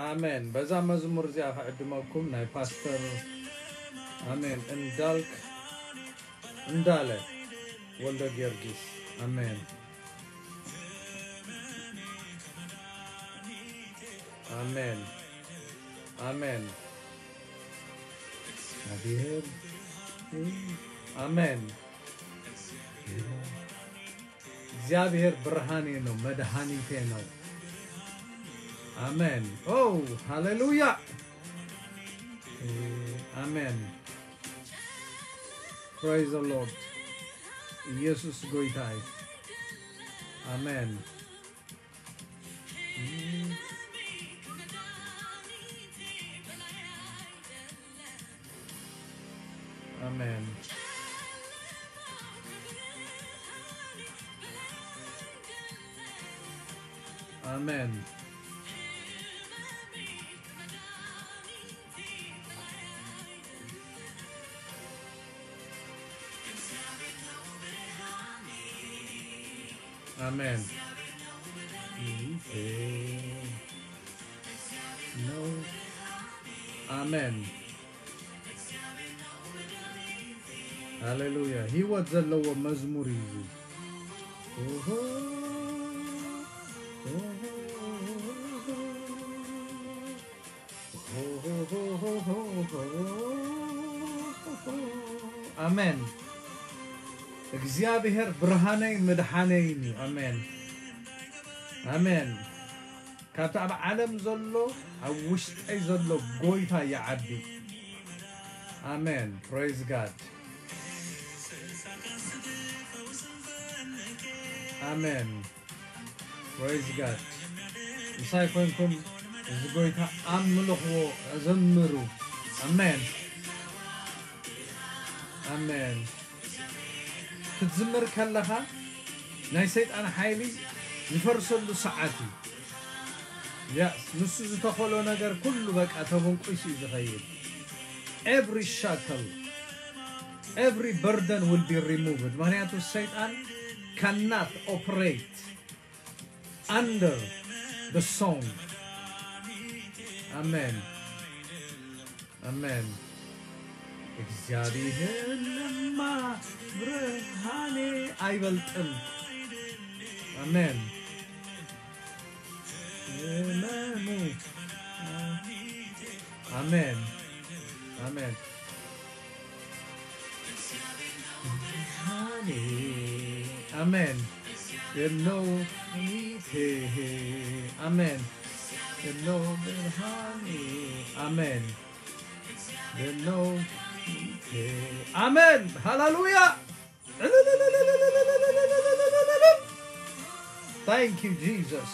ኣሜን። በዛ መዝሙር እዚኣ ክዕድመኩም ናይ ፓስተር ኣሜን እንዳልክ እንዳለ ወልደ ጊዮርጊስ። ኣሜን። ኣሜን። ኣሜን። እግዚኣብሔር። ኣሜን። እግዚኣብሔር ብርሃኔ ነው፣ መድኃኒቴ ነው። ኣሜን። ኦ፣ ሃሌሉያ። ኣሜን። Praise the Lord. ኢየሱስ ጎይታ እዩ። ኣሜን። ኣሜን። ኣሜን። ኣሜን። ኣሜን። ሃሌሉያ። ህይወት ዘለዎ መዝሙር እዩ እዚ። ኦሆ፣ ኦሆ፣ ኣሜን። እግዚኣብሔር ብርሃነይ ምድሓነይን እዩ። ኣሜን። ኣሜን። ካብቲ ኣብ ዓለም ዘሎ ኣብ ውሽጠይ ዘሎ ጎይታ ይዓቢ። ኣሜን። Praise God. ኣሜን። Praise God። ምሳይ ኮንኩም እዚ ጎይታ ኣምልኽዎ፣ ዘምሩ። ኣሜን። ኣሜን። ክትዝምር ከለኻ ናይ ሰይጣን ሓይሊ ዝፈርሰሉ ሰዓት እዩ። Yes፣ ንሱ ዝተኸሎ ነገር ኩሉ በቃ ተበንቁሱ እዩ ዝኸይድ። Every shackle, every burden will be removed። ምኽንያቱ ሰይጣን cannot operate under the song። ኣሜን። ኣሜን። እግዚኣብሔር ድማ ብርሃኔ ኣይበልጥን። ኣሜን። እመኑ። ኣሜን። ኣሜን። ብርሃኔ። ኣሜን። የነው ፊቴ። ኣሜን። የነው ብርሃኔ። ኣሜን። የነው ፊቴ። ኣሜን። ሃሌሉያ። Thank you, Jesus.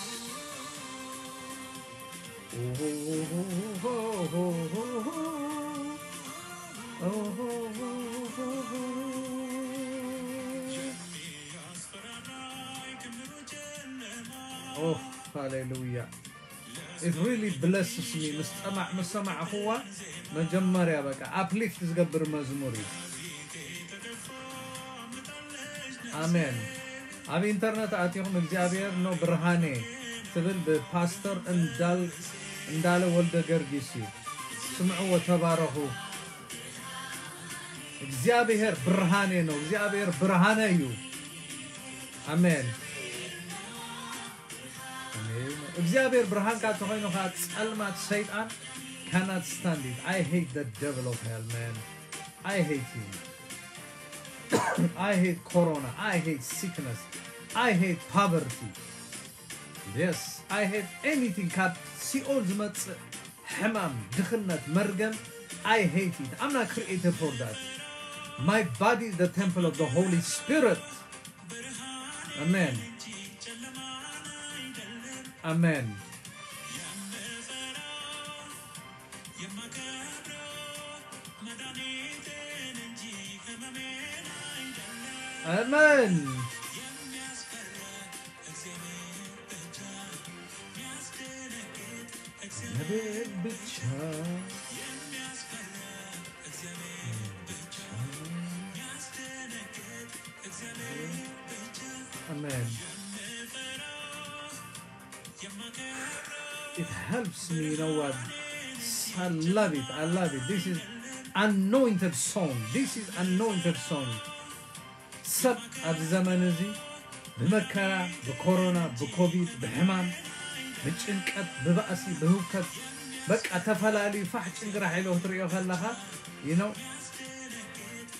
Oh, ሃሌሉያ። It really blesses me። ምስ ጠማዕ-፣ ምስ ሰማዕኽዋ መጀመርያ በቃ uplift ዝገብር መዝሙር እዩ። ኣሜን። ኣብ ኢንተርነት ኣቲኹም እግዚኣብሔር ነው ብርሃኔ ትብል ብፓስተር እንዳል-፣ እንዳለ ወልደ ገርጊስ እዩ። ስምዕዎ፣ ተባረኹ። እግዚኣብሔር ብርሃኔ ነው። እግዚኣብሔር ብርሃነ እዩ። ኣሜን። ኣሜን። እግዚኣብሔር ብርሃንካ እንተኾይኑ ኸዓ ጸልማት ሰይጣን cannot stand it. I hate the devil of hell, man. I hate him. I hate corona. I hate sickness. I hate poverty. Yes, I hate anything ካብ ሲኦል ዝመጽእ ሕማም፣ ድኽነት፣ መርገም። I hate it. I'm not created for that. My body is the temple of the Holy Spirit. Amen. Amen. Amen. Amen. It helps me, you know what? I love it. I love it. This is anointed song. This is anointed song. ሰብ ኣብዚ ዘመን እዚ ብመከራ፣ ብኮሮና፣ ብኮቪድ፣ ብሕማም፣ ብጭንቀት፣ ብባእሲ፣ ብህውከት፣ በቃ ተፈላለዩ ፋሕ ጭንግራሕ ኢሎ ክትርእዮ ከለኻ፣ you know፣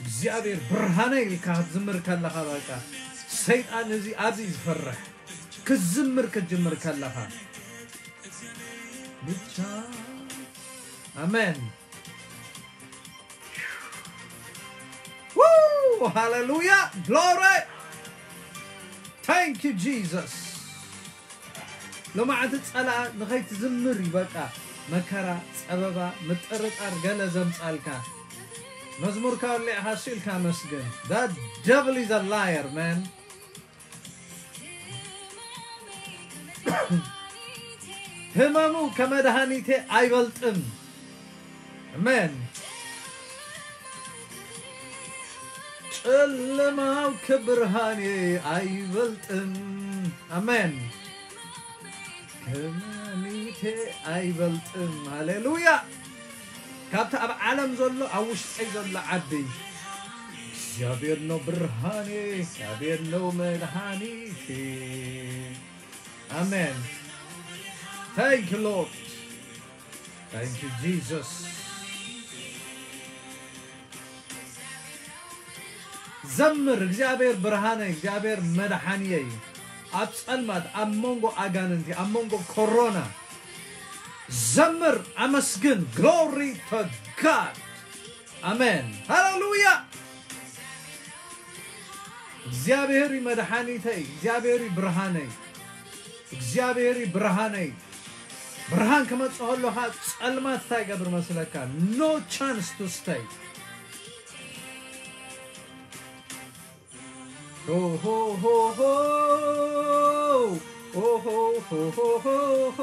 እግዚኣብሔር ብርሃነ ኢልካ ክትዝምር ከለኻ፣ በቃ ሰይጣን እዚ ኣብዚ እዩ ዝፈርሕ። ክትዝምር ክትጅምር ከለኻ ብቻ። ኣሜን። Woo! Hallelujah! Glory! Thank you, Jesus. ሎማዓንቲ ጸላእ ንኸይትዝምር እዩ በቃ መከራ፣ ጸበባ፣ ምጥርጣር ገለ ዘምጻልካ። መዝሙርካ ወሊዕኻ እሱ ኢልካ መስግን። That devil is a liar, man. ህመሙ ከመድኃኒቴ ኣይበልጥም። ኣሜን። ጨለማው ከብርሃኔ ኣይበልጥም። ኣሜን። ከመድኃኒቴ ኣይበልጥም። ሃሌሉያ። ካብቲ ኣብ ዓለም ዘሎ ኣብ ውሽጠይ ዘሎ ዓቢ እግዚኣብሔር ነው ብርሃኔ፣ እግዚኣብሔር ነው መድኃኒቴ። ኣሜን። Thank you, Lord. Thank you, Jesus. ዘምር፣ እግዚኣብሔር ብርሃነይ፣ እግዚኣብሔር መድሓንየይ። ኣብ ጸልማት፣ ኣብ መንጎ ኣጋንንቲ፣ ኣብ መንጎ ኮሮና ዘምር፣ ኣመስግን። Glory to God. ኣሜን። ሃሌሉያ። እግዚኣብሔር እዩ መድሓኒተይ፣ እግዚኣብሔር እዩ ብርሃነይ፣ እግዚኣብሔር እዩ ብርሃነይ። ብርሃን ክመጽእ ከሎ ኸኣ ጸልማት እንታይ ይገብር መስለካ? No chance to stay. ሆ፣ ሆ፣ ሆ፣ ሆ። ሆ፣ ሆ፣ ሆ፣ ሆ፣ ሆ፣ ሆ።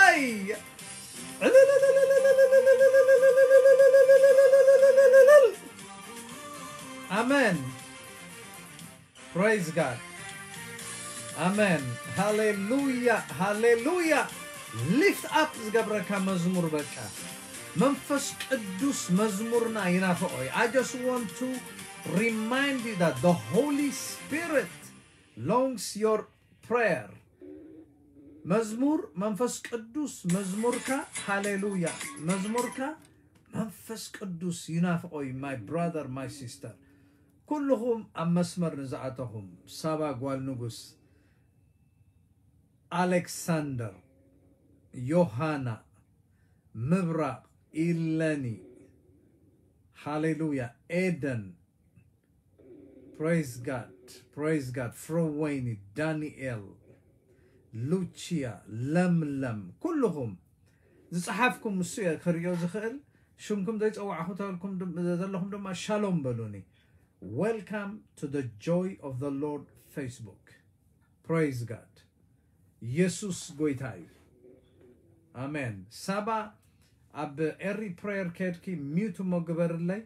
ኣይ! ኣሜን። Praise God. ኣሜን። ሃሌሉያ፣ ሃሌሉያ። Lift up ዝገብረካ መዝሙር በቃ። መንፈስ ቅዱስ መዝሙርና ይናፍቖ እዩ። I just want to remind you that the Holy Spirit longs your prayer. መዝሙር መንፈስ ቅዱስ መዝሙርካ፣ ሃሌሉያ። መዝሙርካ መንፈስ ቅዱስ ይናፍቖ እዩ። My brother, my sister። ኩልኹም ኣብ መስመር ንዝኣተኹም፣ ሳባ ጓል ንጉስ፣ ኣሌክሳንደር፣ ዮሃና፣ ምብራቕ፣ ኢለኒ፣ ሃሌሉያ፣ ኤደን፣ Praise God, praise God፣ ፍረወይኒ፣ ዳንኤል፣ ሉቺያ፣ ለምለም፣ ኩልኹም ዝጸሓፍኩም እሱ እየ ክርእዮ ዝኽእል። ሽምኩም ዘይጸዋዕኹ ተልኩም ድም-፣ ዘለኹም ድማ ሻሎም በሉኒ። Welcome to the Joy of the Lord Facebook. Praise God። ኢየሱስ ጎይታ እዩ። ኣሜን። ሳባ ኣብ ኤሪ ፕሬየር ከድኪ ሚዩት እሞ ግበርለይ።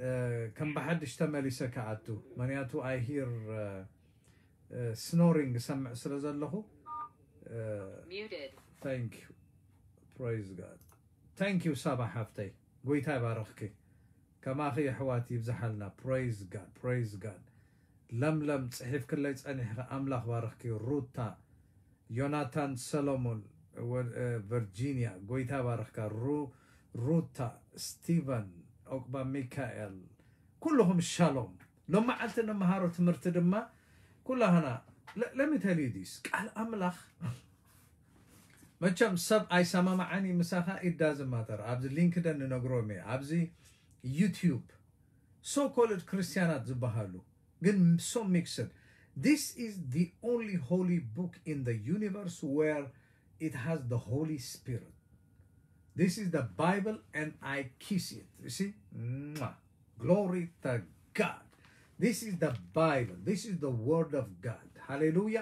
እ፣ ከም ብሓድሽ ተመሊሰ ክኣቱ። ምኽንያቱ I hear፣ እ፣ እ፣ ስኖሪንግ እሰምዕ ስለ ዘለኹ። እ፣ Muted። Thank you። Praise God። Thank you ሳባ ሓፍተይ። ጎይታ ይባርኽኪ። ከማኺ የሕዋት ይብዝሓልና። Praise God። Praise God። ለምለም ጽሒፍክለይ ጸኒሕኺ ኣምላኽ ባርኽኪ። ሩታ፣ ዮናታን ሰሎሞን፣ ወ-፣ እ፣ ቨርጂንያ፣ ጎይታ ባርኽካ። ሩ-፣ ሩታ፣ ስቲቨን፣ ኦቅባ ሚካኤል፣ ኩልኹም ሻሎም። ሎም መዓልቲ እንመሃሮ ትምህርቲ ድማ ኩላህና፣ ለ-፣ let me tell you this፣ ቃል ኣምላኽ መቸም ሰብ ኣይሰማማዓን እዩ ምሳኻ፣ it doesn't matter። ኣብዚ ሊንክደን ንነግሮም እየ። ኣብዚ ዩቲዩብ so called ክርስቲያናት ዝበሃሉ ግን so mixed። This is the only holy book in the universe where it has the Holy Spirit. This is the Bible and I kiss it. You see? Mwah. Glory to God. This is the Bible. This is the word of God. ሃሌሉያ።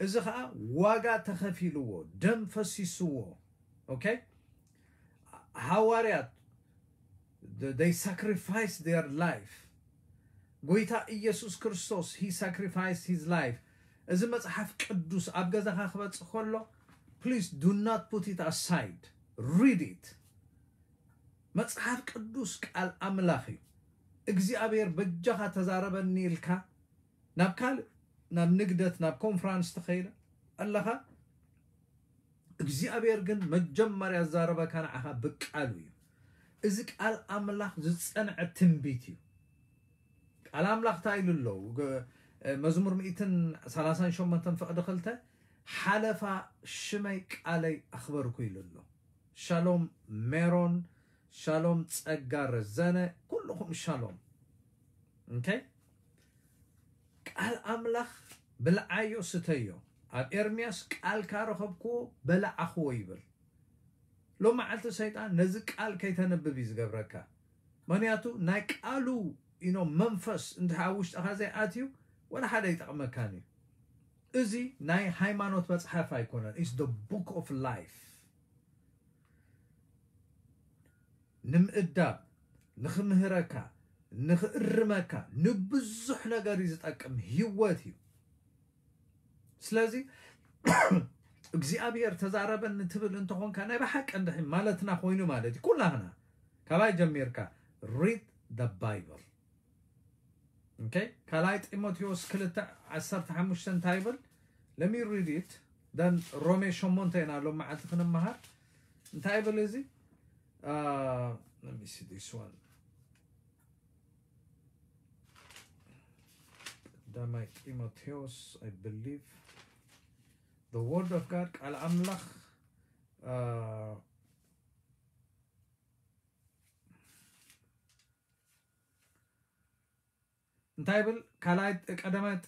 እዚ ኸኣ ዋጋ ተኸፊልዎ፣ ደም ፈሲስዎ። ኦኬ? ሃዋርያት፣ th-, they sacrificed their life። ጎይታ ኢየሱስ ክርስቶስ፣ he sacrificed his life። እዚ መጽሓፍ ቅዱስ ኣብ ገዛኻ ክበጽሕ ከሎ፣ Please do not put it aside. Read it. መጽሓፍ ቅዱስ ቃል ኣምላኽ እዩ። እግዚኣብሔር በጃኻ ተዛረበኒ ኢልካ ናብ ካልእ ናብ ንግደት ናብ ኮንፈራንስ ተኸይደ ኣለኻ እግዚኣብሔር ግን መጀመርያ ዝዛረበካ ንዓኻ ብቃሉ እዩ። እዚ ቃል ኣምላኽ ዝጸንዐ ትንቢት እዩ። ቃል ኣምላኽ እንታይ ኢሉ ኣሎ? መዝሙር ሚእትን ሰላሳን ሸሞንተን ፍቕዲ ክልተ ሓለፋ ሽመይ ቃለይ ኣኽበርኩ ኢሉ ኣሎ። ሻሎም ሜሮን፣ ሻሎም ጸጋ ረዘነ፣ ኩልኹም ሻሎም። ኦኬ፣ ቃል ኣምላኽ ብልዓዮ ስተዮ። ኣብ ኤርምያስ ቃልካ ረኸብክዎ በላዕኽዎ ይብል። ሎም መዓልቲ ሰይጣን ነዚ ቃል ከይተንብብ እዩ ዝገብረካ። ምክንያቱ ናይ ቃሉ ኢኖ መንፈስ እንድሕር ኣብ ውሽጥኻ ዘይኣትዩ ወላ ሓደ ይጠቕመካን እዩ። እዚ ናይ ሃይማኖት መጽሓፍ ኣይኮነን። It's the book of life። ንምእዳብ፣ ንኽምህረካ፣ ንኽእርመካ፣ ንብዙሕ ነገር እዩ ዝጠቅም። ህይወት እዩ። ስለዚ እግዚኣብሔር ተዛረበኒ ትብል እንተኾንካ ናይ ብሓቂ እንድሕር ማለትና ኮይኑ ማለት እዩ። ኩላህና ካባይ ጀሚርካ read the Bible። ኦኬ፣ ካልኣይ ጢሞቴዎስ ክልተ ዓሰርተ ሓሙሽተ እንታይ ይብል? Let me read it። ደን ሮሜ ሸሞንተ ኢና ሎም መዓልቲ ክንመሃር። እንታይ ይብል እዚ? Uh, let me see this one። ቀዳማይ ጢሞቴዎስ፣ I believe the word of God፣ ቃል ኣምላኽ። Uh, እንታይ ይብል?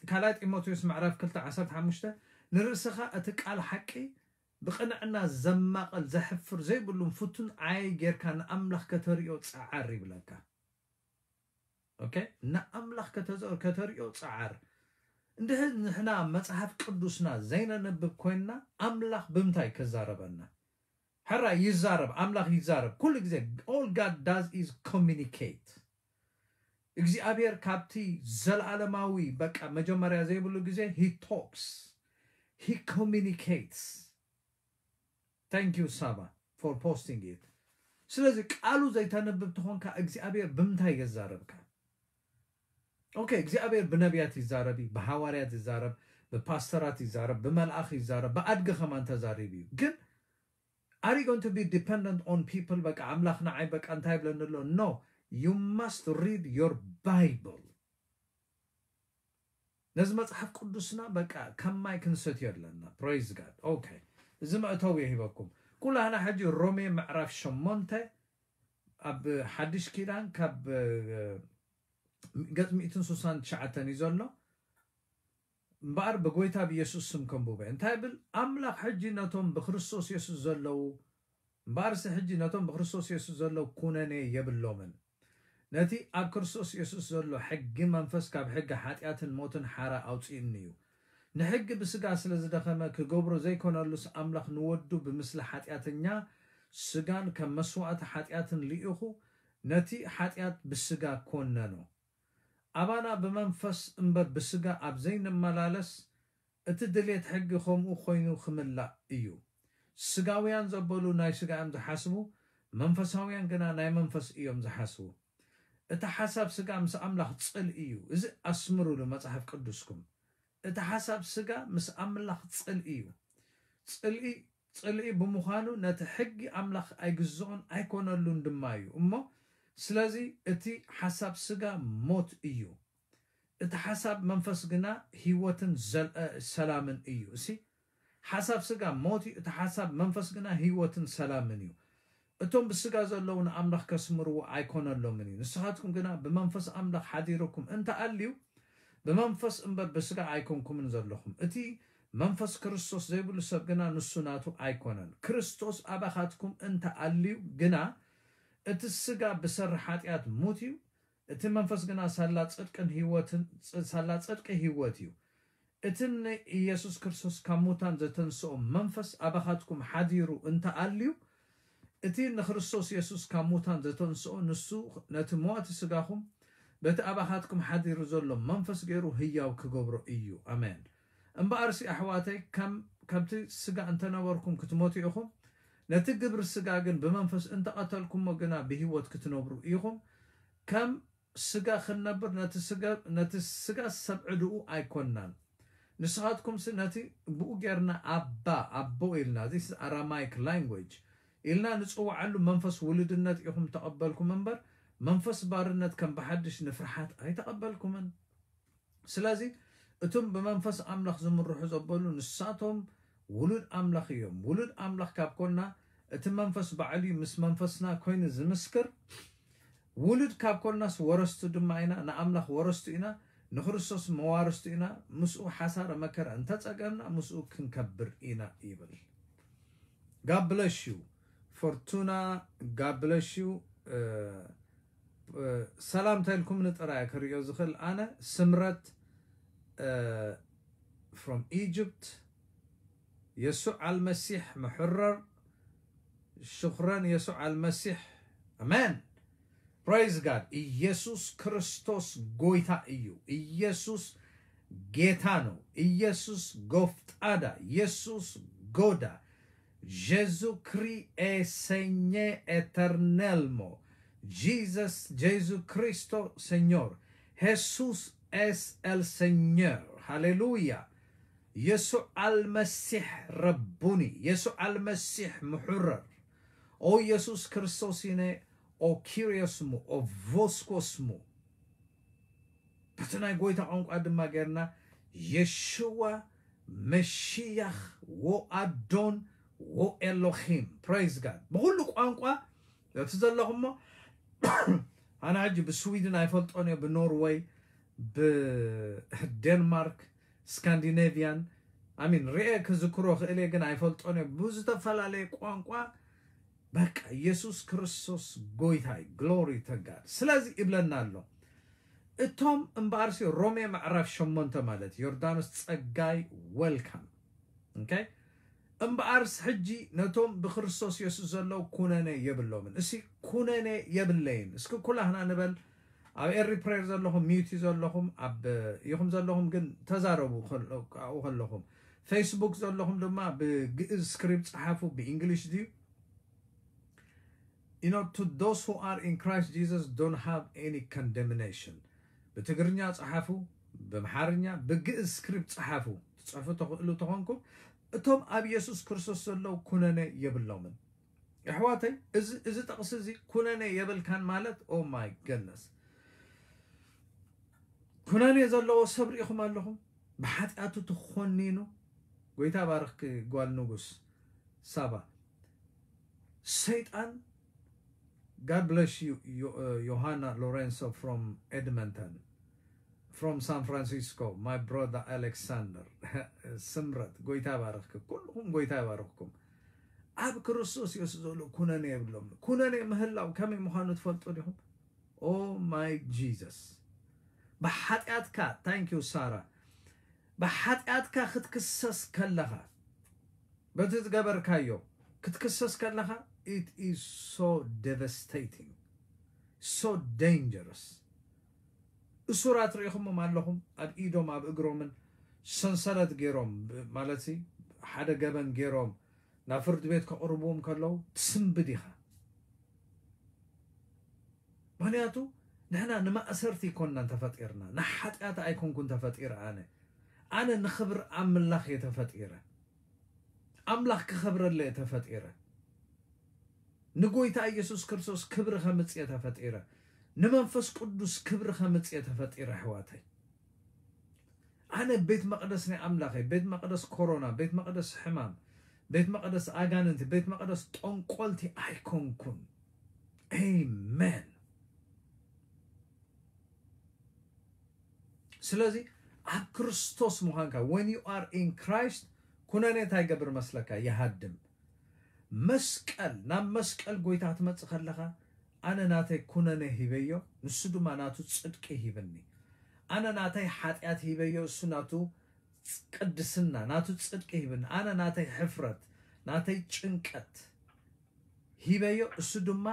ካልኣይ ጢሞቴዎስ ምዕራፍ ክልተ ዓሰርተ ሓሙሽተ፣ ንርእስኻ እቲ ቃል ሓቂ ብቕንዕና ዘማቐል ዘሕፍር ዘይብሉን ፍቱን ዓይ ጌርካ ንኣምላኽ ከተርእዮ ጸዓር ይብለካ። ኦኬ፣ ንኣምላኽ ከተርእዮ ጸዓር። እንድሕር ንሕና መጽሓፍ ቅዱስና ዘይነንብብ ኮይንና ኣምላኽ ብምንታይ ከዛረበና? ሕራይ ይዛረብ፣ ኣምላኽ ይዛረብ ኩሉ ግዜ። All God does is communicate። እግዚኣብሔር ካብቲ ዘለዓለማዊ በቃ መጀመርያ ዘይብሉ ግዜ he talks, he communicates። Thank you ሳባ for posting it። ስለዚ ቃሉ ዘይተንብብ ትኾንካ እግዚኣብሔር ብምንታይ የዛረብካ? ኦኬ፣ እግዚኣብሔር ብነቢያት ይዛረብ እዩ፣ ብሃዋርያት ይዛረብ፣ ብፓስተራት ይዛረብ፣ ብመልኣኽ ይዛረብ፣ ብኣድጊ ከማን ተዛሪቡ እዩ። ግን are you going to be dependent on people? በቃ ኣምላኽ ንዓይ በቃ እንታይ ይብለኒ ኣሎ? No, you must read your Bible። ነዚ መጽሓፍ ቅዱስና በቃ ከም ማይ ክንሰትዮ ኣለና። Praise God። ኦኬ፣ እዚ መእተዊ የሂበኩም። ኩላህና ሕጂ ሮሜ ምዕራፍ ሸሞንተ ኣብ ሓድሽ ኪዳን ካብ ገጽ ሚእትን ስሳን ትሽዓተን እዩ ዘሎ። እምበኣር ብጎይታ ብየሱስ ስም ከንብበ እንታይ ብል? ኣምላኽ ሕጂ ነቶም ብክርስቶስ የሱስ ዘለዉ እምበኣርሲ ሕጂ ነቶም ብክርስቶስ የሱስ ዘለዉ ኩነኔ የብሎምን። ነቲ ኣብ ክርስቶስ የሱስ ዘሎ ሕጊ መንፈስ ካብ ሕጊ ሓጢኣትን ሞትን ሓራ ኣውጺእኒ እዩ። ንሕጊ ብስጋ ስለ ዝደኸመ ክገብሮ ዘይኮነሉስ ኣምላኽ ንወዱ ብምስሊ ሓጢኣተኛ ስጋን ከም መስዋእቲ ሓጢኣትን ልኢኹ ነቲ ሓጢኣት ብስጋ ኮነኖ። ኣባና ብመንፈስ እምበር ብስጋ ኣብ ዘይንመላለስ እቲ ድሌት ሕጊ ከምኡ ኮይኑ ክምላእ እዩ። ስጋውያን ዘበሉ ናይ ስጋ እዮም ዝሓስቡ፣ መንፈሳውያን ግና ናይ መንፈስ እዮም ዝሓስቡ። እቲ ሓሳብ ስጋ ምስ ኣምላኽ ጽልኢ እዩ። እዚ ኣስምሩሉ መጽሓፍ ቅዱስኩም። እቲ ሓሳብ ስጋ ምስ ኣምላኽ ጽልኢ እዩ። ጽልኢ ጽልኢ ብምዃኑ ነቲ ሕጊ ኣምላኽ ኣይግዝኦን ኣይኮነሉን ድማ እዩ እሞ፣ ስለዚ እቲ ሓሳብ ስጋ ሞት እዩ፣ እቲ ሓሳብ መንፈስ ግና ህይወትን ዘል- እ፣ ሰላምን እዩ። እሲ ሓሳብ ስጋ ሞት እዩ፣ እቲ ሓሳብ መንፈስ ግና ህይወትን ሰላምን እዩ። እቶም ብስጋ ዘለዉ ንኣምላኽ ከስምርዎ ኣይኮነሎምን እዩ። ንስኻትኩም ግና ብመንፈስ ኣምላኽ ሓዲርኩም እንተኣልዩ ብመንፈስ እምበር ብስጋ ኣይኮንኩምን ዘለኹም። እቲ መንፈስ ክርስቶስ ዘይብሉ ሰብ ግና ንሱ ናቱ ኣይኮነን። ክርስቶስ ኣባኻትኩም እንተ ኣልዩ ግና እቲ ስጋ ብሰሪ ሓጢኣት ሙት እዩ፣ እቲ መንፈስ ግና ሳላ ጽድቅን ህይወትን ሳላ ጽድቂ ህይወት እዩ። እቲ ንኢየሱስ ክርስቶስ ካብ ሙታን ዘተንስኦ መንፈስ ኣባኻትኩም ሓዲሩ እንተ ኣልዩ እቲ ንክርስቶስ የሱስ ካብ ሙታን ዘተንስኦ ንሱ ነቲ መዋቲ ስጋኹም በቲ ኣባኻትኩም ሓዲሩ ዘሎ መንፈስ ገይሩ ህያው ክገብሮ እዩ። ኣሜን። እምበኣርሲ ኣሕዋተይ ከም ከምቲ ስጋ እንተነበርኩም ክትሞቱ ኢኹም፣ ነቲ ግብሪ ስጋ ግን ብመንፈስ እንተቐተልኩሞ ግና ብህይወት ክትነብሩ ኢኹም። ከም ስጋ ክንነብር ነቲ ስጋ፣ ነቲ ስጋ ሰብ ዕድኡ ኣይኮንናን። ንስኻትኩምሲ ነቲ ብኡ ጌርና ኣባ፣ ኣቦ ኢልና፣ this is Aramaic language፣ ኢልና ንጽውዓሉ መንፈስ ውልድነት ኢኹም ተቐበልኩም እምበር፣ መንፈስ ባርነት ከም ብሓድሽ ንፍርሓት ኣይተቐበልኩምን። ስለዚ እቶም ብመንፈስ ኣምላኽ ዝምርሑ ዘበሉ ንሳቶም ውሉድ ኣምላኽ እዮም። ውሉድ ኣምላኽ ካብ ኮንና እቲ መንፈስ ባዕሉ እዩ ምስ መንፈስና ኮይኑ ዝምስክር። ውሉድ ካብ ኮንናስ ወረስቱ ድማ ኢና፣ ንኣምላኽ ወረስቱ ኢና፣ ንክርስቶስ መዋርስቱ ኢና፣ ምስኡ ሓሳረ መከራ እንተጸገምና ምስኡ ክንከብር ኢና ይብል። God bless you Fortuna, God bless you. ሰላምታ ኢልኩም ንጥራይ ክሪኦ ዝኽእል ኣነ ስምረት from Egypt. የሱዕ ኣልመሲሕ ምሕረር ሽኽረን የሱዕ ኣልመሲሕ ኣሜን። Praise God. ኢየሱስ ክርስቶስ ጎይታ እዩ። ኢየሱስ ጌታ ነው። ኢየሱስ ጎፍጣዳ፣ ኢየሱስ ጎዳ። Jésus-Christ est Seigneur éternellement. Jesus, Jesucristo Señor. Jesús es el Señor. ሃሌሉያ። የሱዕ ኣልመሲሕ ረቡኒ፣ የሱዕ ኣልመሲሕ ምሕረር። ኦ ኢየሱስ ክርስቶስ ኢነ ኦ ኪሪዮስሙ ኦ ቮስኮስሙ። በቲ ናይ ጎይታ ቋንቋ ድማ ጌርና የሽዋ መሽያኽ ወኣዶን ወኤሎሂም። Praise God። ብኹሉ ቋንቋ እቲ ዘለኹሞ ኣነ ሕጂ ብስዊድን ኣይፈልጦን እየ፣ ብኖርወይ፣ ብደንማርክ፣ ስካንዲኔቪያን ኣሚን ርኤ ክዝክሮ ክእል እየ፣ ግን ኣይፈልጦን እየ። ብዝተፈላለየ ቋንቋ በቃ ኢየሱስ ክርስቶስ ጎይታይ ግሎሪ ተጋድ። ስለዚ ይብለና ኣሎ እቶም እምበኣርሲ ሮሜ ምዕራፍ ሸሞንተ ማለት ዮርዳኖስ ጸጋይ ወልካም። ኦኬ። እምበኣርስ ሕጂ ነቶም ብክርስቶስ የሱስ ዘለዉ ኩነኔ የብሎምን። እሲ ኩነኔ የብለይን። እስኪ ኩላህና ንበል። ኣብ ኤሪ ፕሬየር ዘለኹም ሚዩት ዘለኹም ኣብ ኢኹም ዘለኹም ግን ተዛረቡ። ከሎ- ኣብኡ ከለኹም ፌስቡክ ዘለኹም ድማ ብግእዝ ስክሪፕት ጸሓፉ። ብእንግሊሽ ድዩ? You know, to those who are in Christ Jesus don't have any condemnation. ብትግርኛ ጸሓፉ፣ ብምሓርኛ ብግእዝ ስክሪፕት ጸሓፉ። ትጽሕፉ ተኽእሉ ተኾንኩም እቶም ኣብ ኢየሱስ ክርስቶስ ዘለዉ ኩነኔ የብሎምን። ኣሕዋተይ፣ እዚ እዚ ጥቕሲ እዚ ኩነኔ የብልካን ማለት ኦ ማይ ገነስ ኩነኔ ዘለዎ ሰብ ርኢኹም ኣለኹም። ብሓጢኣቱ ተኾኒኑ። ጎይታ ባርኽኪ ጓል ንጉስ ሳባ። ሰይጣን God bless you Yo- uh, Johanna Lorenzo from Edmonton, from San Francisco, my brother Alexander. ስምረት ጎይታ ባርኽኪ። ኩልኹም ጎይታ ይባርኽኩም። ኣብ ክርስቶስ የሱስ ዘሎ ኩነኔ የብሎም። ኩነኔ ምህላው ከመይ ምዃኑ ትፈልጡ ዲኹም? Oh my Jesus። ብሓጢኣትካ thank you ሳራ። ብሓጢኣትካ ክትክሰስ ከለኻ በቲ ዝገበርካዮ ክትክሰስ ከለኻ it is so devastating, so dangerous። እሱራት ርኢኹሞም ኣለኹም ኣብ ኢዶም ኣብ እግሮምን ሰንሰለት ገይሮም ብ- ማለት ሲ ሓደ ገበን ገይሮም ናብ ፍርዲ ቤት ከቕርብዎም ከለዉ ትስንብድ ኢኻ። ምክንያቱ ንሕና ንማእሰርቲ ኣይኮንናን ተፈጢርና። ንሓጢኣት ኣይኮንኩን ተፈጢረ ኣነ። ኣነ ንኽብሪ ኣምላኽ እየ ተፈጢረ። ኣምላኽ ክኸብረለ እየ ተፈጢረ። ንጎይታ ኢየሱስ ክርስቶስ ክብሪ ከምጽእ እየ ተፈጢረ። ንመንፈስ ቅዱስ ክብሪ ከምጽእ እየ ተፈጢረ ኣሕዋተይ። ኣነ ቤት መቕደስ ናይ ኣምላኸይ፣ ቤት መቕደስ ኮሮና፣ ቤት መቕደስ ሕማም፣ ቤት መቕደስ ኣጋንንቲ፣ ቤት መቕደስ ጠንቆልቲ ኣይኮንኩን። ኣሜን። ስለዚ ኣብ ክርስቶስ ምዃንካ when you are in Christ ኩነኔ እንታይ ይገብር መስለካ? ይሃድም። መስቀል ናብ መስቀል ጎይታ ክትመጽእ ከለኻ ኣነ ናተይ ኩነኔ ሂበዮ፣ ንሱ ድማ ናቱ ጽድቂ ሂብኒ። ኣነ ናተይ ሓጢኣት ሂበዮ፣ እሱ ናቱ ቅድስና ናቱ ጽድቂ ሂብኒ። ኣነ ናተይ ሕፍረት ናተይ ጭንቀት ሂበዮ፣ እሱ ድማ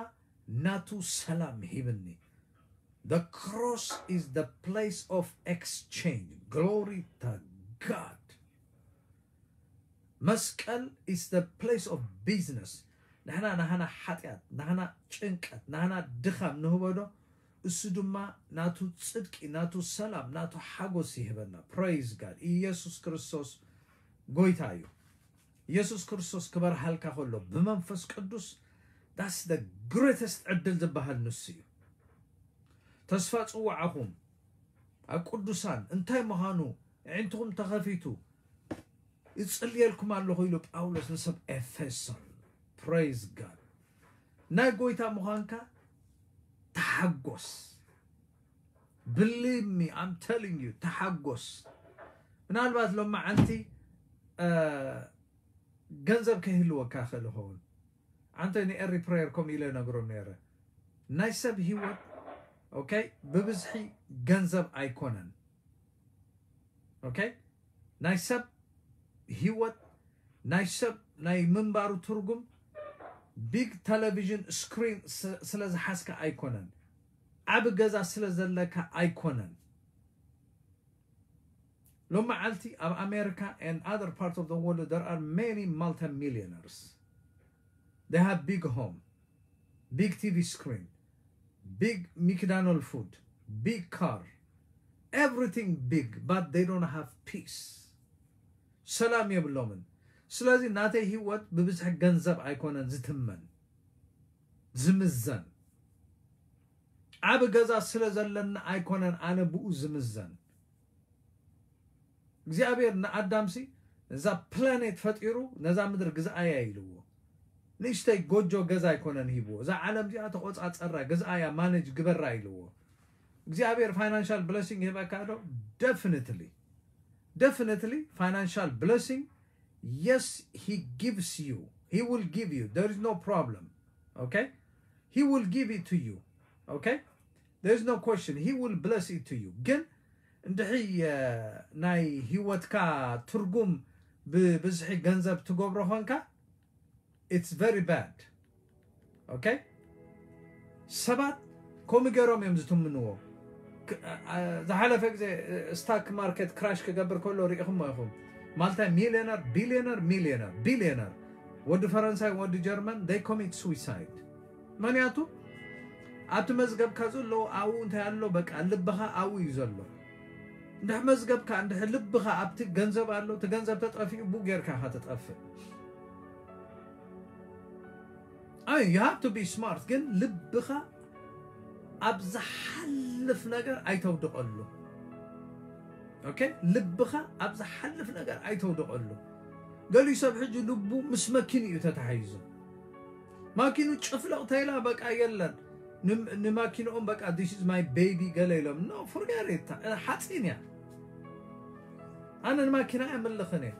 ናቱ ሰላም ሂብኒ። The cross is the place of exchange. Glory to God. መስቀል is the place of business። ንሕና ናህና ሓጢኣት፣ ናህና ጭንቀት፣ ናህና ድኻም ንህበዶ፣ እሱ ድማ ናቱ ጽድቂ፣ ናቱ ሰላም፣ ናቱ ሓጎስ ይህበና። Praise God። ኢየሱስ ክርስቶስ ጎይታ እዩ። ኢየሱስ ክርስቶስ ክበርሃልካ ከሎ ብመንፈስ ቅዱስ፣ that's the greatest ዕድል ዝበሃል ንሱ እዩ። ተስፋ ጽዋዕኹም ኣብ ቅዱሳን እንታይ ምዃኑ ኣዒንትኹም ተኸፊቱ ይጽልየልኩም ኣለኹ ኢሉ ጳውሎስ ንሰብ ኤፌሶን። Praise God። ናይ ጎይታ ምዃንካ ተሓጎስ። Believe me, I'm telling you፣ ተሓጎስ። ምናልባት ሎማዓንቲ ገንዘብ ከይህልወካ ይኽእል ይኸውን። ኣንተ ንኤሪ ፕሬየር ከምኡ ኢለ ነግሮም ነይረ። ናይ ሰብ ህይወት okay ብብዝሒ ገንዘብ ኣይኮነን። Okay፣ ናይ ሰብ ህይወት፣ ናይ ሰብ ናይ ምንባሩ ትርጉም ቢግ ቴሌቪዥን ስክሪን ስለ ዝሓዝካ ኣይኮነን። ዓቢ ገዛ ስለ ዘለካ ኣይኮነን። ሎመዓልቲ ኣብ ኣሜሪካ and other part of the world there are many multimillionaires. They have big home, big TV screen, big McDonald food, big car, everything big, but they don't have peace. ሰላም የብሎምን። ስለዚ ናተይ ህይወት ብብዝሒ ገንዘብ ኣይኮነን ዝትመን፣ ዝምዘን። ዓቢ ገዛ ስለ ዘለኒ ኣይኮነን ኣነ ብኡ ዝምዘን። እግዚኣብሔር ንኣዳምሲ ነዛ ፕላኔት ፈጢሩ ነዛ ምድር ግዝኣያ ኢልዎ። ንእሽተይ ጎጆ ገዛ ኣይኮነን ሂብዎ። እዛ ዓለም እዚኣ ተቆጻጸራ፣ ግዝኣያ፣ ማኔጅ ግበራ ኢልዎ። እግዚኣብሔር ፋይናንሻል ብለሲንግ ይህበካ ዶ? Definitely, definitely financial blessing, yes, he gives you, he will give you, there is no problem. Okay, he will give it to you. Okay, there is no question, he will bless it to you. ግን እንድሕይ ናይ ህይወትካ ትርጉም ብብዝሒ ገንዘብ ትገብሮ ኾንካ፣ it's very bad። Okay፣ ሰባት ከምኡ ገይሮም እዮም ዝትምንዎ። ዝሓለፈ ግዜ ስታክ ማርኬት ክራሽ ክገብር ከሎ ርኢኹሞ ኢኹም። ማልታይ ሚሊዮነር፣ ቢሊዮነር፣ ሚሊዮነር፣ ቢሊዮነር፣ ወዲ ፈረንሳይ፣ ወዲ ጀርመን they commit suicide። ምክንያቱ ኣብቲ መዝገብካ ዘሎ ኣብኡ እንታይ ኣሎ፣ በቃ ልብኻ ኣብኡ እዩ ዘሎ። እንድሕ መዝገብካ እንድሕ ልብኻ ኣብቲ ገንዘብ ኣሎ፣ እቲ ገንዘብ ተጠፊኡ ብኡ ጌርካ ኢኻ ትጠፍእ። ኣይ you have to be smart፣ ግን ልብኻ ኣብ ዝሓልፍ ነገር ኣይተውድቐሉ። Okay፣ ልብኻ ኣብ ዝሓልፍ ነገር ኣይተውድቐሉ። ገሊኡ ሰብ ሕጂ ልቡ ምስ መኪኑ እዩ ተታሒዙ። ማኪኑ ጭፍለቕ ተይላ በቃ የለን። ንማኪንኦም በቃ this is my baby ገለ ኢሎም፣ no, forget it፣ ሓፂን እያ። ኣነ ንማኪና ኣይምልኽን እየ።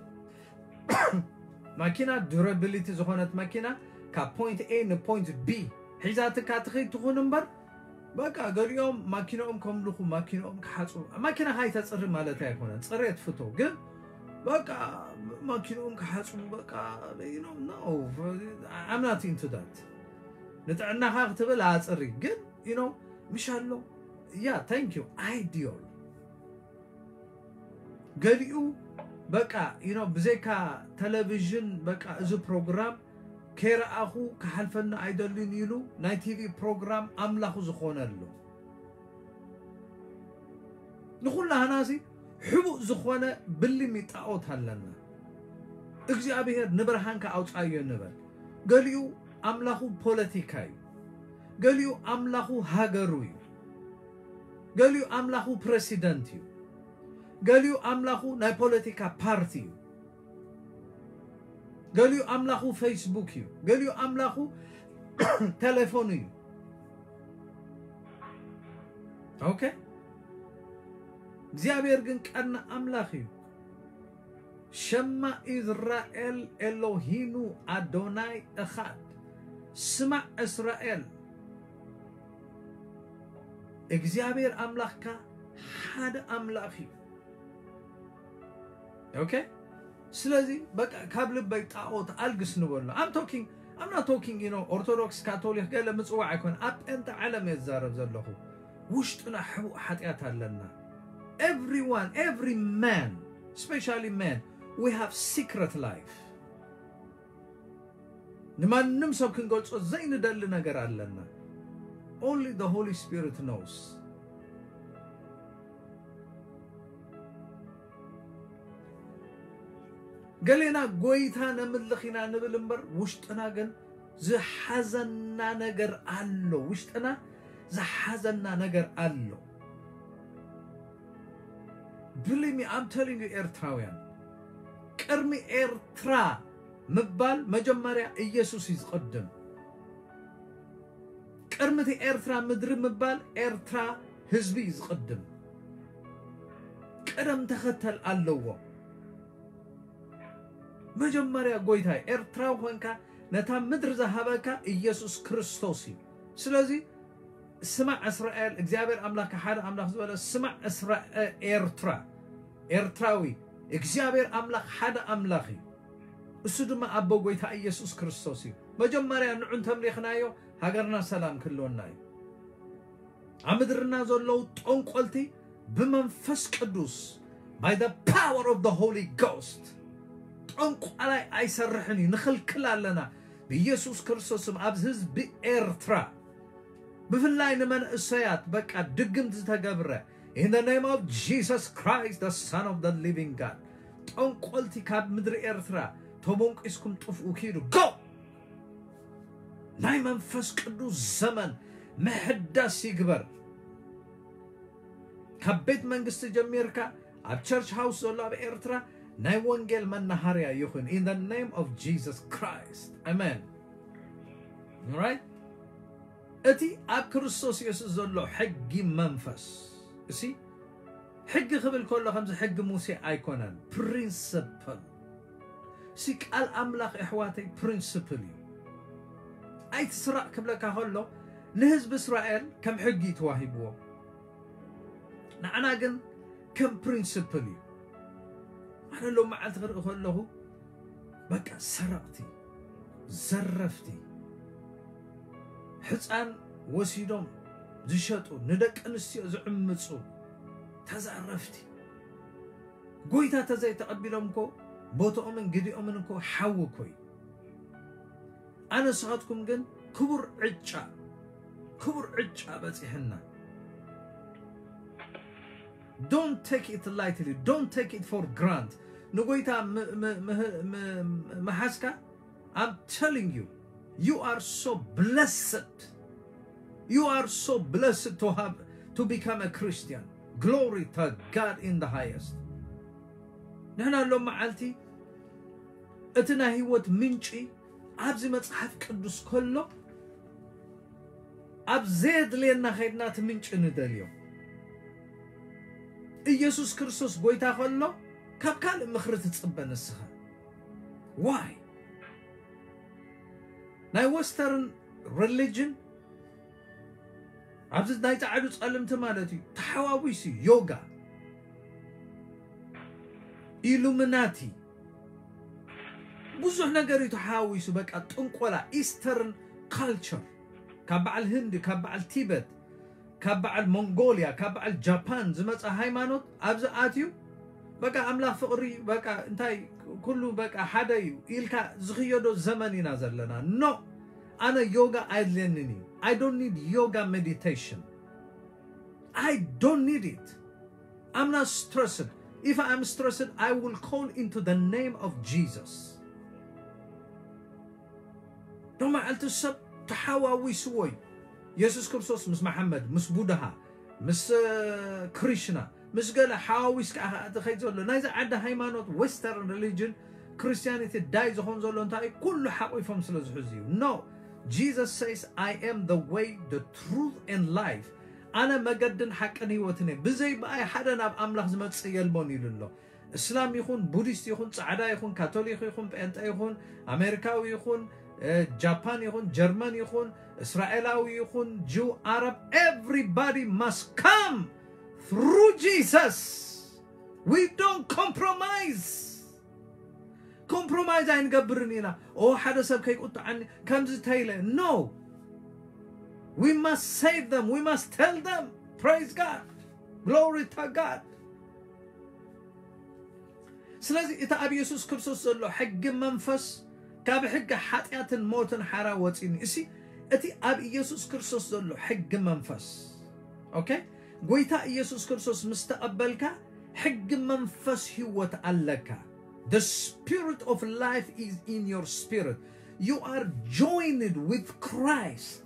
ማኪና ዱራቢሊቲ ዝኾነት ማኪና ካብ point A ን point B ሒዛትካ ትኸይድ ትኹን እምበር፣ በቃ ገሊኦም ማኪንኦም ከምልኹ፣ ማኪንኦም ክሓፅቡ። ማኪና ካይተፅሪ ማለት ኣይኮነን፣ ፅሬት ፍቶ፣ ግን በቃ ማኪንኦም ክሓፅቡ በቃ you know no, I'm not into that። ንጥዕናኻ ክትብል ኣፅሪ፣ ግን you know ምሽ ኣሎ። Yeah, thank you። Ideal። ገሊኡ በቃ you know ብዘይካ ቴሌቪዥን በቃ እዚ ፕሮግራም ከይረኣኹ ክሓልፈኒ ኣይደልን ኢሉ ናይ ቲቪ ፕሮግራም ኣምላኹ ዝኾነሉ። ንኹላህናሲ ሕቡእ ዝኾነ ብልሚ ጣዖት ኣለና። እግዚኣብሔር ንብርሃንካ ኣውፃዮ ንበል። ገሊኡ ኣምላኹ ፖለቲካ እዩ። ገሊኡ ኣምላኹ ሃገሩ እዩ። ገሊኡ ኣምላኹ ፕረሲደንት እዩ። ገሊኡ ኣምላኹ ናይ ፖለቲካ ፓርቲ እዩ። ገሊኡ ኣምላኹ ፌስቡክ እዩ። ገሊኡ ኣምላኹ ቴሌፎኑ እዩ። Okay፣ እግዚኣብሔር ግን ቀና ኣምላኽ እዩ። ሸማ ኢዝራኤል ኤሎሂኑ ኣዶናይ እኻድ። ስማዕ እስራኤል፣ እግዚኣብሔር ኣምላኽካ ሓደ ኣምላኽ እዩ። Okay፣ ስለዚ በቃ ካብ ልበይ ጣዖት ኣልግስ ንበሎ። I'm talking, I'm not talking you know ኦርቶዶክስ፣ ካቶሊክ ገለ ምጽዋዕ ኣይኮን፣ ኣብ ጴንጠ ዓለም እየ ዝዛረብ ዘለኹ። ውሽጥና ሕቡእ ሓጢኣት ኣለና። Everyone, every man, especially men, we have secret life። ንማንም ሰብ ክንገልጾ ዘይንደሊ ነገር ኣለና። Only the Holy Spirit knows። ገሌና ጎይታ ነምልኽ ኢና ንብል እምበር ውሽጥና ግን ዝሓዘና ነገር ኣሎ። ውሽጥና ዝሓዘና ነገር ኣሎ። Believe me, I'm telling you, ኤርትራውያን፣ ቅድሚ ኤርትራ ምባል መጀመርያ ኢየሱስ እዩ ዝቕድም። ቅድሚ እቲ ኤርትራ ምድሪ ምባል ኤርትራ ህዝቢ እዩ ዝቕድም። ቅደም ተኸተል ኣለዎ። መጀመርያ ጎይታ ኤርትራዊ ኮንካ ነታ ምድሪ ዝሃበካ ኢየሱስ ክርስቶስ እዩ። ስለዚ ስማዕ እስራኤል፣ እግዚኣብሔር ኣምላኽ ሓደ ኣምላኽ ዝበለ፣ ስማዕ እስራኤል፣ ኤርትራ፣ ኤርትራዊ፣ እግዚኣብሔር ኣምላኽ ሓደ ኣምላኽ እዩ። እሱ ድማ ኣቦ ጎይታ ኢየሱስ ክርስቶስ እዩ። መጀመርያ ንዑ እንተምሊኽናዮ ሃገርና ሰላም ክህልወና እዩ። ኣብ ምድርና ዘለዉ ጠንቆልቲ ብመንፈስ ቅዱስ፣ by the power of the Holy Ghost፣ ጠንቋላይ ኣይሰርሕን እዩ፣ ንኽልክል ኣለና። ብኢየሱስ ክርስቶስ ስም ኣብዚ ህዝቢ ኤርትራ ብፍላይ ንመንእሰያት በቃ ድግምት ዝተገብረ in the name of Jesus Christ, the Son of the living God። ጠንቆልቲ ካብ ምድሪ ኤርትራ ተቦንቂስኩም ጥፍኡ፣ ኪዱ፣ go። ናይ መንፈስ ቅዱስ ዘመን ምሕዳስ ይግበር። ካብ ቤት መንግስቲ ጀሚርካ ኣብ ቸርች ሃውስ ዘሎ ኣብ ኤርትራ ናይ ወንጌል መናሃርያ ይኹን in the name of Jesus Christ, amen። Right? እቲ ኣብ ክርስቶስ የሱስ ዘሎ ሕጊ መንፈስ፣ እሲ ሕጊ ክብል ከሎ ከምዚ ሕጊ ሙሴ ኣይኮነን፣ ፕሪንስፕል። ሲ ቃል ኣምላኽ ኣሕዋተይ ፕሪንስፕል እዩ። ኣይትስራቕ ክብለካ ከሎ ንህዝቢ እስራኤል ከም ሕጊ እዩ ተዋሂብዎ፣ ንዓና ግን ከም ፕሪንስፕል እዩ። ኣነ ሎም መዓልቲ ክርኢ ከለኹ በቃ ሰረቕቲ፣ ዘረፍቲ፣ ሕፃን ወሲዶም ዝሸጡ፣ ንደቂ ኣንስትዮ ዝዕምፁ ተዛረፍቲ፣ ጎይታ ተዘይተቐቢሎም እኮ ቦትኦምን ግዲኦምን እኮ ሓዊ እኮ እዩ። ኣነ ንስኻትኩም ግን ክቡር ዕጫ፣ ክቡር ዕጫ በፂሕና። Don't take it lightly, don't take it for grant። ንጎይታ ም- ም- ምህ- ም- ምሓዝካ፣ I'm telling you, you are so blessed. You are so blessed to have, to become a Christian. Glory to God in the highest. ንሕና ሎም መዓልቲ እቲ ናይ ህይወት ምንጪ ኣብዚ መጽሓፍ ቅዱስ ከሎ፣ ኣብ ዘየድልየና ኸይድና እቲ ምንጪ ንደልዮ። ኢየሱስ ክርስቶስ ጎይታ ከሎ ካብ ካልእ ምኽሪ ትጽበ ንስኻ። Why? ናይ ወስተርን ሪሊጅን ኣብዚ ናይ ጻዕዱ ጸልምቲ ማለት እዩ ተሓዋዊሱ፣ ዮጋ፣ ኢሉሚናቲ፣ ብዙሕ ነገር እዩ ተሓዋዊሱ። በቃ ጥንቆላ፣ ኢስተርን ካልቸር፣ ካብ በዓል ህንዲ፣ ካብ በዓል ቲበት፣ ካብ በዓል ሞንጎልያ፣ ካብ በዓል ጃፓን ዝመጸ ሃይማኖት ኣብዚ ኣትዩ፣ በቃ ኣምላኽ ፍቕሪ፣ በቃ እንታይ ኩሉ በቃ ሓደ እዩ ኢልካ ዝኽየዶ ዘመን ኢና ዘለና። ኖ፣ ኣነ ዮጋ ኣየድልየንን እዩ። I don't need yoga meditation. I don't need it. I'm not stressed. If I'm stressed, I will call into the name of Jesus. ሎም መዓልቲ ሰብ ተሓዋዊስዎ እዩ። የሱስ ክርስቶስ ምስ መሓመድ፣ ምስ ቡድሃ፣ ምስ እ፣ ክሪሽና፣ ምስ ገለ ሓዋዊስካ ኢኻ ትኸይድ ዘሎ። ናይዚ ዓዲ ሃይማኖት፣ ዌስተርን ሪሊጅን፣ ክርስቲያኒቲ ዳይ ዝኾን ዘሎ እንታይ እዩ? ኩሉ ሓቂፎም ስለ ዝሕዙ እዩ። No, Jesus says, I am the way, the truth and life። ኣነ መገድን ሓቅን ህይወትን እየ፣ ብዘይ ብኣይ ሓደ ናብ ኣምላኽ ዝመጽእ የልቦን ኢሉ ኣሎ። እስላም ይኹን፣ ቡዲስት ይኹን፣ ጻዕዳ ይኹን፣ ካቶሊክ ይኹን፣ ጴንጠ ይኹን፣ ኣሜሪካዊ ይኹን፣ እ፣ ጃፓን ይኹን፣ ጀርመን ይኹን፣ እስራኤላዊ ይኹን፣ ጅው፣ ኣረብ፣ everybody must come through Jesus. We don't compromise. ኮምፕሮማይዝ ኣይንገብርን ኢና። ኦ፣ ሓደ ሰብ ከይቁጥዓኒ ከምዚ ተይለ። No. We must save them. We must tell them. Praise God. Glory to God. ስለዚ እቲ ኣብ የሱስ ክርስቶስ ዘሎ ሕጊ መንፈስ ካብ ሕጊ ሓጢኣትን ሞትን ሓራ ወፂኒ። እሲ እቲ ኣብ ኢየሱስ ክርስቶስ ዘሎ ሕጊ መንፈስ፣ ኦኬ፣ ጎይታ ኢየሱስ ክርስቶስ ምስ ተቐበልካ ሕጊ መንፈስ ህይወት ኣለካ። The spirit of life is in your spirit. You are joined with Christ.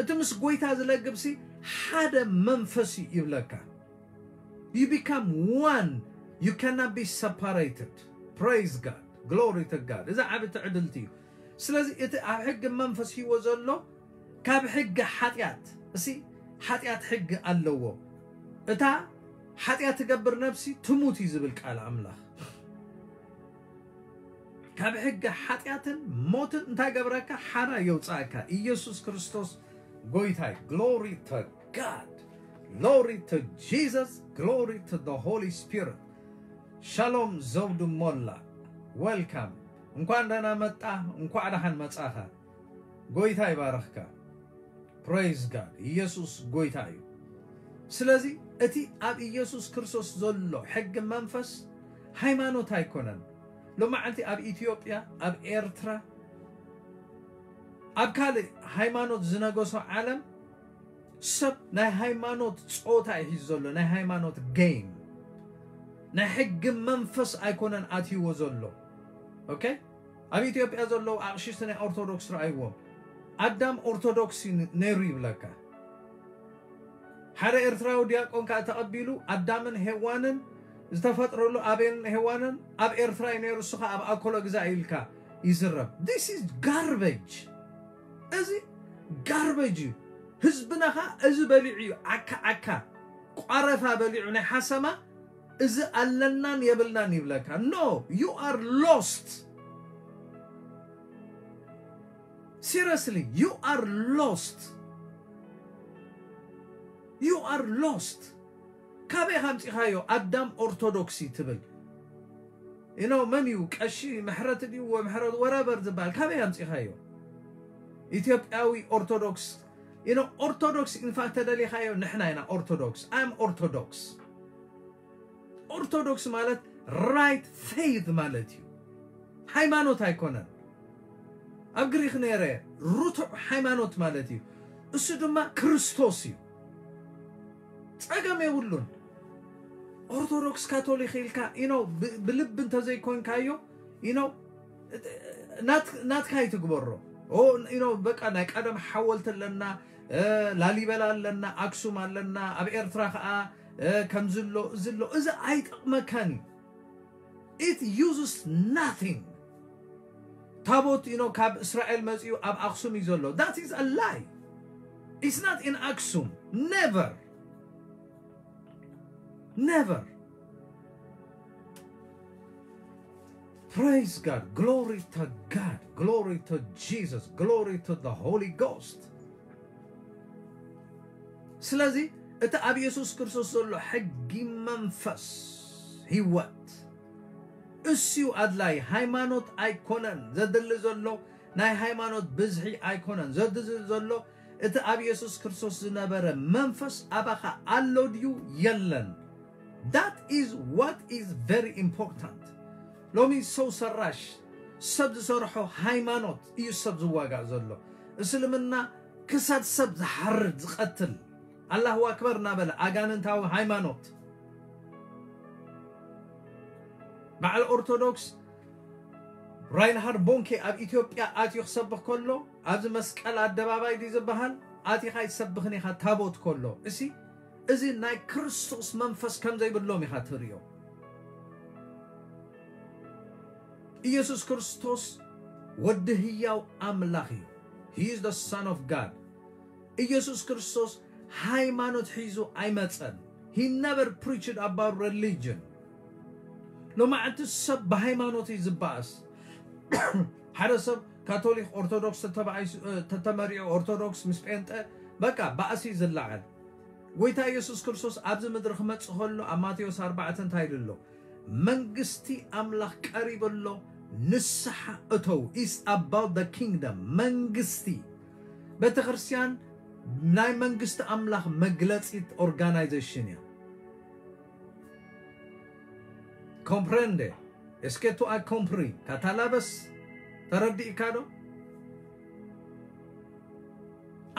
እቲ ምስ ጎይታ ዝለግብሲ ሓደ መንፈስ እዩ ይብለካ። You become one. You cannot be separated. Praise God. Glory to God. እዚ ዓቢ ትዕድልቲ እዩ። ስለዚ እቲ ኣብ ሕጊ መንፈስ ህይወት ዘሎ ካብ ሕጊ ሓጢኣት፣ እሲ ሓጢኣት ሕጊ ኣለዎ። እታ ሓጢኣት ትገብር ነፍሲ ትሙት እዩ ዝብል ቃል ኣምላኽ። ካብ ሕጊ ሓጢኣትን ሞትን እንታይ ገብረካ? ሓራ የውፅኣካ። ኢየሱስ ክርስቶስ ጎይታይ። Glory to God. Glory to Jesus. Glory to the Holy Spirit. ሻሎም ዘውዱ ሞላ፣ welcome። እንኳን ደህና መጣ፣ እንኳዕ ደሓን መጻኻ። ጎይታ ይባርኽካ። Praise God። ኢየሱስ ጎይታ እዩ። ስለዚ እቲ ኣብ ኢየሱስ ክርስቶስ ዘሎ ሕጊ መንፈስ ሃይማኖት ኣይኮነን። ሎማዓንቲ ኣብ ኢትዮጵያ፣ ኣብ ኤርትራ፣ ኣብ ካልእ ሃይማኖት ዝነገሶ ዓለም ሰብ ናይ ሃይማኖት ጸወታ እዩ ሒዙ ዘሎ፣ ናይ ሃይማኖት game። ናይ ሕጊ መንፈስ ኣይኮነን ኣትይዎ ዘሎ። ኦኬ? ኣብ ኢትዮጵያ ዘለዉ ኣቕሽሽቲ ናይ ኦርቶዶክስ ረኣይዎም። ኣዳም ኦርቶዶክስ እዩ ነይሩ ይብለካ። ሓደ ኤርትራዊ ዲያቆን ከኣ ተቐቢሉ ኣዳምን ሄዋንን ዝተፈጥረሉ፣ ኣቤልን ሄዋንን ኣብ ኤርትራ እዩ ነይሩ፣ እሱ ኸኣ ኣብ ኣኮሎ ግዛእ ኢልካ ይዝረብ። This is garbage። እዚ ጋርበጅ እዩ። ህዝብና ኸኣ እዚ በሊዑ እዩ። ዓካ ዓካ ቋረፋ በሊዑ ናይ ሓሰማ፣ እዚ ኣለናን የብልናን ይብለካ። No, you are lost. Seriously, you are lost. You are lost. ካበይ ኢኻ ኣምጺኻዮ ኣዳም ኦርቶዶክሲ ትብል? You know፣ መን እዩ ቀሺ ምሕረት ድዩ ወ-፣ ምሕረት ወረበር ዝበሃል? ካበይ ኣምጺኻዮ? ኢትዮጵያዊ ኦርቶዶክስ። You know፣ ኦርቶዶክስ ኢንፋክት ተደሊኻዮ ንሕና ኢና ኦርቶዶክስ። I'm Orthodox። ኦርቶዶክስ ማለት right faith ማለት እዩ። ሃይማኖት ኣይኮነን። ኣብ ግሪክ ነይረ ርቱዕ ሃይማኖት ማለት እዩ። እሱ ድማ ክርስቶስ እዩ። ጸገም የብሉን። ኦርቶዶክስ ካቶሊክ ኢልካ፣ you know፣ ብ-፣ ብልቢ እንተዘይኮንካዮ፣ you know፣ ናት-፣ ናትካ ይትግበሮ። ኦ፣ you know፣ በቃ ናይ ቀደም ሓወልቲ ኣለና፣ እ፣ ላሊበላ ኣለና፣ ኣክሱም ኣለና፣ ኣብ ኤርትራ ኸኣ፣ እ፣ ከምዚ ኣሎ፣ እዚ ኣሎ። እዚ ኣይጠቕመካን እዩ። It uses nothing። ታቦት፣ you know፣ ካብ እስራኤል መጺኡ ኣብ ኣክሱም እዩ ዘሎ። That is a lie. It's not in ኣክሱም። Never. Never. Praise God. Glory to God. Glory to Jesus. Glory to the Holy Ghost. ስለዚ እቲ ኣብ የሱስ ክርስቶስ ዘሎ ሕጊ መንፈስ ህይወት እሱ ኣድላይ። ሃይማኖት ኣይኮነን ዘድሊ ዘሎ፣ ናይ ሃይማኖት ብዝሒ ኣይኮነን ዘድሊ ዘሎ። እቲ ኣብ የሱስ ክርስቶስ ዝነበረ መንፈስ ኣባኻ ኣሎ ድዩ የለን? That is what is very important። ሎሚ ሰው ሰራሽ ሰብ ዝሰርሖ ሃይማኖት እዩ ሰብ ዝዋጋእ ዘሎ። እስልምና ክሳድ ሰብ ዝሓርድ ዝቐትል፣ ኣላሁ ኣክበር እናበለ ኣጋንንታዊ ሃይማኖት። በዓል ኦርቶዶክስ ራይንሃርድ ቦንኬ ኣብ ኢትዮጵያ ኣትዩ ክሰብኽ ከሎ፣ ኣብዚ መስቀል ኣደባባይ ድዩ ዝበሃል፣ ኣቲኻ ኣይትሰብኽን ኢኻ ታቦት ከሎ። እሲ፣ እዚ ናይ ክርስቶስ መንፈስ ከም ዘይብሎም ኢኻ ትርእዮ። ኢየሱስ ክርስቶስ ወዲ ህያው ኣምላኽ እዩ። He is the Son of God። ኢየሱስ ክርስቶስ ሃይማኖት ሒዙ ኣይመጸን። He never preached about religion። ሎማዕንቲ ሰብ ብሃይማኖት እዩ ዝበኣስ። ሓደ ሰብ ካቶሊክ ኦርቶዶክስ ተተባኢሱ፣ እ፣ ተተመሪዑ ኦርቶዶክስ ምስ ጴንጠ በቃ ባእሲ እዩ ዝለዓል። ጎይታ ኢየሱስ ክርስቶስ ኣብዚ ምድሪ ክመጽእ ከሎ ኣብ ማቴዎስ ኣርባዕተ እንታይ ኢሉ ኣሎ? መንግስቲ ኣምላኽ ቀሪቡ ኣሎ፣ ንስሓ እተው። It's about the kingdom። መንግስቲ፣ ቤተ ክርስቲያን ናይ መንግስቲ ኣምላኽ መግለጺት ኦርጋናይዜሽን እያ። Comprende? Est-ce que tu as compris? Catalaves? ተረዲእካ ዶ?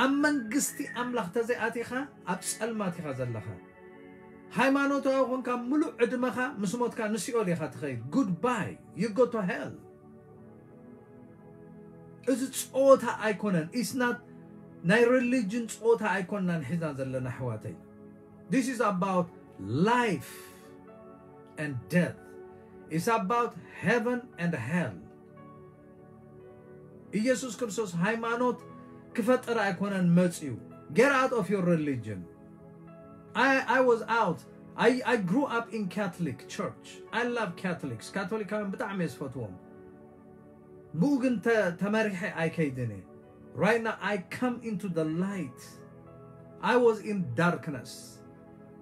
ኣብ መንግስቲ ኣምላኽ ተዘይኣቲኻ ኣብ ጸልማት ኢኻ ዘለኻ። ሃይማኖታዊ ኮንካ ምሉእ ዕድመኻ ምስ ሞትካ ንሲኦል ኢኻ ትኸይድ። Goodbye, you go to hell። እዚ ጸወታ ኣይኮነን። It's not ናይ religion ጸወታ ኣይኮንናን ሒዝና ዘለና ኣሕዋተይ። This is about life and death. It's about heaven and hell. ኢየሱስ ክርስቶስ ሃይማኖት ክፈጥር ኣይኮነን መጽዩ። Get out of your religion. I, I was out. I, I grew up in Catholic church. I love Catholics. ካቶሊካውያን ብጣዕሚ እየ ዝፈትዎም። ብኡ ግን ተ- ተመሪሐ ኣይከይድን እየ። Right now I come into the light. I was in darkness.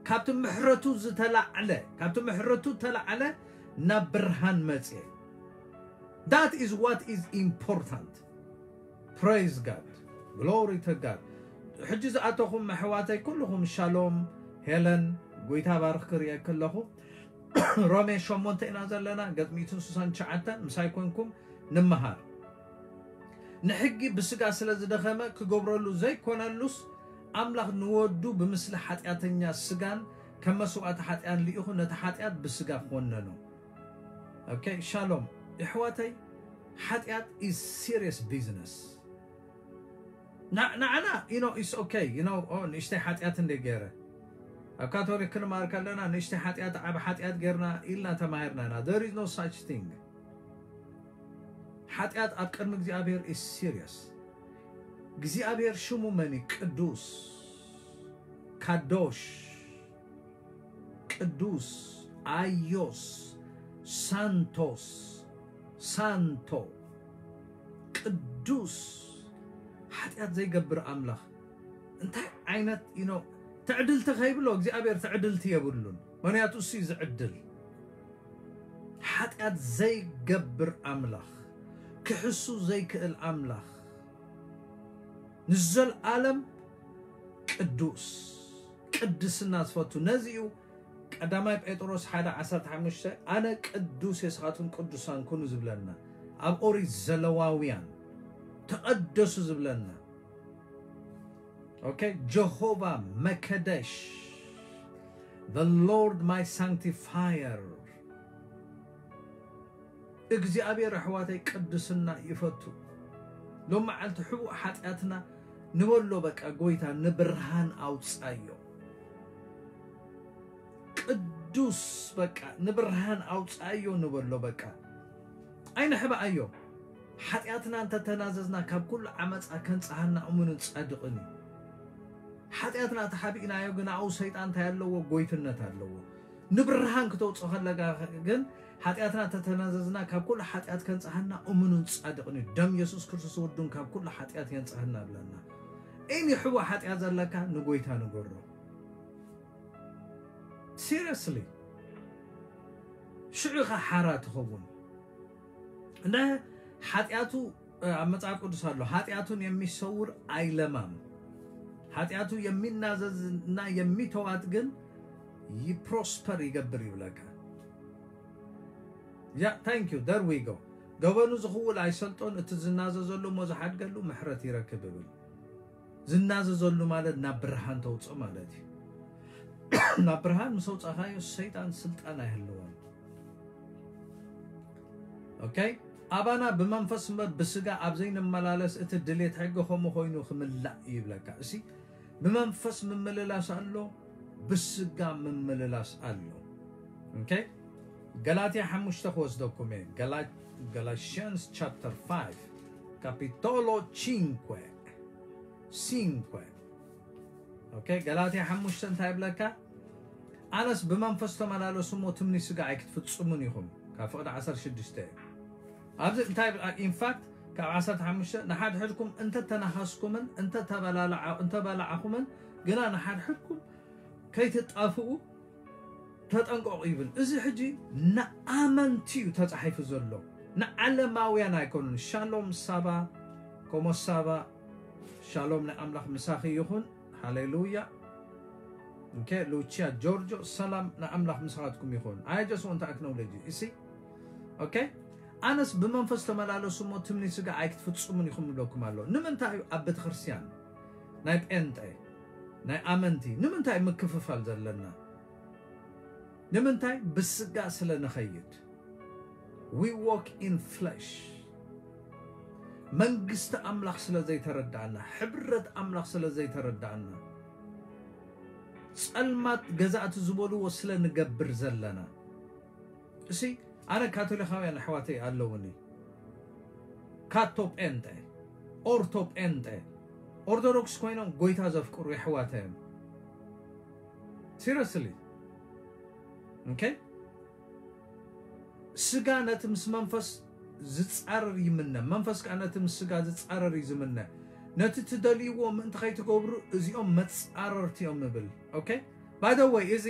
ካብቲ ምሕረቱ ዝተላዕለ ካብቲ ምሕረቱ ተላዕለ ናብ ብርሃን መጽየ። That is what is important. Praise God. Glory to God. ሕጂ ዝኣተኹም ኣሕዋተይ ኩልኹም ሻሎም። ሄለን፣ ጎይታ ባርኽ ክርእየኪ ኣለኹ። ሮሜ ሸሞንተ ኢና ዘለና፣ ገጽ ሚእትን ስሳን ትሽዓተን። ምሳይ ኮንኩም ንምሃር። ንሕጊ ብስጋ ስለ ዝደኸመ ክገብረሉ ዘይኮነሉስ፣ ኣምላኽ ንወዱ ብምስሊ ሓጢኣተኛ ስጋን ከም መስዋእቲ ሓጢኣን ልኢኹ ነቲ ሓጢኣት ብስጋ ኮነኖ። ኦኬ፣ ሻሎም። ኣሕዋተይ፣ ሓጢኣት is serious business. ንዓና you know it's okay you know ንእሽተይ ሓጢኣት እንደ ገይረ ኣብ ካቶሊክ ክንማር ከለና ንእሽተይ ሓጢኣት ዓብ ሓጢኣት ገርና ኢልና ተማሂርና ኢና። There is no such thing. ሓጢኣት ኣብ ቅድሚ እግዚኣብሔር is serious. እግዚኣብሔር ሽሙ መን እዩ? ቅዱስ፣ ካዶሽ፣ ቅዱስ፣ ኣዮስ፣ ሳንቶስ፣ ሳንቶ፣ ቅዱስ፣ ሓጢኣት ዘይገብር ኣምላኽ። እንታይ ዓይነት you know ትዕድልቲ ከይብሎ እግዚኣብሔር ትዕድልቲ የብሉን። ምክንያቱ እሱ እዩ ዝዕድል። ሓጢኣት ዘይገብር ኣምላኽ፣ ክሕሱ ዘይክእል ኣምላኽ፣ ንዘለኣለም ቅዱስ፣ ቅድስና ዝፈቱ። ነዚ እዩ ቀዳማይ ጴጥሮስ ሓደ ዓሰርተ ሓሙሽተ ኣነ ቅዱስ እየ ንስኻትኩም ቅዱሳን ኩኑ ዝብለና። ኣብ ኦሪት ዘለዋውያን ተቐደሱ ዝብለና። ኦኬ፣ ጀሆቫ መከደሽ፣ the Lord my sanctifier። እግዚኣብሔር ኣሕዋተይ ቅድስና ይፈቱ። ሎም መዓልቲ ሕቡእ ሓጢኣትና ንበሎ በቃ ጎይታ ንብርሃን ኣውጻዮ። ቅዱስ በቃ ንብርሃን ኣውጻዮ ንበሎ በቃ። ኣይንሕባኣዮ። ሓጢኣትና እንተተናዘዝና ካብ ኩሉ ዓመጻ ከንጽሃና እሙንን ጻድቕን እዩ። ሓጢኣትና ተሓቢእናዮ ግን ኣብኡ ሰይጣን እንታይ ኣለዎ? ጎይትነት ኣለዎ። ንብርሃን ክተውጽኦ ከለጋ ግን ሓጢኣትና ተተናዘዝና ካብ ኩሉ ሓጢኣት ከንጽሃና እሙንን ጻድቕን እዩ። ደም የሱስ ክርስቶስ ወዱን ካብ ኩሉ ሓጢኣት የንጽሃና ብለና። እኒ ሕዋ ሓጢኣት ዘለካ ንጎይታ ንገሮ። Seriously ሽዑ ኢኻ ሓራ ትኸውን። እንደ ሓጢኣቱ ኣብ መጽሓፍ ቅዱስ ኣሎ፣ ኃጢአቱን የሚሰውር አይለማም፣ ኃጢአቱ የሚናዘዝና የሚተዋት ግን ይፕሮስፐር ይገብር ይብለካ። ያ thank you there we go። ገበኑ ዝኽውል ኣይሰልጦን፣ እቲ ዝናዘዘሉ እሞ ዝሓድገሉ ምሕረት ይረክብ ይብል። ዝናዘዘሉ ማለት ናብ ብርሃን ተውፅእ ማለት እዩ። ናብ ብርሃን ምስ ኣውፃኻዮ ሰይጣን ስልጣን ኣይህልዎን። ኦኬ፣ ኣባና ብመንፈስ እምበር ብስጋ ኣብ ዘይንመላለስ እቲ ድሌት ሕጊ ከምኡ ኮይኑ ክምላእ እዩ ይብለካ። እሲ ብመንፈስ ምምልላስ ኣሎ፣ ብስጋ ምምልላስ ኣሎ። ኦኬ፣ ገላትያ ሓሙሽተ ክወስደኩም እየ። Gala- Galatians chapter five capitolo cinque cinque። ኦኬ፣ ገላትያ ሓሙሽተ እንታይ ይብለካ? ኣነስ ብመንፈስ ተመላለሱ እሞ ትምኒ ስጋ ኣይክትፍጽሙን ኢኹም። ካብ ፍቕዲ ዓሰርተ ሽዱሽተ እዩ። ኣብዚ እንታይ ይብል? ኢንፋክት ካብ ዓሰርተ ሓሙሽተ ንሓድሕድኩም እንተተናኸስኩምን እንተተበላልዓ- እንተበላዕኹምን ግና ንሓድሕድኩም ከይትጣፍኡ ተጠንቀቑ ይብል። እዚ ሕጂ ንኣመንቲ እዩ ተጻሒፉ ዘሎ፣ ንዓለማውያን ኣይኮኑን። ሻሎም ሳባ፣ ኮሞ ሳባ፣ ሻሎም ናይ ኣምላኽ ምሳኺ ይኹን። ሃሌሉያ። ኦኬ፣ ሉቺያ ጆርጆ፣ ሰላም ናይ ኣምላኽ ምሳኻትኩም ይኹን። I just want to acknowledge you. You see? ኦኬ፣ ኣነስ ብመንፈስ ተመላለሱ እሞ ትምኒ ስጋ ኣይክትፍጽሙን ኢኹም ይብለኩም ኣሎ። ንምንታይ እዩ ኣብ ቤተክርስትያን ናይ ጴንጤ ናይ ኣመንቲ ንምንታይ ምክፍፋል ዘለና? ንምንታይ ብስጋ ስለ ንኸይድ? We walk in flesh። መንግስቲ ኣምላኽ ስለ ዘይተረዳእና፣ ሕብረት ኣምላኽ ስለ ዘይተረዳእና፣ ጸልማት ገዛእቲ ዝበልዎ ስለ ንገብር ዘለና። እሲ ኣነ ካቶሊካውያን ኣሕዋተይ ኣለውኒ፣ ካቶ ጴንጤ፣ ኦርቶ ጴንጤ፣ ኦርቶዶክስ ኮይኖም ጎይታ ዘፍቅሩ የሕዋተ እዮም። ሲሪየስሊ። ኦኬ። ስጋ ነቲ ምስ መንፈስ ዝጻረር ይምነ፣ መንፈስ ከኣ ነቲ ምስ ስጋ ዝጻረር እዩ ዝምነ። ነቲ ትደልይዎ ምእንቲ ከይትገብሩ እዚኦም መጻረርቲ እዮም ይብል። ኦኬ። ባይ ዘ ወይ፣ እዚ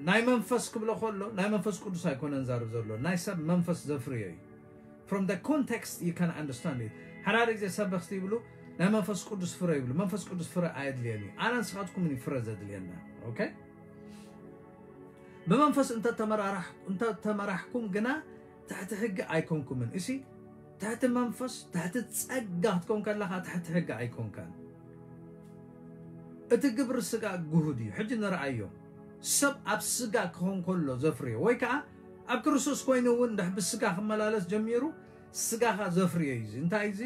ናይ መንፈስ ክብሎ ከሎ ናይ መንፈስ ቅዱስ ኣይኮነን ዛርብ ዘሎ፣ ናይ ሰብ መንፈስ ዘፍርዮ እዩ። From the context you can understand it። ሓዳደ ግዜ ሰበኽቲ ይብሉ ናይ መንፈስ ቅዱስ ፍረ ይብሉ። መንፈስ ቅዱስ ፍረ ኣየድልየን እዩ። ኣነ ንስኻትኩምን እዩ ፍረ ዘድልየና። ኦኬ። ብመንፈስ እንተተመራራሕኩም ግና ትሕቲ ሕጊ ኣይኮንኩምን። እሲ ትሕቲ መንፈስ ትሕቲ ጸጋ ክትኮን ከለኻ ትሕቲ ሕጊ ኣይኮንካን። እቲ ግብሪ ስጋ ግሁድ እዩ። ሕጂ ንርኣዮ። ሰብ ኣብ ስጋ ክኾን ከሎ ዘፍርዮ ወይ ከዓ ኣብ ክርስቶስ ኮይኑ እውን ድሕ ብስጋ ክመላለስ ጀሚሩ ስጋኻ ዘፍርዮ እዩ። እዚ እንታይ እዩ? እዚ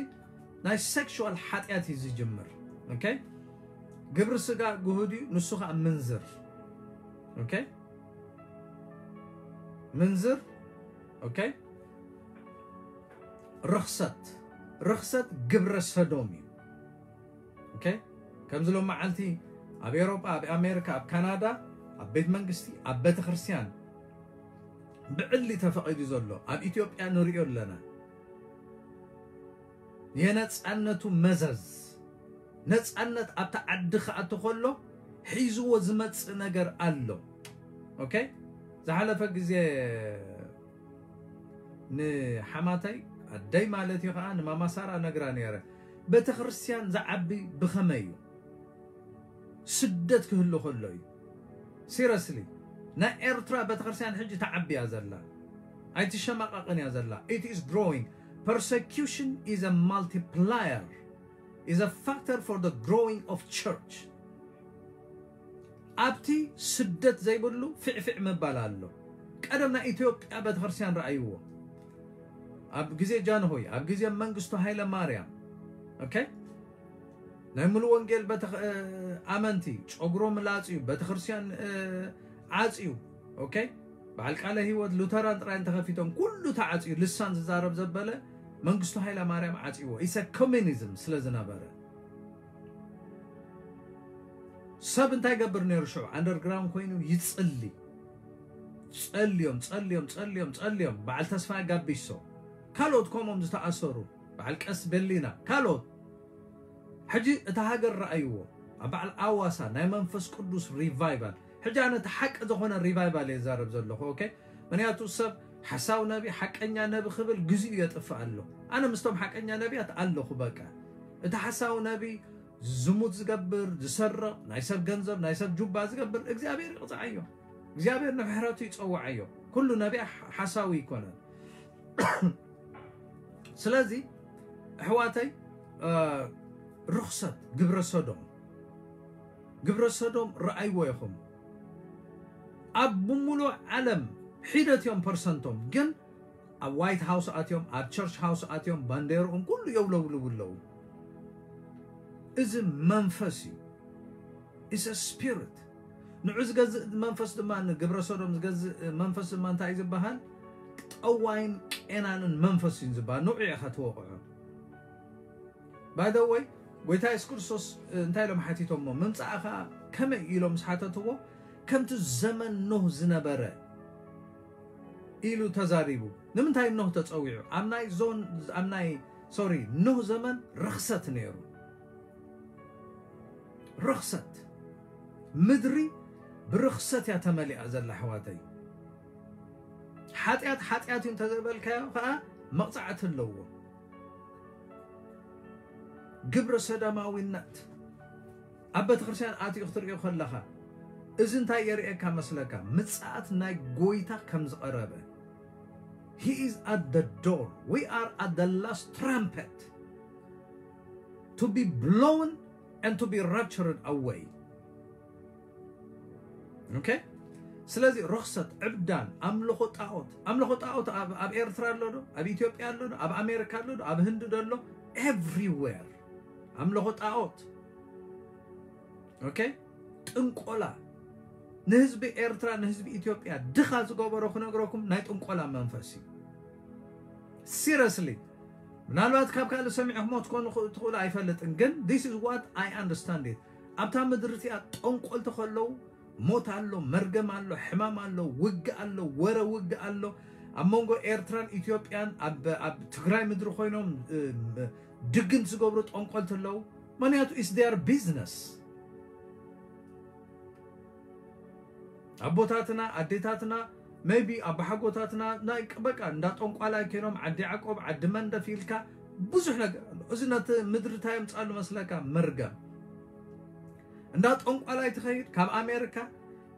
ናይ ሴክሹዋል ሓጢኣት እዩ ዝጅምር። ኦኬ። ግብሪ ስጋ ግሁድ እዩ። ንሱ ከዓ ምንዝር። ኦኬ። ምንዝር። ኦኬ። ርኽሰት። ርኽሰት ግብረ ሰዶም እዩ። ኦኬ። ከምዚ ሎም መዓልቲ ኣብ ኤሮጳ፣ ኣብ ኣሜሪካ፣ ኣብ ካናዳ፣ ኣብ ቤት መንግስቲ፣ ኣብ ቤተ ክርስቲያን ብዕሊ ተፈቒዱ ዘሎ ኣብ ኢትዮጵያ ንሪኦ ኣለና። የነጻነቱ መዘዝ፣ ነጻነት ኣብቲ ዓዲ ክኣቱ ከሎ ሒዝዎ ዝመጽእ ነገር ኣሎ። ኦኬ። ዝሓለፈ ግዜ ንሓማተይ ኣደይ ማለት እዩ ከዓ ንማማሳራ ነግራ ነይረ። ቤተክርስትያን ዝዓቢ ብኸመይ እዩ? ስደት ክህሉ ከሎ እዩ። ሲረስሊ ናይ ኤርትራ ቤተክርስትያን ሕጂ ተዓብያ ዘላ ኣይትሸማቐቕን እያ ዘላ። It is growing. Persecution is a multiplier, is a factor for the growing of church. ኣብቲ ስደት ዘይብሉ ፊዕፊዕ ምባል ኣሎ። ቀደም ናይ ኢትዮጵያ ቤተክርስትያን ረኣይዎ። ኣብ ግዜ ጃንሆይ፣ ኣብ ግዜ መንግስቱ ሃይለ ማርያም፣ ኦኬ፣ ናይ ሙሉ ወንጌል ቤተ ኣመንቲ ጨጉሮም ላጽዩ፣ ቤተክርስትያን ዓጽዩ፣ ኦኬ፣ በዓል ቃለ ህይወት ሉተራን ጥራይ እንተኸፊቶም ኩሉ ተዓጽዩ፣ ልሳን ዝዛረብ ዘበለ መንግስቱ ሃይለ ማርያም ዓጽይዎ። ኢሰ ኮሚኒዝም ስለ ዝነበረ ሰብ እንታይ ገብር ነይሩ? ሽዑ ኣንደርግራውንድ ኮይኑ ይጽሊ። ጸልዮም ጸልዮም ጸልዮም ጸልዮም በዓል ተስፋ ጋቢሶ፣ ካልኦት ከምኦም ዝተኣሰሩ በዓል ቀስ ቤሊና፣ ካልኦት። ሕጂ እታ ሃገር ረኣይዎ ኣብ በዓል ኣዋሳ ናይ መንፈስ ቅዱስ ሪቫይቫል። ሕጂ ኣነ እቲ ሓቂ ዝኾነ ሪቫይቫል እየ ዛረብ ዘለኹ። ኦኬ፣ ምክንያቱ ሰብ ሓሳው ነቢ ሓቀኛ ነቢ ክብል ግዚኡ የጥፍእ ኣሎ። ኣነ ምስቶም ሓቀኛ ነቢያት ኣለኹ። በቃ እቲ ሓሳው ነቢ ዝሙት ዝገብር፣ ዝሰርቕ፣ ናይ ሰብ ገንዘብ ናይ ሰብ ጁባ ዝገብር እግዚኣብሔር ይቕፅዓዮ። እግዚኣብሔር ንምሕረቱ ይፀውዓዮ። ኩሉ ነቢያ ሓሳዊ ይኮነን። ስለዚ ኣሕዋተይ፣ ርኽሰት ግብረ ሰዶም፣ ግብረ ሰዶም ረኣይዎ ኢኹም። ኣብ ብምሉእ ዓለም ሒደት እዮም ፐርሰንቶም፣ ግን ኣብ ዋይት ሃውስ ኣትዮም፣ ኣብ ቸርች ሃውስ ኣትዮም ባንዴርኦም ኩሉ የውለብልቡ ኣለዉ። እዚ መንፈስ እዩ። It's a spirit። ንዑ ዝገዝእ መንፈስ ድማ፣ ንግብረ ሰዶም ዝገዝእ መንፈስ ድማ እንታይ እዩ ዝበሃል? ጠዋይን ቄናንን መንፈስ እዩ ዝበሃል። ንዑ ኢኻ ትወቕዖ። By the way፣ ጎይታ የሱስ ክርስቶስ እንታይ ኢሎም ሓቲቶሞ? ምምጻእኻ ከመይ ኢሎም ምስ ሓተትዎ፣ ከምቲ ዘመን ኖህ ዝነበረ ኢሉ ተዛሪቡ። ንምንታይ ኖህ ተጸዊዑ? ኣብ ናይ ዞን ኣብ ናይ ሶሪ ኖህ ዘመን ርኽሰት ነይሩ። ርኽሰት። ምድሪ ብርኽሰት እያ ተመሊኣ ዘላ ኣሕዋተይ። ሓጢኣት ሓጢኣት እዩ እንተዘይበልካዮ ከዓ መቕጻዕቲ ኣለዎ። ግብረ ሰዳማዊነት ኣብ ቤተክርስትያን ኣትዩ ክትርእዮ ከለኻ እዚ እንታይ የርእየካ መስለካ? ምጽኣት ናይ ጎይታ ከም ዝቐረበ። He is at the door. We are at the last trumpet to be blown and to be raptured away. Okay? ስለዚ ርኽሰት፣ ዕብዳን፣ ኣምልኾ ጣዖት፣ ኣምልኾ ጣዖት ኣብ ኣብ ኤርትራ ኣሎ ዶ? ኣብ ኢትዮጵያ ኣሎ ዶ? ኣብ ኣሜሪካ ኣሎ ዶ? ኣብ ህንዲ ዶ ኣሎ? Everywhere ኣምልኾ ጣዖት። Okay? ጥንቆላ፣ ንህዝቢ ኤርትራ፣ ንህዝቢ ኢትዮጵያ ድኻ ዝገበሮ ክነግረኩም ናይ ጥንቆላ መንፈስ እዩ። Seriously፣ ምናልባት ካብ ካልእ ሰሚዕኹሞ ትኮኑ ትኽእሉ ኣይፈልጥን፣ ግን this is what I understand it። ኣብታ ምድሪ እቲኣ ጠንቆልቲ ከለዉ ሞት ኣሎ፣ መርገም ኣሎ፣ ሕማም ኣሎ፣ ውግእ ኣሎ፣ ወረ ውግእ ኣሎ። ኣብ መንጎ ኤርትራን ኢትዮጵያን ኣብ ኣብ ትግራይ ምድሪ ኮይኖም እ፣ ድግምቲ ዝገብሩ ጠንቆልቲ ኣለዉ። ምክንያቱ is their business። ኣቦታትና፣ ኣዴታትና፣ maybe ኣባሓጎታትና ናይ በቃ እንዳ ጠንቋላይ ኮይኖም ዓዲ ያዕቆብ፣ ዓዲ መንደፍ ኢልካ ብዙሕ ነገር ኣሎ። እዚ ነቲ ምድሪ እንታይ የምጻሉ መስለካ? መርገም። እንዳ ጠንቋላይ ትኸይድ፣ ካብ ኣሜሪካ፣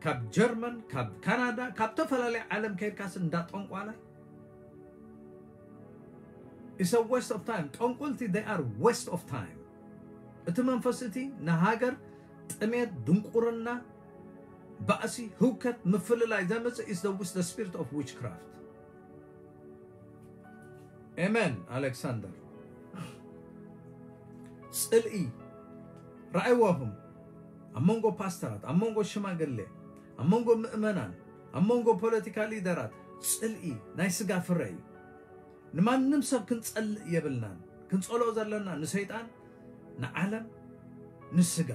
ካብ ጀርመን፣ ካብ ካናዳ፣ ካብ ተፈላለየ ዓለም ከይድካስ እንዳ ጠንቋላይ is a waste of time። ጠንቆልቲ they are waste of time። እቲ መንፈስ እቲ ንሃገር ጥሜት፣ ድንቁርና፣ ባእሲ፣ ህውከት፣ ምፍልላይ ዘምጽእ is the, is the spirit of witchcraft። Amen ኣሌክሳንደር። ጽልኢ ረኣይዋኹም ኣብ መንጎ ፓስተራት፣ ኣብ መንጎ ሽማግሌ፣ ኣብ መንጎ ምእመናን፣ ኣብ መንጎ ፖለቲካ ሊደራት ጽልኢ ናይ ስጋ ፍረ እዩ። ንማንም ሰብ ክንጸልእ የብልናን። ክንጸልኦ ዘለና ንሰይጣን፣ ንዓለም፣ ንስጋ።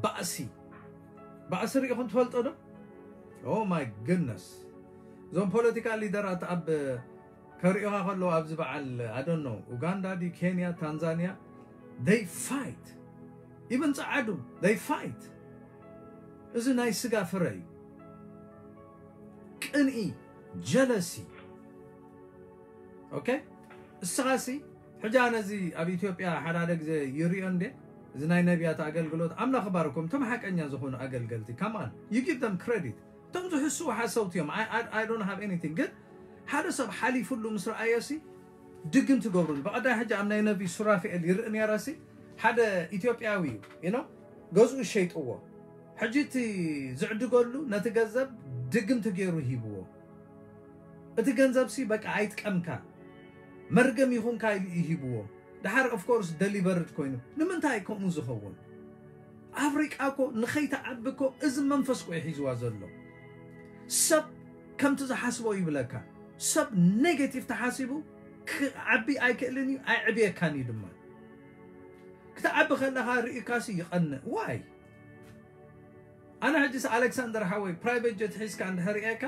ባእሲ፣ ባእሲ ርኢኹም ትፈልጡ ዶ? Oh my goodness። እዞም ፖለቲካ ሊደራት ኣብ ከርእዩኻ ከለዉ ኣብዚ በዓል ኣደኖ ኡጋንዳ ድዩ ኬንያ ታንዛንያ they fight። Even ጸዓዱ they fight። እዚ ናይ ስጋ ፍረ እዩ። ቅንኢ፣ ጀለሲ። Okay? እስኻሲ ሕጂ ኣነ እዚ ኣብ ኢትዮጵያ ሓደ ሓደ ግዜ ይርእዮ እንዴ? እዚ ናይ ነቢያት ኣገልግሎት ኣምላኽ ባርኮም እቶም ሓቀኛ ዝኾኑ ኣገልገልቲ come on you give them credit። እቶም ዝሕስዉ ሓሰውቲ እዮም። I, I, I don't have anything። ግን ሓደ ሰብ ሓሊፉሉ ምስ ረኣዮሲ ድግም ትገብሩሉ። ብቐዳይ ሕጂ ኣብ ናይ ነቢ ሱራፊኤል ይርኢ ነይረሲ ሓደ ኢትዮጵያዊ እዩ you know? ገዝኡ ሸይጥዎ። ሕጂ እቲ ዝዕድገሉ ነቲ ገንዘብ ድግምቲ ገይሩ ሂብዎ። እቲ ገንዘብሲ በቃ ኣይጥቀምካ መርገም ይኹንካ ኢሉ እዩ ሂብዎ። ድሓር of course delivered ኮይኑ። ንምንታይ ከምኡ ዝኸውን? ኣፍሪቃ እኮ ንኸይትዓቢ እኮ እዚ መንፈስ እኮ እዩ ሒዝዋ ዘሎ። ሰብ ከምቲ ዝሓስቦ ይብለካ። ሰብ ኔጌቲቭ ተሓሲቡ ክዓቢ ኣይክእልን እዩ፣ ኣይዕብየካን እዩ ድማ። ክትዓቢ ከለኻ ርኢካሲ ይቐንእ። ዋይ? ኣነ ሕጂስ ኣሌክሳንደር ሓወይ ፕራይቬት ጀት ሒዝካ እንድሕር ርኢካ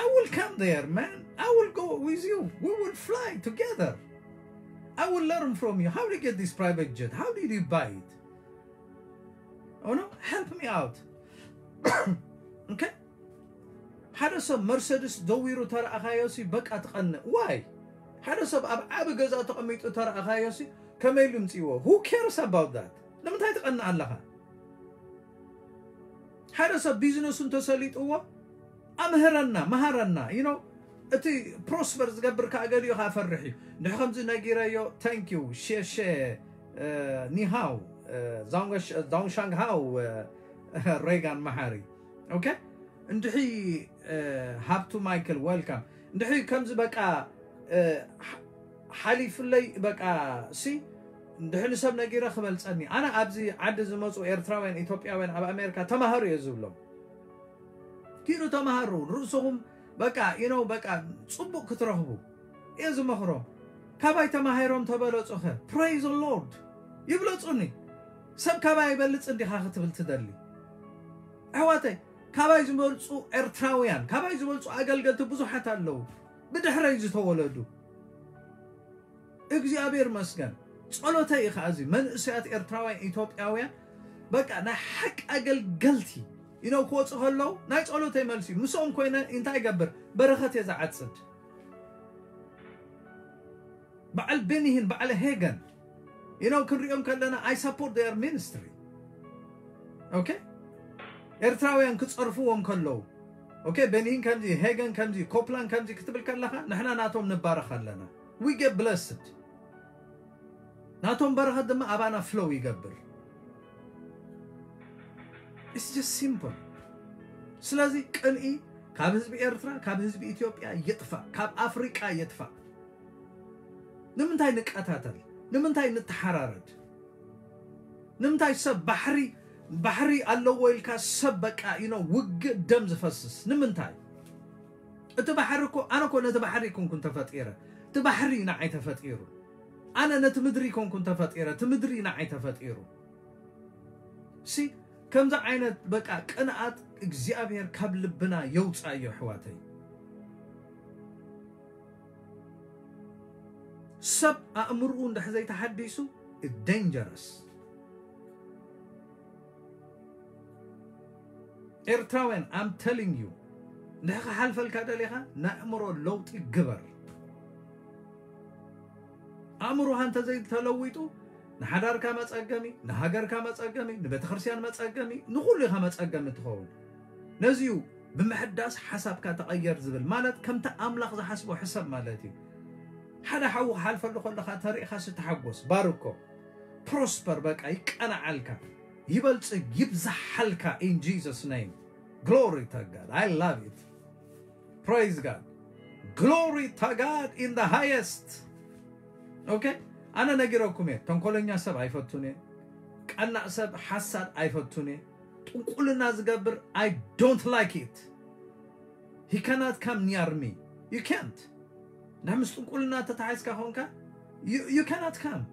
I will come there, man. I will go with you. We will fly together. I will learn from you. How do you get this private jet? How did you buy it? Oh no, help me out. Okay? ሓደ ሰብ መርሰድስ ደዊሩ ተረኣኻዮሲ በቃ ትቐንእ። ዋይ? ሓደ ሰብ ኣብ ዓቢ ገዛ ተቐሚጡ ተረኣኻዮሲ ከመይ ኢሉ ይምጽእዎ? Who cares about that? ንምንታይ ትቐንእ ኣለኻ? ሓደ ሰብ ቢዝነሱ እንተሰሊጥዎ ኣምህረና፣ መሃረና። You know፣ እቲ ፕሮስፐር ዝገብር ከዓ ገሊኡ ከዓ ፈርሕ እዩ። እንድሕ ከምዚ ነጊረዮ፣ thank you፣ ሼሼ፣ እ፣ ኒሃው፣ እ፣ ዛውንገሽ-፣ ዛውንሻንግ ሃው፣ እ፣ ሬጋን መሓሪ። ኦኬ? እንድሒ፣ እ፣ ሃብቱ ማይክል፣ ዌልካም። እንድሒ ከምዚ በቃ፣ እ፣ ሓ-፣ ሓሊፍለይ በቃ ሲ እንድሕሪ ሰብ ነጊረ ክበልጸኒ። ኣነ ኣብዚ ዓዲ ዝመጹ ኤርትራውያን፣ ኢትዮጵያውያን ኣብ ኣሜሪካ ተማሃሩ እየ ዝብሎም። ኪዱ ተማሃሩ፣ ርእስኹም በቃ፣ you know፣ በቃ ጽቡቕ ክትረኽቡ እየ ዝመኽሮም። ካባይ ተማሂሮም ተበለጹኸ? Praise the Lord። ይብለጹኒ። ሰብ ካባይ ይበልጽ እንዲኻ ክትብል ትደሊ? ኣሕዋተይ፣ ካባይ ዝበልጹ ኤርትራውያን፣ ካባይ ዝበልጹ ኣገልገልቲ ብዙሓት ኣለዉ። ብድሕረይ ዝተወለዱ። እግዚኣብሔር መስገን። ጸሎተይ እዩ ከኣ እዚ መንእሰያት ኤርትራውያን፣ ኢትዮጵያውያን፣ በቃ ናይ ሓቂ ኣገልገልቲ፣ you know፣ ክወጹ ከለዉ ናይ ጸሎተይ መልሲ እዩ። ምስኦም ኮይነ እንታይ ይገብር? በረኸት እየ ዝዓጽድ። በዓል ቤኒሂን፣ በዓል ሄገን፣ you know፣ ክንሪኦም ከለና፣ I support their ministry። okay? ኤርትራውያን ክጸርፍዎም ከለዉ okay? ቤኒን ከምዚ፣ ሄገን ከምዚ፣ ኮፕላን ከምዚ ክትብል ከለኻ ንሕና ናቶም ንባረኽ ኣለና። We get blessed። ናቶም በረኸት ድማ ኣባና flow ይገብር። It's just simple። ስለዚ ቅንኢ ካብ ህዝቢ ኤርትራ፣ ካብ ህዝቢ ኢትዮጵያ ይጥፋእ፣ ካብ ኣፍሪቃ ይጥፋእ። ንምንታይ ንቀታተል? ንምንታይ ንተሓራረድ? ንምንታይ ሰብ ባሕሪ ባሕሪ ኣለዎ ኢልካ ሰብ በቃ you know ውግእ ደም ዝፈስስ ንምንታይ? እቲ ባሕሪ እኮ ኣነ እኮ ነቲ ባሕሪ ይኮንኩን ተፈጢረ። እቲ ባሕሪ ንዓይ ተፈጢሩ። ኣነ ነቲ ምድሪ ይኮንኩን ተፈጢረ። እቲ ምድሪ ንዓይ ተፈጢሩ። ሲ ከምዚ ዓይነት በቃ ቅንኣት እግዚኣብሔር ካብ ልብና የውፃዮ ኣሕዋተይ። ሰብ ኣእምርኡ እንድሕ ዘይተሓዲሱ dangerous። ኤርትራውያን I'm telling you እንድሕ ክሓልፈልካ ደሊኻ ናይ ኣእምሮ ለውጢ ግበር። ኣእምሮኻ እንተዘይተለዊጡ ንሓዳርካ መጸገሚ፣ ንሃገርካ መጸገሚ፣ ንቤተክርስትያን መጸገሚ፣ ንኹሉ ኢኻ መጸገሚ ትኸውን። ነዚዩ ብምሕዳስ ሓሳብካ ተቐየር ዝብል ማለት ከምቲ ኣምላኽ ዝሓስቦ ሕሰብ ማለት እዩ። ሓደ ሓዊ ክሓልፈሉ ከለኻ ተሪእኻ ስትሓጎስ ባርኮ prosper በቃ ይቀናዓልካ ይበልጽግ ይብዝሓልካ in Jesus name. Glory to God. I love it. Praise God. Glory to God in the highest. Okay? ኣነ ነጊረኩም እየ። ተንኮለኛ ሰብ ኣይፈቱን እየ። ቀናእ ሰብ ሓሳድ ኣይፈቱን እየ። ጥንቁልና ዝገብር I don't like it. He cannot come near me. You can't. ንድሕ ምስ ጥንቁልና ተታሒዝካ ኾንካ you, you cannot come.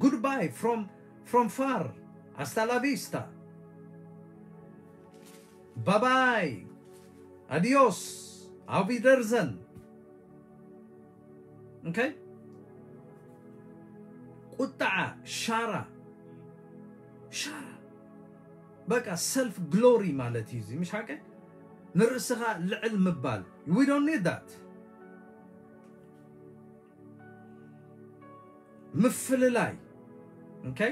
Goodbye from from far. Hasta la vista. Bye bye. Adios. Auf Wiedersehen. Okay? ቁጣዓ ሻራ ሻራ በቃ self glory ማለት እዩ እዚ ምሽ ሓቀ ንርእስኻ ልዕል ምባል we don't need that። ምፍልላይ okay?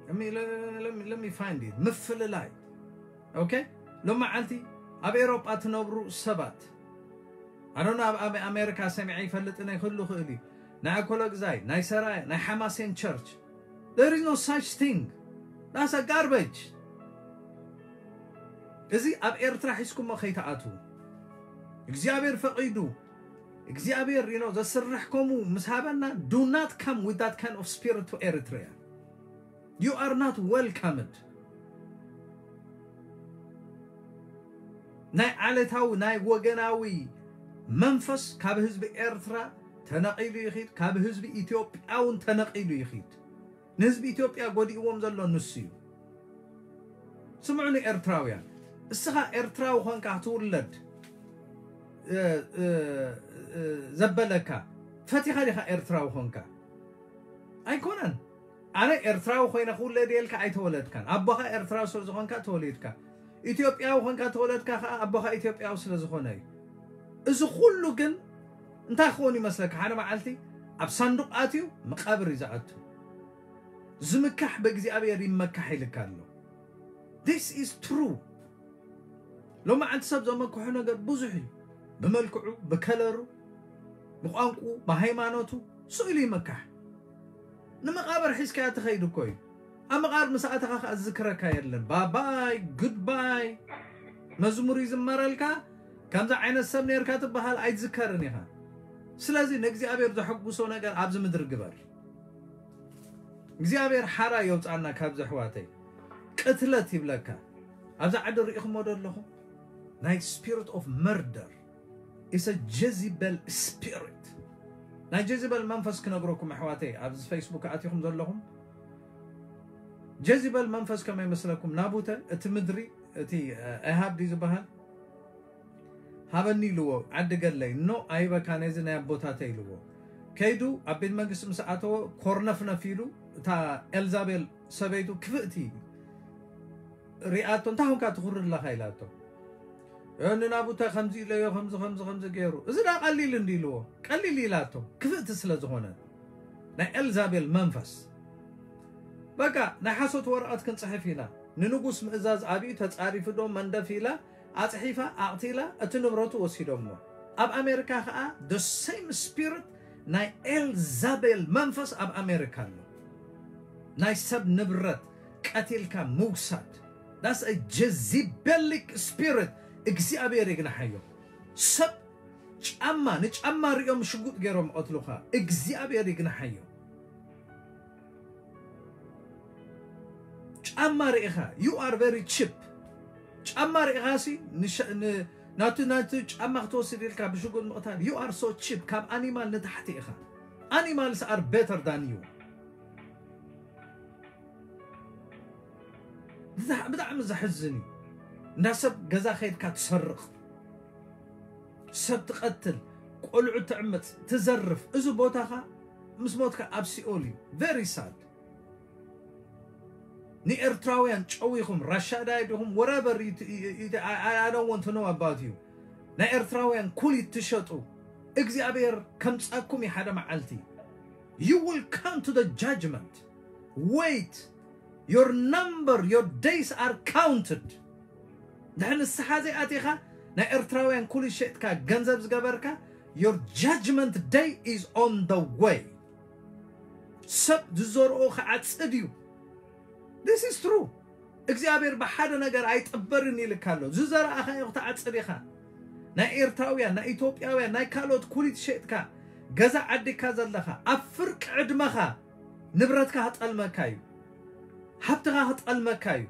Let me, let me, let me find it. ምፍልላይ okay? ሎመዓልቲ ኣብ ኤሮጳ ትነብሩ ሰባት ኣዶና ኣብ ኣሜ- ኣሜሪካ ሰሚዐ ይፈልጥን ክህሉ ክእል እዩ ናይ ኣኮለግዛይ ናይ ሰራየ ናይ ሓማሴን church there is no such thing. That's a garbage. እዚ ኣብ ኤርትራ ሒዝኩሞ ከይትኣትዉ እግዚኣብሔር ፈቒዱ እግዚኣብሔር you know ዘስርሕ ከምኡ ምስ ሃበና do not come with that kind of spirit to Eritrea. You are not welcomed. ናይ ዓለታዊ ናይ ወገናዊ መንፈስ ካብ ህዝቢ ኤርትራ ተነቒሉ ይኺድ፣ ካብ ህዝቢ ኢትዮጵያ እውን ተነቒሉ ይኺድ። ንህዝቢ ኢትዮጵያ ጎዲእዎም ዘሎ ንሱ እዩ። ስምዑኒ ኤርትራውያን፣ እስኻ ኤርትራዊ ኾንካ ክትውለድ እ፣ እ፣ እ፣ ዘበለካ ፈቲኻ ዲኻ ኤርትራዊ ኾንካ? ኣይኮነን። ኣነ ኤርትራዊ ኮይነ ክውለድ የልካ ኣይተወለድካን። ኣቦኻ ኤርትራዊ ስለ ዝኾንካ ተወሊድካ። ኢትዮጵያዊ ኮንካ ተወለድካ ከኣ ኣቦኻ ኢትዮጵያዊ ስለ ዝኾነ እዩ። እዚ ኩሉ ግን እንታይ ክኸውን ይመስለካ? ሓደ መዓልቲ ኣብ ሳንዱቕ ኣትዩ መቃብር እዩ ዝኣቱ። ዝምካሕ ብእግዚኣብሔር ይመካሕ ኢልካ ኣሎ። This is true። ሎሚ ዓንቲ ሰብ ዘመክሖ ነገር ብዙሕ እዩ። ብመልክዑ፣ ብከለሩ፣ ብቋንቁ፣ ብሃይማኖቱ ስእሉ ይመካሕ። ንመቃብር ሒዝካያ ትኸይድ እኮ እዩ። ኣብ መቃብር ምስ ኣተኻ ከኣ ዝዝክረካ የለን። ባባይ ጉድባይ። መዝሙር ይዝመረልካ። ከምዚ ዓይነት ሰብ ነርካ ትበሃል ኣይትዝከርን ኢኻ። ስለዚ ንእግዚኣብሔር ዘሐጉሶ ነገር ኣብዚ ምድሪ ግበር። እግዚኣብሔር ሓራ የውፃና ካብ ዘሕዋተይ። ቅትለት ይብለካ። ኣብዛ ዓዲ ርኢኹሞ ዶ ኣለኹም? ናይ spirit of murder is a Jezebel spirit. ናይ ጀዚበል መንፈስ ክነግረኩም ኣሕዋተይ ኣብዚ ፌስቡክ ኣቲኹም ዘለኹም ጀዚበል መንፈስ ከመይ መስለኩም? ናቡተ እቲ ምድሪ እቲ ኤሃብ ድዩ ዝበሃል ሃበኒ ኢልዎ። ዓዲ ገለይ ኖ ኣይበካ ነዚ ናይ ኣቦታተይ ኢልዎ። ከይዱ ኣብ ቤት መንግስቲ ምስ ኣተወ ኮርነፍነፍ ኢሉ እታ ኤልዛቤል ሰበይቱ ክፍእቲ ሪኣቶ እንታይ ኾንካ ትኹሪ ኣለኻ ኢላቶ። ንናቡተ ከምዚ ኢለዮ ከምዚ ከምዚ ከምዚ ገይሩ እዚ ዳ ቀሊል እንዲ ኢልዎ ቀሊል ኢላቶ ክፍእቲ ስለ ዝኾነ ናይ ኤልዛቤል መንፈስ በቃ ናይ ሓሶት ወረቐት ክንጽሕፍ ኢና። ንንጉስ ምእዛዝ ኣብዩ ተጻሪፉ ዶ መንደፍ ኢላ ኣጽሒፋ ኣቕቲላ እቲ ንብረቱ ወሲዶሞ። ኣብ ኣሜሪካ ከኣ the same spirit ናይ ኤልዛቤል መንፈስ ኣብ ኣሜሪካ ኣሎ። ናይ ሰብ ንብረት ቀቲልካ ምውሳድ። That's a Jezebelic spirit። እግዚኣብሔር ይግናሓዮ። ሰብ ጫማ ንጫማ ሪኦም ሽጉጥ ገይሮም ቀትሉኻ። እግዚኣብሔር ይግናሓዮ። ጫማ ርኢኻ you are very cheap። ጫማ ርኢኻ ሲ ንሸ- ን- ናቱ ናቱ ጫማ ክትወስድ ኢልካ ብሽጉጥ ምቕታል you are so cheap። ካብ ኣኒማል ንታሕቲ ኢኻ። Animals are better than you። ብጣዕ- ብጣዕሚ ዘሕዝን እዩ። እንዳ ሰብ ገዛ ከይድካ ትሰርቕ፣ ሰብ ትቐትል፣ ቆልዑ ትዕምፅ፣ ትዘርፍ፣ እዚ ቦታኻ ምስ ሞትካ ኣብ ሲኦል እዩ። Very sad። ንኤርትራውያን ጨዊኹም ራሻዳይ ዲኹም whatever you- you- you- I- I- I don't want to know about you። ናይ ኤርትራውያን ኩሊት ትሸጡ እግዚኣብሔር ከምጻኩም እዩ ሓደ መዓልቲ። You will come to the judgment. Wait. Your number, your days are counted. ድሕሪ ንስሓ ዘይኣቲኻ ናይ ኤርትራውያን ኩሊት ሸጥካ ገንዘብ ዝገበርካ your judgment day is on the way። ሰብ ዝዘርኦ ክዓጽድ እዩ። This is true። እግዚኣብሔር ብሓደ ነገር ኣይጥበርን ኢልካ ኣሎ። ዝዘራእኻዮ ክትዓጽድ ኢኻ። ናይ ኤርትራውያን፣ ናይ ኢትዮጵያውያን፣ ናይ ካልኦት ኩሊት ሸጥካ ገዛ ዓዲካ ዘለኻ ኣብ ፍርቂ ዕድመኻ ንብረትካ ክጠልመካ እዩ። ሃብትኻ ክጠልመካ እዩ።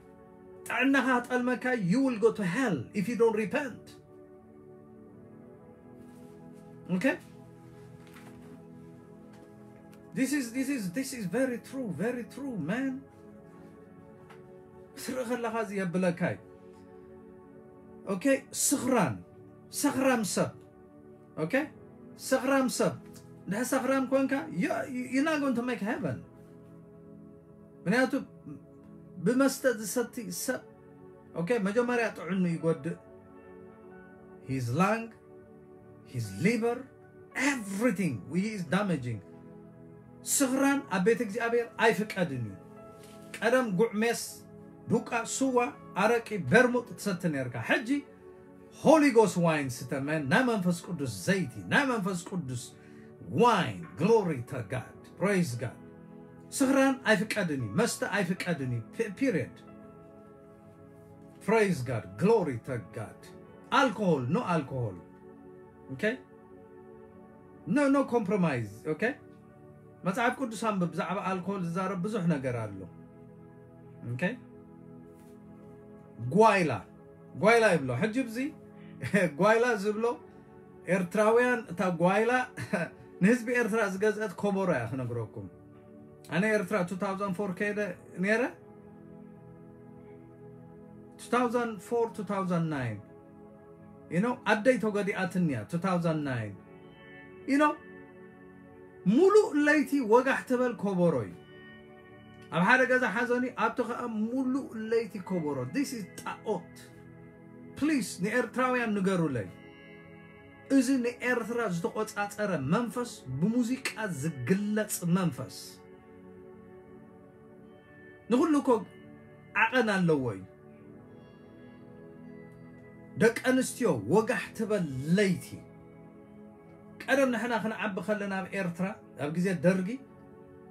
ጥዕናኻ ክጠልመካ እዩ። You will go to hell if you don't repent። Okay? This is this is this is very true, very true, man. ስርኢ ከለኻ እዚ የብለካ እዩ። Okay? ስኽራን፣ ሰኽራም ሰብ። Okay? ሰኽራም ሰብ። እንድሕር ሰኽራም ኮንካ you you not going to make heaven። ምክንያቱ ብመስተ ዝሰቲ ሰብ okay መጀመርያ ጥዕኑ ይጎድእ። His lung, his liver, everything he is damaging። ስኽራን ኣብ ቤት እግዚኣብሔር ኣይፍቀድን እዩ። ቀደም ጉዕ ሜስ፣ ዱቃ፣ ስዋ፣ ኣረቂ፣ በርሙጥ ትሰቲ ነርካ። ሕጂ Holy Ghost wine ስተ man፣ ናይ መንፈስ ቅዱስ ዘይቲ፣ ናይ መንፈስ ቅዱስ wine። Glory to God. Praise God. ስኽራን ኣይፍቀድን እዩ። መስተ ኣይፍቀድን እዩ። Pe- period። Praise God. Glory to God. Alcohol, no alcohol. Okay? No, no compromise. Okay? መጽሓፍ ቅዱስ ኣንብብ። ብዛዕባ ኣልኮል ዝዛረብ ብዙሕ ነገር ኣሎ። Okay? ጓይላ፣ ጓይላ ይብሎ። ሕጂ ብዚ ጓይላ ዝብሎ ኤርትራውያን፣ እታ ጓይላ ንህዝቢ ኤርትራ ዝገዝአት ኮቦሮ እያ ክነግረኩም። ኣነ ኤርትራ two thousand four ከይደ ነይረ። Two thousand four two thousand nine you know ኣደይ ተጎዲኣትንያ two thousand nine you know ሙሉእ ለይቲ ወጋሕ ትበል ኮቦሮ እዩ። ኣብ ሓደ ገዛ ሓዘን እዩ፣ ኣብቲ ከኣ ሙሉእ ለይቲ ኮቦሮ። This is ጣኦት። Please ንኤርትራውያን ንገሩለይ። እዚ ንኤርትራ ዝተቆጻጸረ መንፈስ፣ ብሙዚቃ ዝግለጽ መንፈስ ንኹሉ እኮ ዓቐን ኣለዎ እዩ። ደቂ ኣንስትዮ ወጋሕ ትበል ለይቲ። ቀደም ንሕና ክንዓቢ ከለና ኣብ ኤርትራ ኣብ ግዜ ደርጊ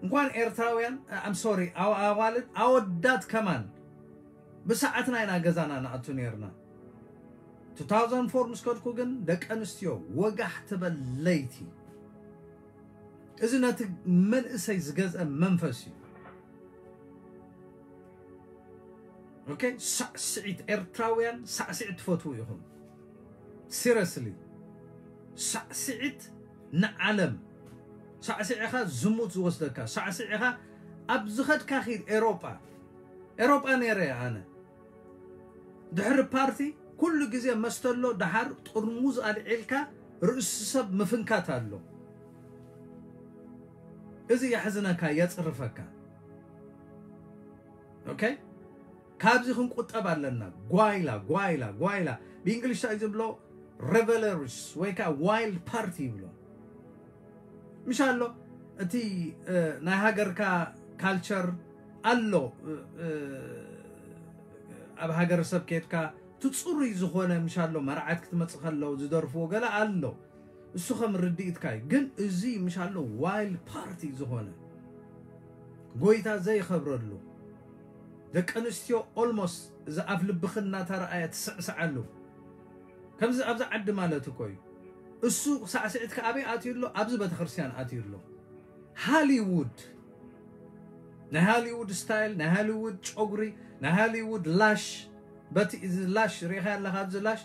እንኳን ኤርትራውያን I'm sorry ኣዋልድ ኣወዳት ከማን ብሰዓትና ኢና ገዛና ንኣቱ ነርና። Two thousand four ምስ ከድኩ ግን ደቂ ኣንስትዮ ወጋሕ ትበል ለይቲ። እዚ ነቲ መንእሰይ ዝገዝአ መንፈስ እዩ። Okay? ሳዕስዒት፣ ኤርትራውያን ሳዕስዒት ትፈትዉ ኢኹም። Seriously። ሳዕስዒት ንዓለም። ሳዕስዒኻ ዝሙት ዝወስደካ። ሳዕስዒኻ ኣብ ዝኸድካ ኺድ ኤሮጳ። ኤሮጳ ነይረ እየ ኣነ። ድሕሪ ፓርቲ ኩሉ ግዜ መስተሎ ደሓር ጥርሙዝ ኣልዒልካ ርእሲ ሰብ ምፍንካት ኣሎ። እዚ የሕዝነካ፣ የጽርፈካ። Okay? ካብዚ ክንቁጠብ ኣለና። ጓይላ፣ ጓይላ፣ ጓይላ። ብእንግሊሽ እንታይ ዝብሎ? Revelries ወይ ከዓ wild party ይብሎ። ምሽ ኣሎ እቲ ናይ ሃገርካ ካልቸር ኣሎ። ኣብ ሃገረሰብ ከድካ እቲ ጽሩይ ዝኾነ ምሻሎ መርዓት ክትመጽእ ከለዉ ዝደርፍዎ ገለ ኣሎ። እሱ ከም ርድኢትካ እዩ። ግን እዚ ምሻሎ ዋይልድ ፓርቲ ዝኾነ ጎይታ ዘይኸብረሉ፣ ደቂ ኣንስትዮ ኦልሞስት እዚ ኣፍ ልብኽን እናተረኣየ ትስዕስዓሉ። ከምዚ ኣብዚ ዓዲ ማለት እኮ እዩ። እሱ ሳዕስዒት ከኣበይ ኣትዩ ኣሎ? ኣብዚ ቤተክርስትያን ኣትዩ ኣሎ። ሃሊውድ፣ ናይ ሃሊውድ ስታይል፣ ናይ ሃሊውድ ጨጉሪ፣ ናይ ሃሊውድ ላሽ። በቲ እዚ ላሽ ሪኢኻ ኣለኻ፣ ኣብዚ ላሽ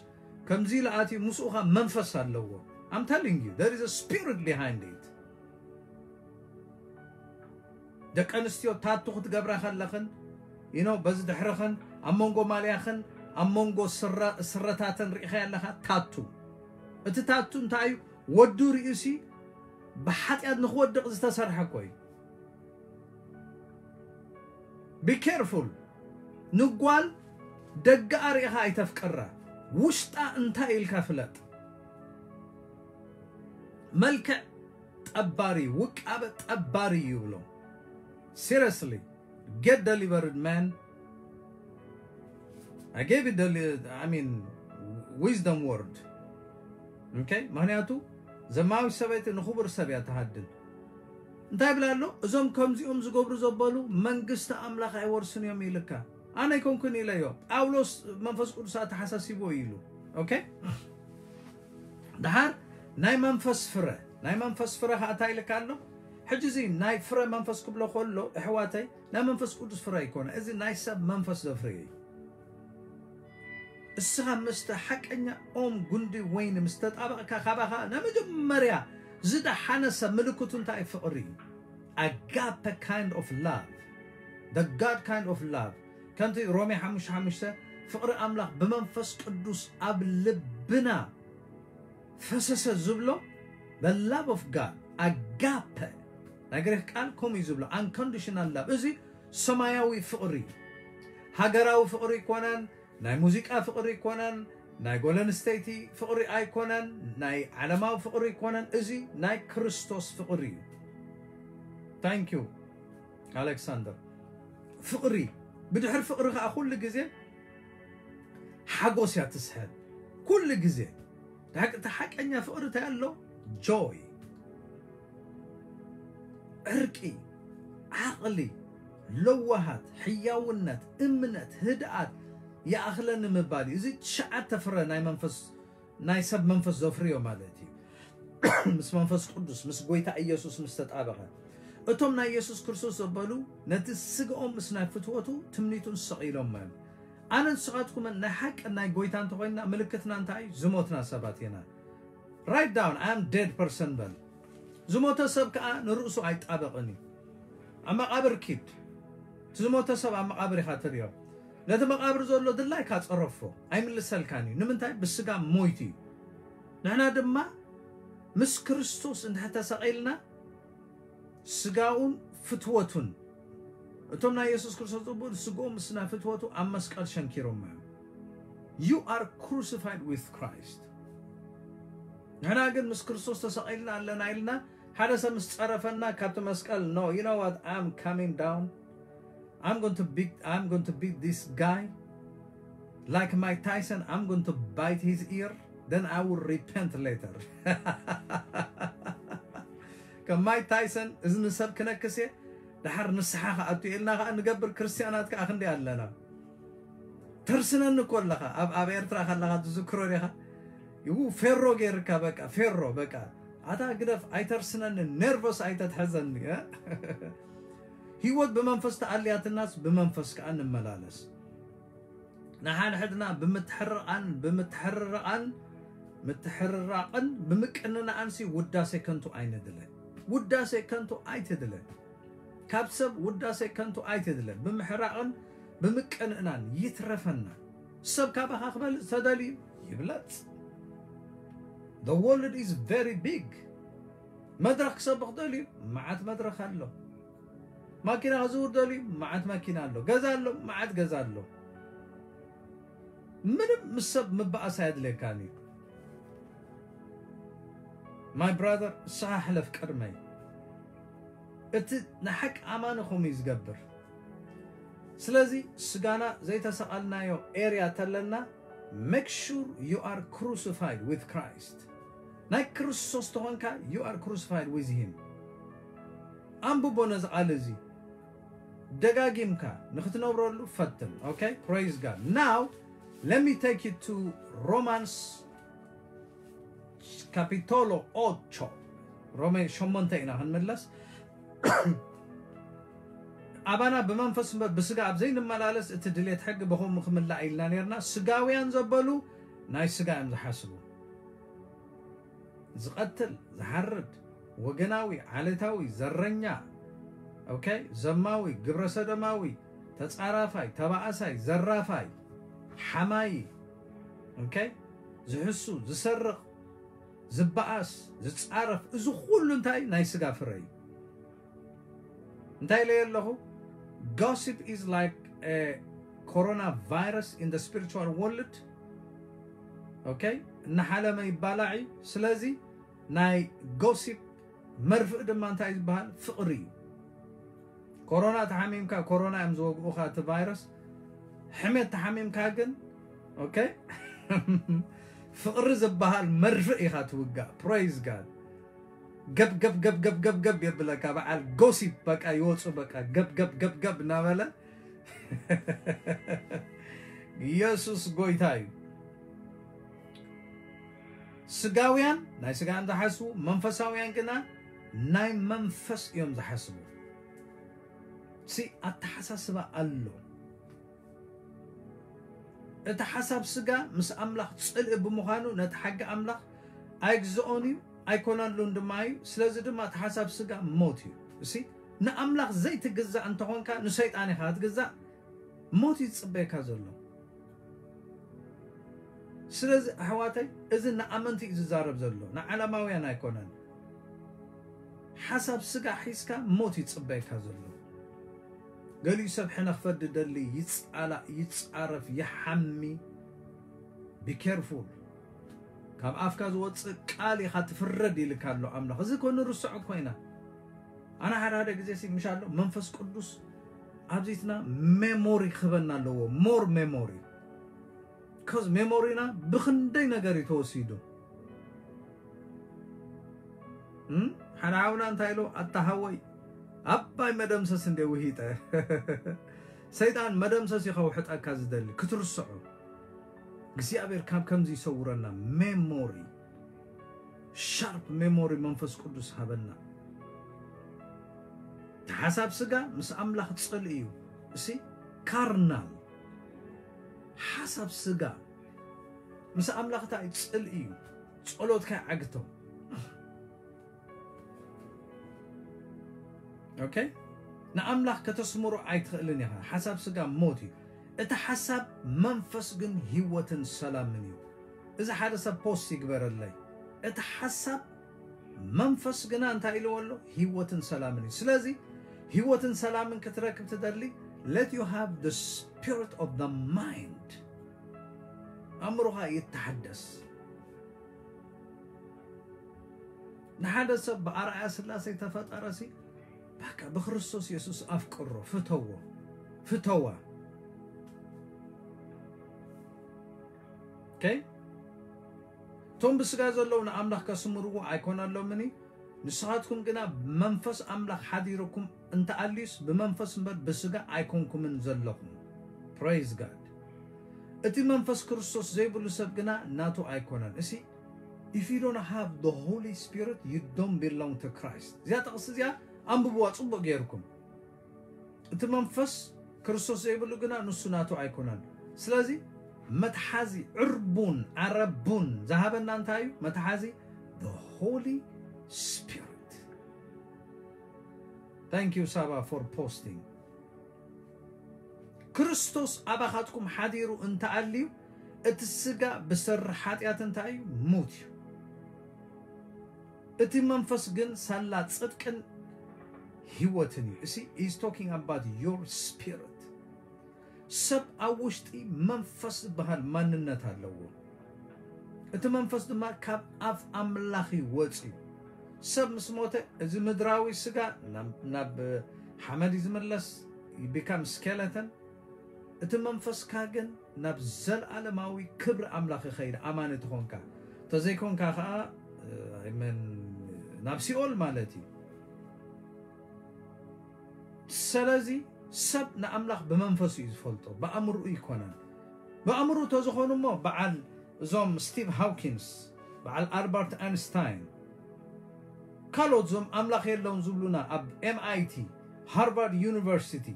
ከምዚ ኢሉ ኣትዩ፣ ምስኡ ኸኣ መንፈስ ኣለዎ። I'm telling you, there is a spirit behind it። ደቂ ኣንስትዮ ታቱ ክትገብራ ከለኽን፣ you know፣ በዚ ድሕርኽን ኣብ መንጎ ማልያኽን ኣብ መንጎ ስረ-፣ ስረታተን ርኢኻ ኣለኻ። ታቱ፣ እቲ ታቱ እንታይ እዩ? ወዱ ርእሲ ብሓጢኣት ንኽወድቕ ዝተሰርሐ እኮ እዩ። Be careful። ንጓል ደገኣ ርኢኻ ኣይተፍቅራ። ውሽጣ እንታይ ኢልካ ፍለጥ። መልክዕ ጠባሪ፣ ውቃበ ጠባሪ ይብሎ። Seriously, get delivered, man. I gave you the li-, I mean, wisdom word. Okay? ምኽንያቱ ዘማዊት ሰበይቲ ንኽቡር ሰብ እያ ትሃድን። እንታይ ይብል ኣሎ? እዞም ከምዚኦም ዝገብሩ ዘበሉ መንግስቲ ኣምላኽ ኣይወርስን እዮም ኢልካ። ኣነ ኣይኮንኩን ኢለዮ። ጳውሎስ መንፈስ ቅዱስ ኣተሓሳሲቦ ኢሉ። ኦኬ? ደሓር ናይ መንፈስ ፍረ፣ ናይ መንፈስ ፍረ ኸኣ እንታይ ኢልካ ኣሎ? ሕጂ እዚ ናይ ፍረ መንፈስ ክብሎ ከሎ፣ ኣሕዋተይ፣ ናይ መንፈስ ቅዱስ ፍረ ኣይኮነ። እዚ ናይ ሰብ መንፈስ ዘፍርዮ እዩ። እስኻ ምስቲ ሓቀኛ ኦም ጉንዲ ወይኒ ምስ ተጣበቕካ፣ ካባኻ ናይ መጀመርያ ዝደሓነ ሰብ ምልክቱ እንታይ እዩ? ፍቕሪ እዩ። ኣጋፐ kind of love፣ the God kind of love። ከምቲ ሮሜ ሓሙሽተ ሓሙሽተ፣ ፍቕሪ ኣምላኽ ብመንፈስ ቅዱስ ኣብ ልብና ፈሰሰ ዝብሎ፣ the love of God፣ ኣጋፐ፣ ናይ ግሪኽ ቃል ከምኡ እዩ ዝብሎ፣ unconditional love። እዚ ሰማያዊ ፍቕሪ እዩ። ሃገራዊ ፍቕሪ ኣይኮነን፣ ናይ ሙዚቃ ፍቕሪ ኣይኮነን፣ ናይ ጓል ኣንስተይቲ ፍቕሪ ኣይኮነን፣ ናይ ዓለማዊ ፍቕሪ ኣይኮነን። እዚ ናይ ክርስቶስ ፍቕሪ እዩ። Thank you ኣሌክሳንደር። ፍቕሪ፣ ብድሕሪ ፍቕሪ ኸኣ ኩሉ ግዜ ሓጎስ እያ ትስሕብ። ኩሉ ግዜ። ሓቂ-፣ እቲ ሓቀኛ ፍቕሪ እንታይ ኣሎ? ጆይ፣ ዕርቂ፣ ዓቕሊ፣ ለዋሃት፣ ሕያውነት፣ እምነት፣ ህድኣት፣ ይኣኽለኒ ምባል እዩ። እዚ ትሽዓተ ፍረ ናይ መንፈስ፣ ናይ ሰብ መንፈስ ዘፍርዮ ማለት እዩ። ምስ መንፈስ ቅዱስ፣ ምስ ጎይታ ኢየሱስ ምስ ተጣበቐ። እቶም ናይ ኢየሱስ ክርስቶስ ዘበሉ ነቲ ስግኦም ምስ ናይ ፍትወቱ ትምኒቱን ሰቒሎሞ እዮም። ኣነ ንስኻትኩምን ናይ ሓቂ ናይ ጎይታ እንተኾይንና ምልክትና እንታይ እዩ? ዝሞትና ሰባት ኢና። Write down, I am dead person በል። ዝሞተ ሰብ ከኣ ንርእሱ ኣይጣበቕን እዩ። ኣብ መቓብር ኪድ። እቲ ዝሞተ ሰብ ኣብ መቓብር ኢኻ ትርእዮ። ነቲ መቓብር ዘሎ ድላይካ ጸረፎ። ኣይምልሰልካን እዩ። ንምንታይ? ብስጋ ሞይቱ እዩ። ንሕና ድማ ምስ ክርስቶስ እንድሕር ተሰቒልና ስጋኡን ፍትወቱን፣ እቶም ናይ የሱስ ክርስቶስ ዝቕበሉ ስግኦም ምስ ናይ ፍትወቱ ኣብ መስቀል ሸንኪሮሞ እዮም። You are crucified with Christ። ንሕና ግን ምስ ክርስቶስ ተሰቒልና ኣለና ኢልና ሓደ ሰብ ምስ ጸረፈና ካብቲ መስቀል፣ no, you know what? I'm coming down. I'm going to beat, I'm going to beat this guy like Mike Tyson. I'm going to bite his ear. Then I will repent later. ከም ማይክ ታይሰን እዝኒ ሰብ ክነክስ እየ፣ ደሓር ንስሓ ክኣቱ ኢልና ከኣ ንገብር ክርስትያናት ከኣ ክንደይ ኣለና። ተርስነኒ እኮ ኣለኻ፣ ኣብ፣ ኣብ ኤርትራ ከለኻ ትዝክሮ ዲኻ? ይው ፌሮ ገይርካ፣ በቃ ፌሮ፣ በቃ ኣታ ግደፍ፣ ኣይተርስነኒ፣ ኔርቨስ ኣይተትሕዘኒ፣ እ? ህይወት ብመንፈስ ተኣልያትናስ ብመንፈስ ከኣ ንመላለስ። ንሓድሕድና ብምትሕርቓን፣ ብምትሕርርቓን፣ ምትሕርራቕን ብምቅንናኣንሲ ውዳሴ ከንቱ ኣይንድለ። ውዳሴ ከንቱ ኣይትድለ። ካብ ሰብ ውዳሴ ከንቱ ኣይትድለ። ብምሕራቕን ብምቅንእናን ይትረፈና። ሰብ ካባኻ ክበልጽ ተደልዩ ይብለጽ። The world is very big። መድረኽ ክሰብኽ ደልዩ መዓት መድረኽ ኣሎ። ማኪና ክዝውር ደልዩ መዓት ማኪና ኣሎ። ገዛ ኣሎ፣ መዓት ገዛ ኣሎ። ምንም ምስ ሰብ ምበኣስ ኣየድልየካን እዩ። My brother፣ ንስኻ ሕለፍ ቅድመይ። እቲ ንሓቂ ኣማኒ ከምኡ እዩ ዝገብር። ስለዚ ስጋና ዘይተሰቐልናዮ area ተለና make sure you are crucified with Christ። ናይ ክርስቶስ ተኾንካ you are crucified with him። ኣንብቦ ነዚ ቃል እዚ ደጋጊምካ ንክትነብረሉ ፈትን። Okay, praise God. Now let me take you to Romans capitolo ocho. ሮሜ ሸሞንተ ኢና ክንምለስ። ኣባና ብመንፈስ እምበር ብስጋ ኣብ ዘይንመላለስ እቲ ድሌት ሕጊ ብኸምኡ ክምላእ ኢልና ነርና። ስጋውያን ዘበሉ ናይ ስጋ እዮም ዝሓስቡ። ዝቐትል፣ ዝሓርድ፣ ወገናዊ፣ ዓሌታዊ፣ ዘረኛ፣ okay፣ ዘማዊ፣ ግብረሰዶማዊ፣ ተጻራፋይ፣ ተባኣሳይ፣ ዘራፋይ፣ ሓማይ፣ okay፣ ዝሕሱ፣ ዝሰርቕ፣ ዝበኣስ፣ ዝጻረፍ፣ እዚ ኩሉ እንታይ ናይ ስጋ ፍረ እዩ። እንታይ ኢለ ኣለኹ? Gossip is like a coronavirus in the spiritual world. Okay? እናሓለመ ይባላዕ እዩ። ስለዚ ናይ gossip መርፍእ ድማ እንታይ ዝበሃል? ፍቕሪ እዩ። ኮሮና ተሓሚምካ፣ ኮሮና እዮም ዝወግኡኻ እቲ ቫይረስ። ሕሜት ተሓሚምካ ግን፣ okay፣ ፍቕሪ ዝበሃል መርፍእ ኢኻ ትውጋእ። Praise God። ገብ ገብ ገብ ገብ ገብ ገብ የብለካ። በዓል gossip በቃ ይወፁ፣ በቃ ገብ ገብ ገብ ገብ እናበለ። ኢየሱስ ጎይታ እዩ። ስጋውያን ናይ ስጋ እዮም ዝሓስቡ፣ መንፈሳውያን ግና ናይ መንፈስ እዮም ዝሓስቡ። ሲ ኣተሓሳስባ ኣሎ። እቲ ሓሳብ ስጋ ምስ ኣምላኽ ጽልኢ ብምዃኑ ነቲ ሓቂ ኣምላኽ ኣይግዝኦን እዩ፣ ኣይኮነሉን ድማ እዩ። ስለዚ ድማ እቲ ሓሳብ ስጋ ሞት እዩ። እሲ ንኣምላኽ ዘይትግዛእ እንተኾንካ ንሰይጣን ኢኻ ትግዛእ። ሞት እዩ ዝጽበየካ ዘሎ። ስለዚ ኣሕዋተይ፣ እዚ ንኣመንቲ እዩ ዝዛረብ ዘሎ፣ ንዓለማውያን ኣይኮነን። ሓሳብ ስጋ ሒዝካ ሞት ይጽበየካ ዘሎ። ገሊኡ ሰብ ሕነ ክፈዲ ደሊ፣ ይጻላእ፣ ይጻረፍ፣ ይሓሚ። Be careful። ካብ ኣፍካ ዝወጽእ ቃል ኢኻ ትፍረድ ኢልካ ኣሎ ኣምላኽ። እዚ ኮ ንርስዖ እኮ ኢና። ኣነ ሓደ ሓደ ግዜ ሲ ምሽ ኣሎ መንፈስ ቅዱስ ኣብዚትና ሜሞሪ ክህበና ኣለዎ። More memory። Cause ሜሞሪና ብኽንደይ ነገር እዩ ተወሲዱ። እም? ሓደ ሓውና እንታይ ኢሉ? ኣታ ሃወይ ኣባይ መደምሰስ እንደ ውሂጠ። ሰይጣን መደምሰስ እዩ ከውሕጠካ ዝደሊ፣ ክትርስዖ። እግዚኣብሔር ካብ ከምዚ ይሰውረና። ሜሞሪ፣ ሻርፕ ሜሞሪ መንፈስ ቅዱስ ሃበና። እቲ ሓሳብ ስጋ ምስ ኣምላኽ ጽልኢ እዩ። እሲ ካርናል ሓሳብ ስጋ ምስ ኣምላኽ እንታይ ጽልኢ እዩ። ጸሎትካ ይዓግቶ። Okay? ንኣምላኽ ከተስምሮ ኣይትኽእልን ኢኻ። ሓሳብ ስጋ ሞት እዩ። እቲ ሓሳብ መንፈስ ግን ህይወትን ሰላምን እዩ። እዚ ሓደ ሰብ ፖስት ይግበረለይ። እቲ ሓሳብ መንፈስ ግና እንታይ ኢልዎ ኣሎ? ህይወትን ሰላምን እዩ። ስለዚ ህይወትን ሰላምን ክትረክብ ትደሊ፣ let you have the spirit of the mind። ኣእምሮኻ ይተሓደስ። ንሓደ ሰብ ብኣርኣያ ስላሴ ተፈጠረ ሲ፣ በቃ ብክርስቶስ የሱስ ኣፍቅሮ፣ ፍተዎ፣ ፍተዋ። Okay? እቶም ብስጋ ዘለዉ ንኣምላኽ ከስምርዎ ኣይኮነሎምን እዩ። ንስኻትኩም ግና መንፈስ ኣምላኽ ሓዲሩኩም እንተኣልዩስ ብመንፈስ እምበር ብስጋ ኣይኮንኩምን ዘለኹም። Praise God። እቲ መንፈስ ክርስቶስ ዘይብሉ ሰብ ግና ናቱ ኣይኮነን። እሲ if you don't have the Holy Spirit, you don't belong to Christ። እዚኣ ጥቕሲ እዚኣ ኣንብብዋ ጽቡቕ ገይርኩም። እቲ መንፈስ ክርስቶስ ዘይብሉ ግና ንሱ ናቱ ኣይኮነን። ስለዚ መትሓዚ ዕርቡን ዓረቡን ዝሃበና እንታይ እዩ? መትሓዚ the Holy Spirit። Thank you ሳባ for posting። ክርስቶስ ኣባኻትኩም ሓዲሩ እንተኣልዩ እቲ ስጋ ብሰሪ ሓጢኣት እንታይ እዩ? ሙት እዩ። እቲ መንፈስ ግን ሳላ ጽድቅን ህይወትን እዩ። እሲ is talking about your spirit። ሰብ ኣብ ውሽጢ መንፈስ ዝበሃል ማንነት ኣለዎ። እቲ መንፈስ ድማ ካብ ኣፍ ኣምላኽ እዩ ወፂኡ። ሰብ ምስ ሞተ እዚ ምድራዊ ስጋ ናብ ናብ ሓመድ እዩ ዝምለስ፣ become skeleton። እቲ መንፈስካ ግን ናብ ዘለኣለማዊ ክብሪ ኣምላኽ ይኸይድ፣ ኣማኒ ትኾንካ። ተዘይኮንካ ከዓ፣ ኣይ መን፣ ናብ ሲኦል ማለት እዩ። ስለዚ ሰብ ንኣምላኽ ብመንፈሱ እዩ ዝፈልጦ፣ ብኣእምርኡ ይኮነን። ብኣእምርኡ ተዝኾኑ እሞ በዓል እዞም ስቲቭ ሃውኪንስ፣ በዓል ኣልበርት ኣንስታይን፣ ካልኦት እዞም ኣምላኽ የለውን ዝብሉና ኣብ ኤምኣይቲ፣ ሃርቫርድ ዩኒቨርሲቲ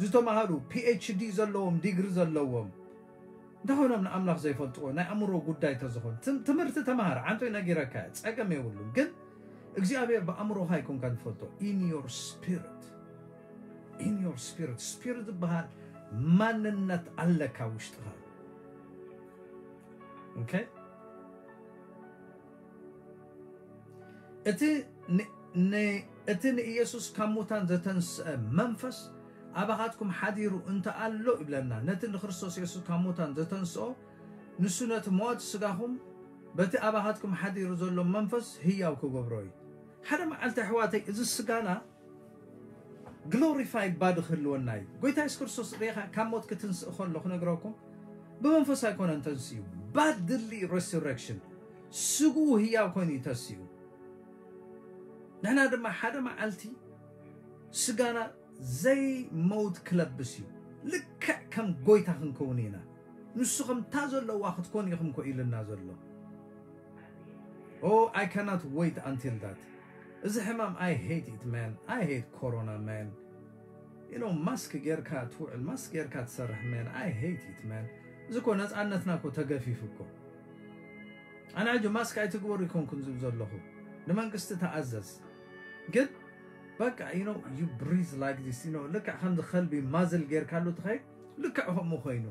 ዝተማሃሩ፣ ፒኤችዲ ዘለዎም፣ ዲግሪ ዘለዎም፣ እንታይ ኮይኖም ንኣምላኽ ዘይፈልጥዎ? ናይ ኣእምሮ ጉዳይ ተዝኾን ትም-፣ ትምህርቲ ተማሃር፣ ዓንቶይ ነጊረካ እየ፣ ጸገም የብሉን። ግን እግዚኣብሔር ብኣእምሮኻ ኣይኮንካን ትፈልጦ። In your spirit, in your spirit፣ ስፒሪት ዝበሃል ማንነት ኣለካ ውሽጥኻ። ኦኬ? እቲ ን-፣ ን-፣ እቲ ንኢየሱስ ካብ ሙታን ዘተንስአ መንፈስ ኣባኻትኩም ሓዲሩ እንተ ኣሎ ይብለና፣ ነቲ ንክርስቶስ የሱስ ካብ ሙታን ዘተንስኦ፣ ንሱ ነቲ ሞት ስጋኹም በቲ ኣባኻትኩም ሓዲሩ ዘሎ መንፈስ ህያው ክገብሮ እዩ። ሓደ መዓልቲ ኣሕዋተይ፣ እዚ ስጋና ግሎሪፋይድ ባዲ ክህልወና እዩ። ጎይታ የሱስ ክርስቶስ ርኢኻ ካብ ሞት ክትንስእ ከሎ ክነግረኩም፣ ብመንፈስ ኣይኮነን ተንስኡ፣ ባድሊ ሬሱረክሽን፣ ስግኡ ህያው ኮይኑ እዩ ተንስኡ። ንሕና ድማ ሓደ መዓልቲ ስጋና ዘይመውት ክለብስ እዩ። ልክዕ ከም ጎይታ ክንከውን ኢና። ንሱ ከምታ ዘለዋ ክትኮን ኢኹም ኮ ኢልና ዘሎ። Oh, I cannot wait until that. እዚ ሕማም፣ I hate it, man. I hate corona, man. You know, ማስክ ጌርካ ትውዕል፣ ማስክ ጌርካ ትሰርሕ፣ man. I hate it, man. እዚ ኮ ነፃነትና ኮ ተገፊፉ እኮ። ኣነ ሕጂ ማስክ ኣይትግበሩ ይኮንኩን ዝብ ዘለኹ፣ ንመንግስቲ ተኣዘዝ። ግን በቃ፣ you know, you breathe like this, you know፣ ልክዕ ከምዚ ከልቢ ማዝል ጌርካሉ ትኸይድ፣ ልክዕ ከምኡ ኮይኑ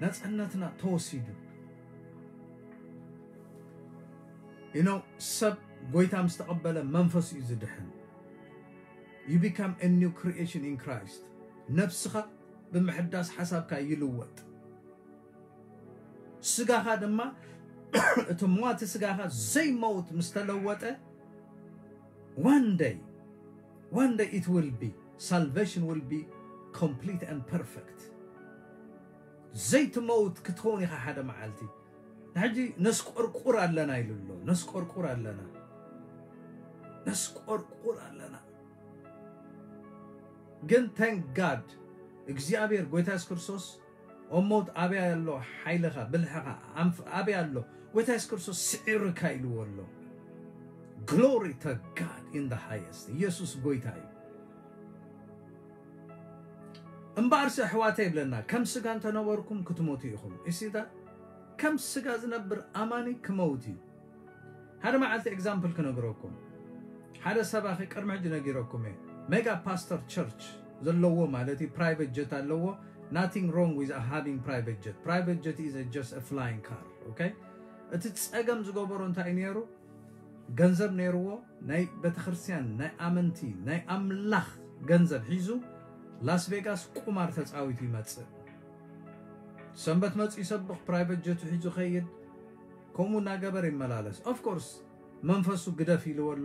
ነፃነትና ተወሲዱ። You know፣ ሰብ ጎይታ ምስ ተቐበለ መንፈስ እዩ ዝድሕን። You become a new creation in Christ. ነብስኻ ብምሕዳስ ሓሳብካ ይልወጥ። ስጋኻ ድማ፣ እቲ ሟቲ ስጋኻ ዘይመውት ምስ ተለወጠ፣ one day, one day it will be, salvation will be complete and perfect. ዘይትመውት ክትኸውን ኢኻ ሓደ መዓልቲ። ንሕጂ ነስቆርቁር ኣለና ኢሉ ኣሎ። ነስቆርቁር ኣለና። ነስቆርቁር ኣለና። ግን thank God፣ እግዚኣብሔር ጎይታ የሱስ ክርስቶስ፣ ኦ ሞት ኣበይ ኣሎ ሓይልኻ፣ ብልሕኻ፣ ኣንፍ-፣ ኣበይ ኣሎ? ጎይታ የሱስ ክርስቶስ ስዒርካ ኢልዎ ኣሎ። Glory to God in the highest። ኢየሱስ ጎይታ እዩ። እምበኣርሲ ኣሕዋተይ ይብለና፣ ከም ስጋ እንተነበርኩም ክትሞቱ ኢኹም። You see that? ከም ስጋ ዝነብር ኣማኒ ክመውት እዩ። ሓደ መዓልቲ ኤግዛምፕል ክነግረኩም። ሓደ ሰባኺ ቅድሚ ሕጂ ነጊረኩም እየ። ሜጋ ፓስተር ቸርች ዘለዎ ማለት እዩ፣ ፕራይቬት ጀት ኣለዎ። Nothing wrong with having private jet. Private jet is a just a flying car, okay? እቲ ጸገም ዝገበሮ እንታይ እዩ ነይሩ? ገንዘብ ነይርዎ፣ ናይ ቤተክርስትያን፣ ናይ ኣመንቲ፣ ናይ ኣምላኽ ገንዘብ ሒዙ ላስ ቬጋስ ቁማር ተጻዊቱ ይመጽእ። ሰንበት መጽኡ ይሰብኽ፣ ፕራይቬት ጀቱ ሒዙ ኸይድ፣ ከምኡ እናገበረ ይመላለስ። ኦፍ ኮርስ መንፈሱ ግደፍ ኢልዎ ኣሎ።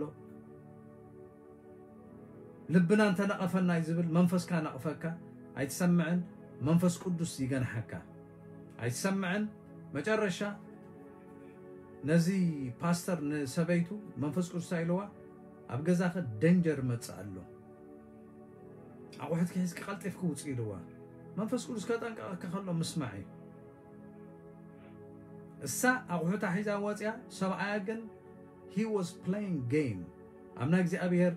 ልብና እንተነቐፈና እዩ ዝብል፣ መንፈስካ ነቕፈካ፣ ኣይትሰምዕን፣ መንፈስ ቅዱስ ይገንሓካ፣ ኣይትሰምዕን። መጨረሻ ነዚ ፓስተር ንሰበይቱ መንፈስ ቅዱስ እንታይ ኢልዋ? ኣብ ገዛኸ ደንጀር መጽእ ኣሎ፣ ኣቑሑትኪ ሒዝኪ ቀልጢፍኪ ውጽእ ኢልዋ። መንፈስ ቅዱስ ከጠንቀቐኪ ከሎ ምስማዕ እዩ። እሳ ኣቑሑታ ሒዛ ወጽያ፣ ሰብኣያ ግን he was playing game። ኣብ ናይ እግዚኣብሔር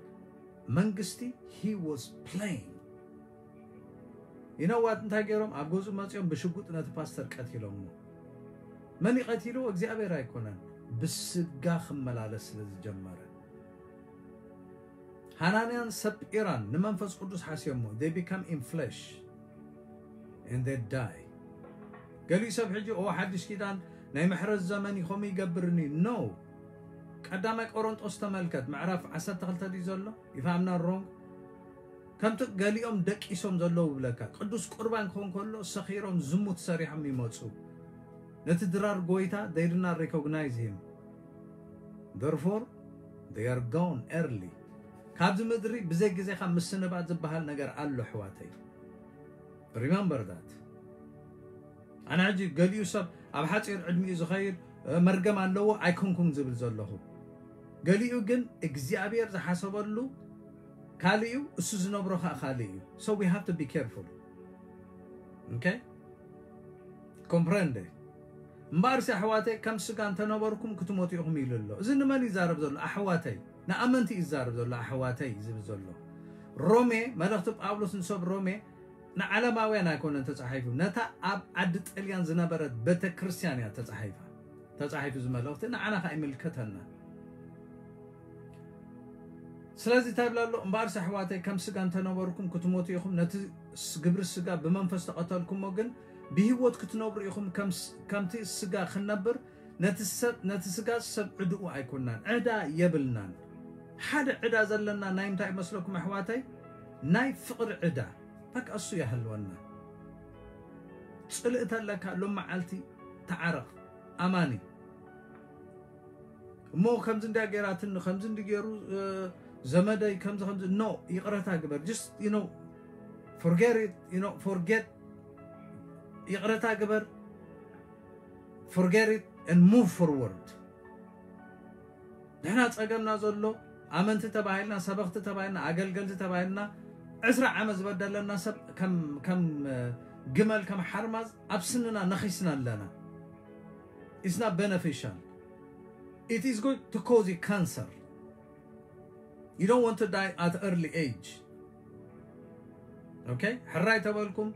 መንግስቲ he was playing። You know what? እንታይ ገይሮም? ኣብ ገዝኡ መጺኦም ብሽጉጥ ነቲ ፓስተር ቀቲሎሞ። መን ይቐቲልዎ? እግዚኣብሔር ኣይኮነን። ብስጋ ክመላለስ ስለ ዝጀመረ። ሃናንያን ሰጲራን ንመንፈስ ቅዱስ ሓስዮሞ። They become in flesh and they die። ገሊኡ ሰብ ሕጂ፣ ኦ፣ ሓድሽ ኪዳን ናይ ምሕረት ዘመን እዩ፣ ከምኡ ይገብርኒ። No። ቀዳማይ ቆሮንጦስ ተመልከት፣ ምዕራፍ ዓሰርተ ክልተ ድዩ ዘሎ? If I'm not wrong። ከምቲ ገሊኦም ደቂሶም ዘለዉ ብለካ፣ ቅዱስ ቁርባን ክኾን ከሎ ሰኺሮም ዝሙት ሰሪሖም ይመጹ። ነቲ ድራር ጎይታ they do not recognize him. Therefore, they are gone early. ካብዚ ምድሪ ብዘይ ግዜኻ ምስንባት ዝበሃል ነገር ኣሎ፣ ኣሕዋተይ። Remember that. ኣነ ሕጂ ገሊኡ ሰብ ኣብ ሓፂር ዕድሚኡ ዝኸይድ መርገም ኣለዎ ኣይኮንኩም ዝብል ዘለኹ። ገሊኡ ግን እግዚኣብሔር ዝሓሰበሉ ካልእዩ፣ እሱ ዝነብሮ ከዓ ካልእ እዩ። So we have to be careful. Okay? Comprende? እምበኣርሲ ኣሕዋተይ ከም ስጋ እንተነበርኩም ክትሞቱ ኢኹም ኢሉ ኣሎ። እዚ ንመን ይዛረብ ዘሎ ኣሕዋተይ? ንኣመንቲ ይዛረብ ዘሎ ኣሕዋተይ ዝብል ዘሎ። ሮሜ መልእኽቲ ጳውሎስ ንሰብ ሮሜ ንዓለማውያን ኣይኮነን ተጻሒፉ፣ ነታ ኣብ ዓዲ ጥልያን ዝነበረት ቤተ ክርስቲያን እያ ተጻሒፋ። ተጻሒፉ እዚ መልእኽቲ ንዓና ከዓ ይምልከተና። ስለዚ እንታይ ይብላ ኣሎ? እምበኣርሲ ኣሕዋተይ ከም ስጋ እንተነበርኩም ክትሞቱ ኢኹም። ነቲ ግብሪ ስጋ ብመንፈስ ተቐተልኩሞ፣ ግን ብህይወት ክትነብሩ ኢኹም። ከምቲ ስጋ ክንነብር ነቲ ስጋ ሰብ ዕድኡ ኣይኮናን፣ ዕዳ የብልናን። ሓደ ዕዳ ዘለና ናይ ምንታይ ይመስለኩም ኣሕዋተይ? ናይ ፍቕሪ ዕዳ። በቃ እሱ ያህልወና። ጽልእ ተለካ ሎም መዓልቲ ተዓረቕ። ኣማኒ እሞ ከምዚ እንዲያ ገይራትኒ፣ ከምዚ እንዲ ገይሩ ዘመደይ፣ ከምዚ ከምዚ፣ no፣ ይቕረታ ግበር። Just, you know, forget it, you know, forget፣ ይቕረታ ግበር። Forget it and move forward። ንሕና ጸገምና ዘሎ ኣመንቲ ተባሂልና፣ ሰበኽቲ ተባሂልና፣ ኣገልገልቲ ተባሂልና፣ ዕስራ ዓመት ዝበደለና ሰብ ከም ግመል፣ ከም ሓርማዝ ኣብ ስንና ነኺስና ኣለና። It's not beneficial. It is going to cause you cancer. You don't want to die at early age. Okay? ሕራይ ተበልኩም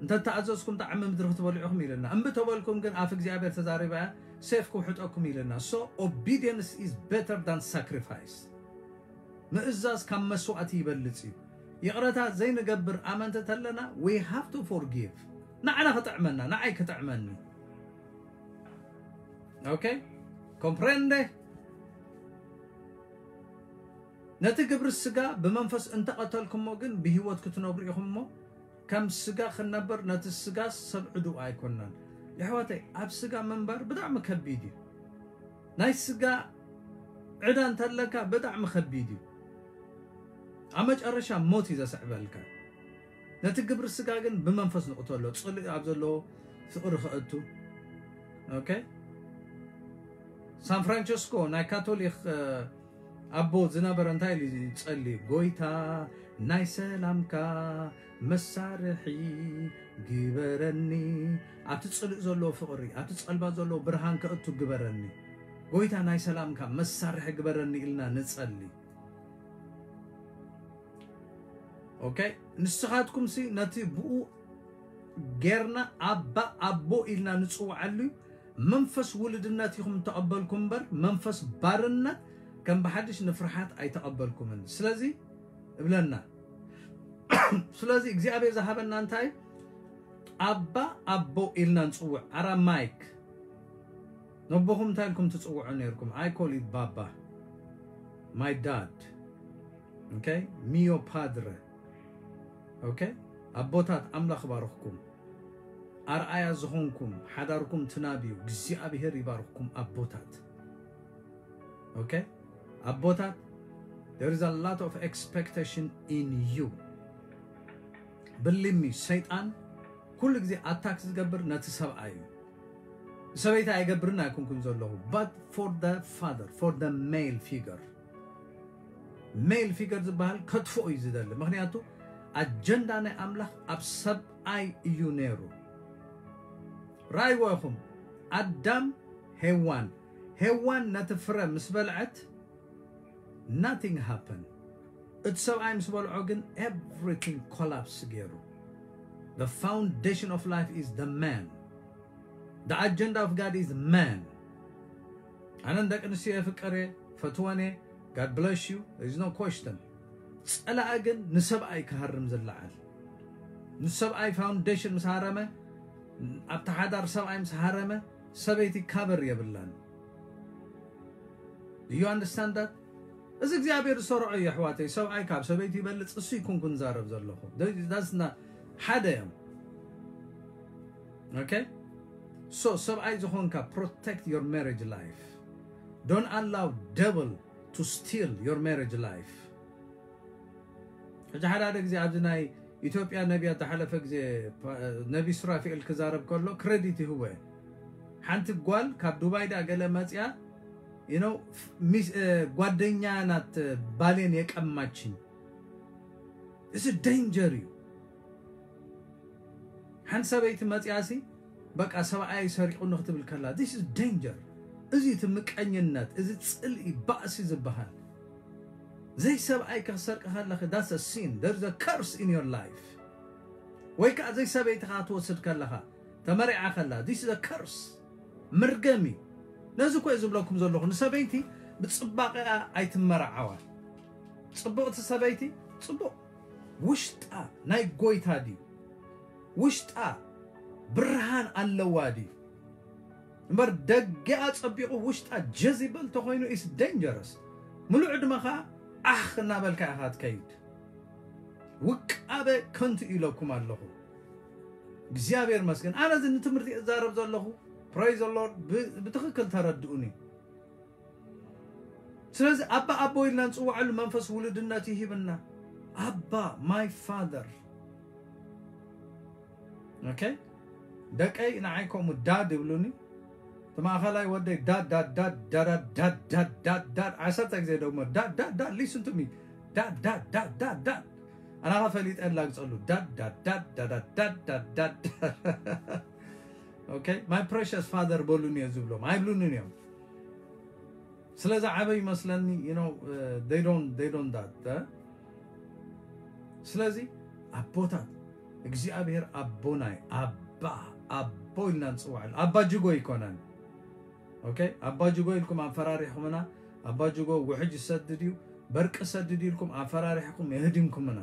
እንተተኣዘዝኩም ጣዕሚ ምድሪ ክትበልዑ ኢኹም ኢልና። እምቢ ተበልኩም ግን ኣፍ እግዚኣብሔር ተዛሪባ እያ፣ ሴፍ ክውሕጠኩም ኢልና። So obedience is better than sacrifice. ምእዛዝ ካብ መስዋእቲ ይበልጽ እዩ። ይቕረታ ዘይንገብር ኣመንቲ ተለና we have to forgive። ንዓና ክጥዕመና፣ ንዓይ ክጥዕመኒ። Okay? Comprende? ነቲ ግብሪ ስጋ ብመንፈስ እንተቐተልኩሞ ግን ብህይወት ክትነብሩ ኢኹም እሞ፣ ከም ስጋ ክንነብር ነቲ ስጋ ሰብ ዕድኡ ኣይኮናን። የሕዋተይ፣ ኣብ ስጋ ምንባር ብጣዕሚ ከቢድ እዩ። ናይ ስጋ ዕዳ እንተለካ ብጣዕሚ ከቢድ እዩ። ኣብ መጨረሻ ሞት እዩ ዘስዕበልካ። ነቲ ግብሪ ስጋ ግን ብመንፈስ ንቕተሎ፣ ጽልኢ ኣብ ዘለዎ ፍቕሪ ክእቱ። Okay? ሳን ፍራንቸስኮ ናይ ካቶሊክ ኣቦ ዝነበረ እንታይ ኢሉ ይጸሊ? ጎይታ ናይ ሰላምካ መሳርሒ ግበረኒ። ኣብቲ ጽልእ ዘለዎ ፍቕሪ፣ ኣብቲ ጸልማት ዘለዎ ብርሃን ከእቱ ግበረኒ። ጎይታ ናይ ሰላምካ መሳርሒ ግበረኒ ኢልና ንጸሊ። Okay? ንስኻትኩም ሲ ነቲ ብኡ ጌርና ኣባ ኣቦ ኢልና ንጽውዓሉ መንፈስ ውልድነት ኢኹም ተቐበልኩም እምበር መንፈስ ባርነት ከም ብሓድሽ ንፍርሓት ኣይተቐበልኩምን። ስለዚ እብለና። ስለዚ እግዚኣብሔር ዝሃበና እንታይ? ኣባ ኣቦ ኢልና ንጽውዕ። ኣራማይክ ነቦኹም እንታይ ኢልኩም ትጽውዑ ነይርኩም? I call it ባባ፣ my dad። Okay? Mio padre። Okay? ኣቦታት ኣምላኽ ባርኽኩም። ኣርኣያ ዝኾንኩም ሓዳርኩም ትናብዩ እግዚኣብሔር ይባርኽኩም ኣቦታት። Okay? ኣቦታት there is a lot of expectation in you። Believe me፣ ሰይጣን ኩሉ ግዜ ኣታክ ዝገብር ነቲ ሰብኣይ እዩ። ሰበይቲ ኣይገብርን ኣይኮንኩን ዘለኹ፣ but for the father, for the male figure። Male figure ዝበሃል ከጥፍኦ እዩ ዝደሊ። ምክንያቱ ኣጀንዳ ናይ ኣምላኽ ኣብ ሰብኣይ እዩ ነይሩ። ራእይዎ ኢኹም ኣዳም ሄዋን፣ ሄዋን ነቲ ፍረ ምስ በልዐት nothing happened። እቲ ሰብኣይ ምስ በልዖ ግን everything collapse ገይሩ። The foundation of life is the man. The agenda of God is man. ኣነ ንደቂ ኣንስትዮ የፍቅር እየ፣ ፈትወን እየ። God bless you, there is no question። ጸላኢ ግን ንሰብኣይ ክሃርም ዝለዓል። ንሰብኣይ ፋውንዴሽን ምስ ሃረመ፣ ኣብቲ ሓዳር ሰብኣይ ምስ ሃረመ፣ ሰበይቲ ካበር የብላን። Do you understand that? እዚ እግዚኣብሔር ዝሰርዖ እዩ ኣሕዋተይ። ሰብኣይ ካብ ሰበይቲ ይበልጽ እሱ ይኩንኩን ዛረብ ዘለኹ። That's not ሓደ እዮም። Okay? So ሰብኣይ ዝኾንካ protect your marriage life. Don't allow devil to steal your marriage life. ሕጂ ሓደ ሓደ ግዜ ኣብዚ ናይ ኢትዮጵያ ነቢያ ዝሓለፈ ግዜ ነቢ ሱራፊኤል ክዛረብ ከሎ ክረዲት ይህቦ እየ። ሓንቲ ጓል ካብ ዱባይ ዳ ገለ መፅያ፣ you know፣ ጓደኛ ናት ባሌን የቀማችኝ። እዚ ደንጀር እዩ። ሓንቲ ሰበይቲ መፅያ ሲ በቃ ሰብኣይ ሰሪቑኒ ክትብል ከላ፣ this is danger። እዚ እቲ ምቀኝነት፣ እዚ ፅልኢ፣ ባእሲ ዝበሃል። ዘይ ሰብኣይ ክሰርቂ ከለኺ that's a sin, there's a curse in your life። ወይ ከዓ ዘይ ሰበይቲ ከዓ ትወስድ ከለኻ፣ ተመሪዓ ከላ this is a curse፣ መርገም እዩ። ነዚ እኮ እየ ዝብለኩም ዘለኹ፣ ንሰበይቲ ብፅባቐኣ ኣይትመርዓዋ። ፅብቕቲ ሰበይቲ ፅቡቕ ውሽጣ ናይ ጎይታ ድዩ? ውሽጣ ብርሃን ኣለዋ ድዩ? እምበር ደገኣ ጸቢቑ ውሽጣ ጀዚበል ተኾይኑ is dangerous። ምሉእ ዕድመኻ ዓኽ እናበልካ ኢኻ ትከይድ። ውቃበ ከንቱ ኢለኩም ኣለኹ። እግዚኣብሔር መስገን። ኣነ እዚ ንትምህርቲ እዛረብ ዘለኹ፣ praise the Lord፣ ብ- ብትኽክል ተረድኡኒ። ስለዚ ኣባ ኣቦ ኢልና ንፅውዓሉ መንፈስ ውሉድነት ይሂብና። ኣባ፣ my father። Okay? ደቀይ ንዓይ ከምኡ ዳድ ይብሉኒ። እቲ ማእኸላይ ወደይ ዳድ ዳድ ዳድ ዳድ ዳድ ዳድ ዳድ ዳድ ዓሰርተ ግዜ ደግሞ ዳድ ዳድ ዳድ listen to me ዳድ ዳድ ዳድ ዳድ ዳድ ኣናኻ ፈሊጠ ላግፀሉ ዳድ ዳድ ዳድ ዳድ ዳድ ዳድ ዳድ ዳድ okay my precious father በሉኒ እየ ዝብሎም ኣይብሉንን እዮም። ስለዚ ዓበ ይመስለኒ you know they don't they don't that ስለዚ ኣቦታት እግዚኣብሔር ኣቦናይ ኣባ ኣቦ ኢልና ንፅውዓሉ ኣባ ጅጎ ይኮነን okay ኣባ ጅጎ ኢልኩም ኣፈራሪሕኩምና ኣባ ጅጎ ውሕጅ ይሰድድ እዩ በርቂ ሰድድ ኢልኩም ኣፈራሪሕኩም የህዲምኩምና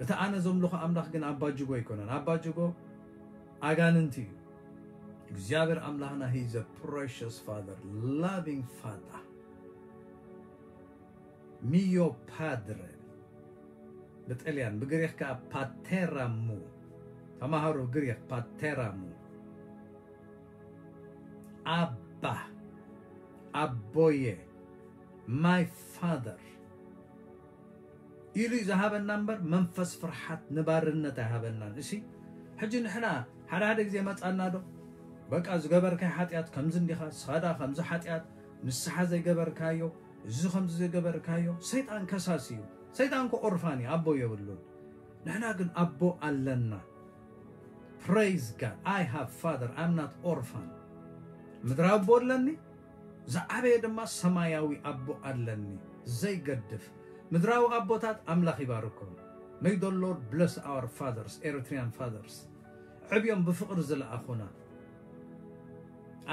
እቲ ኣነ ዘምልኾ ኣምላኽ ግን ኣባ ጅጎ ይኮነን ኣባ ጅጎ ኣጋንንቲ እዩ እግዚኣብሔር ኣምላኽና he is a precious father loving father mio padre ብጥልያን ብግሪኽ ከዓ ፓቴራሙ ተማሃሩ ግሪኽ ፓቴራሙ ኣባ ኣቦየ my father ኢሉ እዩ ዝሃበና እምበር መንፈስ ፍርሓት ንባርነት ኣይሃበናን እሲ ሕጂ ንሕና ሓደ ሓደ ግዜ መፃና ዶ በቃ ዝገበርካይ ሓጢኣት ከምዚ እንዲኻ ስኻዳ ከምዚ ሓጢኣት ንስሓ ዘይገበርካዮ እዚ ከምዚ ዘይገበርካዮ ሰይጣን ከሳሲ እዩ ሰይጣን ኮ ኦርፋን እዩ ኣቦ የብሉን ንሕና ግን ኣቦ ኣለና praise God I have father I'm not orphan ምድራዊ ኣቦ ኣለኒ ዝዓበየ ድማ ሰማያዊ ኣቦ ኣለኒ ዘይገድፍ ምድራዊ ኣቦታት ኣምላኽ ይባርኮም May the Lord bless our fathers Eritrean fathers ዕብዮም ብፍቕሪ ዝለኣኹና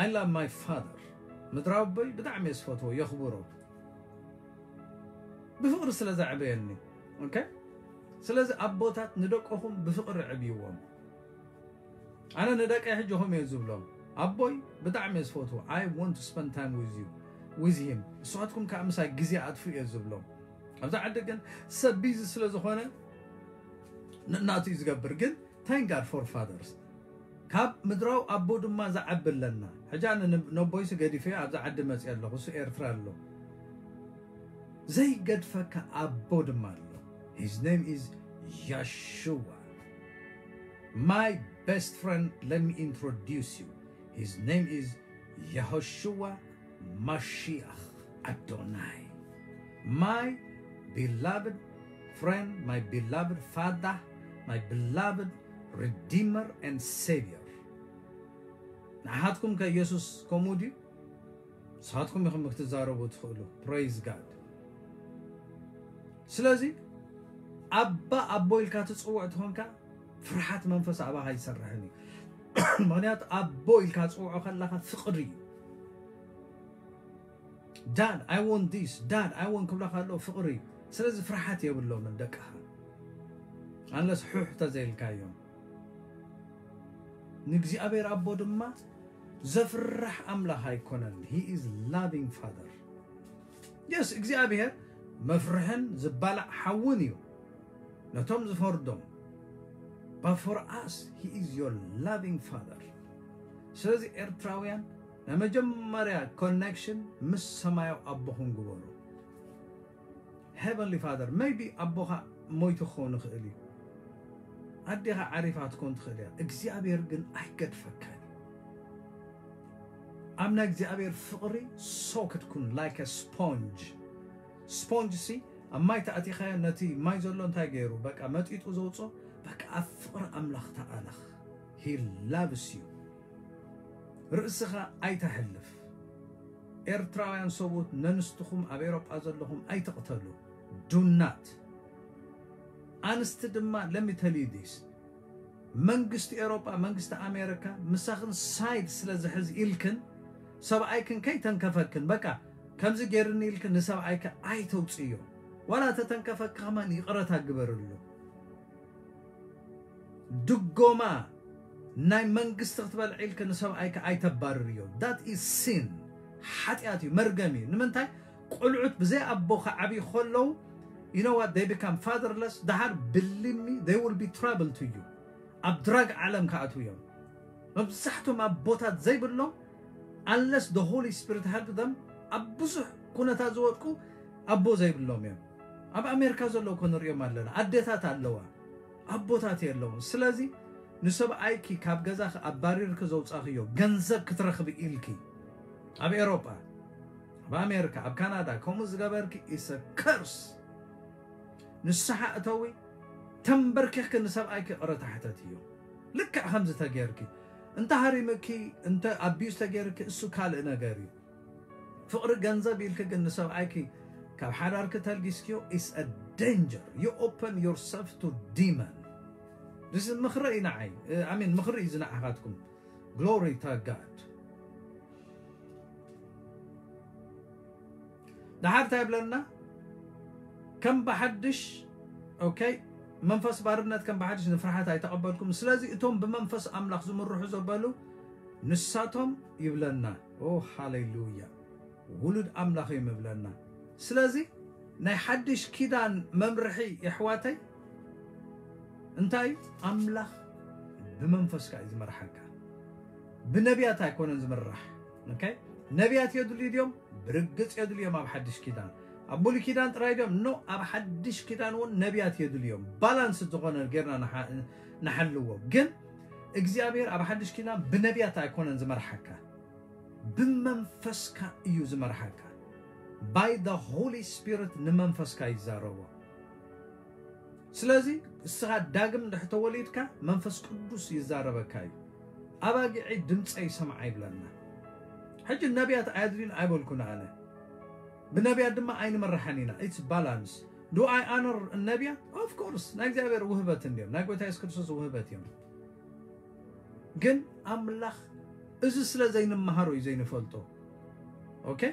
I love my father ምድራዊ ኣቦይ ብጣዕሚ እየ ዝፈትዎ የኽብሮ ብፍቕሪ ስለ ዘዕበየኒ okay ስለዚ ኣቦታት ንደቀኹም ብፍቕሪ ዕብይዎም ኣነ ንደቀይ ሕጂ ኸም እየ ዝብሎም ኣቦይ ብጣዕሚ እየ ዝፈትዎ I want to spend time with you with him ንስኻትኩም ከዓ ምሳይ ግዜ ኣጥፍኡ እየ ዝብሎም ኣብዚ ዓዲ ግን ሰብ ቢዚ ስለ ዝኾነ ንእናቱ እዩ ዝገብር ግን thank God for fathers ካብ ምድራዊ ኣቦ ድማ ዝዓቢ ኣለና ሕጂ ኣነ ነቦይሲ ገዲፈዮ ኣብዚ ዓዲ መፅእ ኣለኹ እሱ ኤርትራ ኣሎ ዘይገድፈካ ኣቦ ድማ ኣሎ his name is Yeshua my best friend let me introduce you his name is Yehoshua Mashiach Adonai my beloved friend my beloved father my beloved redeemer and savior ንሓትኩም ከ ኢየሱስ ከምኡ ድዩ ንስኻትኩም ኢኹም ክትዛረቡ ትኽእሉ praise God ስለዚ ኣባ ኣቦ ኢልካ ትፅውዕ ትኾንካ ፍርሓት መንፈስ ኣባኻ ይሰርሕን እዩ ምክንያቱ ኣቦ ኢልካ ትፅውዖ ከለኻ ፍቕሪ እዩ dad I want this dad I want ክብላ ከለዉ ፍቕሪ እዩ ስለዚ ፍርሓት የብሎምን ደቅኻ unless ሑሕ ተዘይልካዮም ንእግዚኣብሔር ኣቦ ድማ ዘፍርሕ ኣምላኽ ኣይኮነን he is loving father yes እግዚኣብሔር መፍርሕን ዝባላዕ ሓውን እዩ ነቶም ዝፈርዶም but for us he is your loving father ስለዚ ኤርትራውያን ናይ መጀመርያ connection ምስ ሰማያዊ ኣቦኹም ግበሩ heavenly father maybe ኣቦኻ ሞይቱ ክኸውን ይኽእል እዩ። ኣዴኻ ዓሪፋ ክትኮን ትኽእል እያ። እግዚኣብሔር ግን ኣይገድፈካን እዩ። ኣብ ናይ እግዚኣብሔር ፍቕሪ ሶክ ክትኩን like a sponge። ስፖንጅ ሲ ኣብ ማይ ተኣቲኻዮ ነቲ ማይ ዘሎ እንታይ ገይሩ በቃ መጢጡ ዘውፅኦ። በቃ ኣብ ፍቕሪ ኣምላኽ ተኣለኽ። He loves you። ርእስኻ ኣይተሕልፍ። ኤርትራውያን ሰብኡት ነንስትኹም ኣብ ኤሮጳ ዘለኹም ኣይትቕተሉ። Do not። ኣንስቲ ድማ let me tell you this። መንግስቲ ኤሮጳ መንግስቲ ኣሜሪካ ምሳኽን ሳይድ ስለ ዝሕዝ ኢልክን ሰብኣይክን ከይተንከፈክን በቃ ከምዚ ገይርኒ ኢልክን ንሰብኣይከ ኣይተውፅዮ። ዋላ ተተንከፈኪ ከማን ይቕረታ ግበርሉ። ድጎማ ናይ መንግስቲ ክትበልዕ ኢልክ ንሰብኣይካ ኣይተባርርዮ። That is sin። ሓጢኣት እዩ፣ መርገም እዩ። ንምንታይ? ቆልዑት ብዘይ ኣቦ ክዓብዩ ከለዉ you know what, they become fatherless። ደሓር believe me, they will be trouble to you። ኣብ ድራግ ዓለም ክኣትዉ እዮም። መብዛሕቶም ኣቦታት ዘይብሎም unless the Holy Spirit help them ኣብ ብዙሕ ኩነታት ዝወድቁ ኣቦ ዘይብሎም እዮም። ኣብ ኣሜሪካ ዘለዉ እኮ ንሪኦም ኣለና። ኣዴታት ኣለዋ፣ ኣቦታት የለውን። ስለዚ ንሰብኣይኪ ካብ ገዛኺ ኣባሪርኪ ዘውፃኽዮ ገንዘብ ክትረኽቢ ኢልኪ ኣብ ኤሮጳ፣ ኣብ ኣሜሪካ፣ ኣብ ካናዳ ከምኡ ዝገበርኪ is a curse። ንስሓ እተዊ፣ ተንበርኪኽኪ ንሰብኣይኪ ይቕረታ ሕተትዮ። ልክዕ ከምዚ ተገይርኪ እንተ ሃሪምኪ እንተ ኣቢዩዝ ተገይርኪ እሱ ካልእ ነገር እዩ። ፍቕሪ ገንዘብ ኢልኪ ግን ንሰብኣይኪ ካብ ሓዳርኪ ተልጊስክዮ is a danger። You open yourself to demon። እዚ ምኽሪ እዩ ንዓይ። I mean ምኽሪ እዩ ዝንዓኻትኩም። Glory to God። ደሓር እንታይ ይብለና? ከም ብሓድሽ okay፣ መንፈስ ባርነት ከም ብሓድሽ ንፍርሓት ኣይተቐበልኩም። ስለዚ እቶም ብመንፈስ ኣምላኽ ዝምርሑ ዘበሉ ንሳቶም ይብለና። ኦ ሃሌሉያ፣ ውሉድ ኣምላኽ እዮም ይብለና። ስለዚ ናይ ሓድሽ ኪዳን መምርሒ የሕዋተይ እንታይ እዩ? ኣምላኽ ብመንፈስካ እዩ ዝመርሓካ፣ ብነቢያት ኣይኮነን ዝምራሕ። Okay? ነቢያት የድልዩ ድዮም? ብርግጽ የድልዮም። ኣብ ሓድሽ ኪዳን ኣብ ብሉይ ኪዳን ጥራይ ድዮም? ኖ፣ ኣብ ሓድሽ ኪዳን እውን ነቢያት የድልዮም። ባላንስ ዝኾነ ጌርና ንሓ- ንሓልዎ። ግን እግዚኣብሔር ኣብ ሓድሽ ኪዳን ብነቢያት ኣይኮነን ዝመርሓካ፣ ብመንፈስካ እዩ ዝመርሓካ። By the Holy Spirit ንመንፈስካ ይዛረቦ። ስለዚ እስኻ ዳግም እንድሕር ተወሊድካ መንፈስ ቅዱስ ይዛረበካ እዩ። ኣባጊዐይ ድምፀይ ይሰምዓ ይብለና። ሕጂ ነቢያት ኣየድልዩን ኣይበልኩን ኣነ፣ ብነቢያት ድማ ኣይንመርሓን ኢና። It's balance። Do I honor ነቢያት? Of course። ናይ እግዚኣብሔር ውህበት እንድዮም፣ ናይ ጎይታ የሱስ ክርስቶስ ውህበት እዮም። ግን ኣምላኽ እዚ ስለ ዘይንመሃሮ እዩ ዘይንፈልጦ። Okay?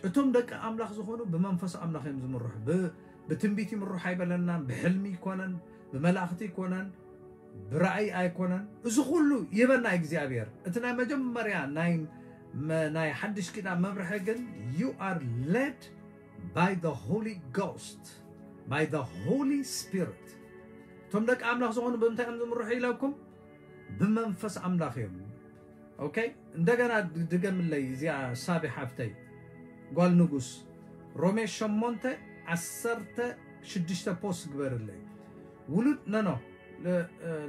እቶም ደቂ ኣምላኽ ዝኾኑ ብመንፈስ ኣምላኽ እዮም ዝምርሑ። ብ- ብትንቢት ይምርሑ ኣይበለናን፣ ብሕልሚ ይኮነን፣ ብመላእኽቲ ይኮነን፣ ብራእይ ኣይኮነን። እዚ ኩሉ ይበና እግዚኣብሔር። እቲ ናይ መጀመርያ ናይ መ- ናይ ሓድሽ ኪዳን መምርሒ ግን you are led by the Holy Ghost, by the Holy Spirit። እቶም ደቂ ኣምላኽ ዝኾኑ ብምንታይ እዮም ዝምርሑ ኢለኩም? ብመንፈስ ኣምላኽ እዮም። Okay? እንደገና ድ- ድገምለይ እዚኣ ሳቢ ሓፍተይ ጓል ንጉስ፣ ሮሜ ሸሞንተ ዓሰርተ ሽዱሽተ ፖስት ግበርለይ። ውሉድ no no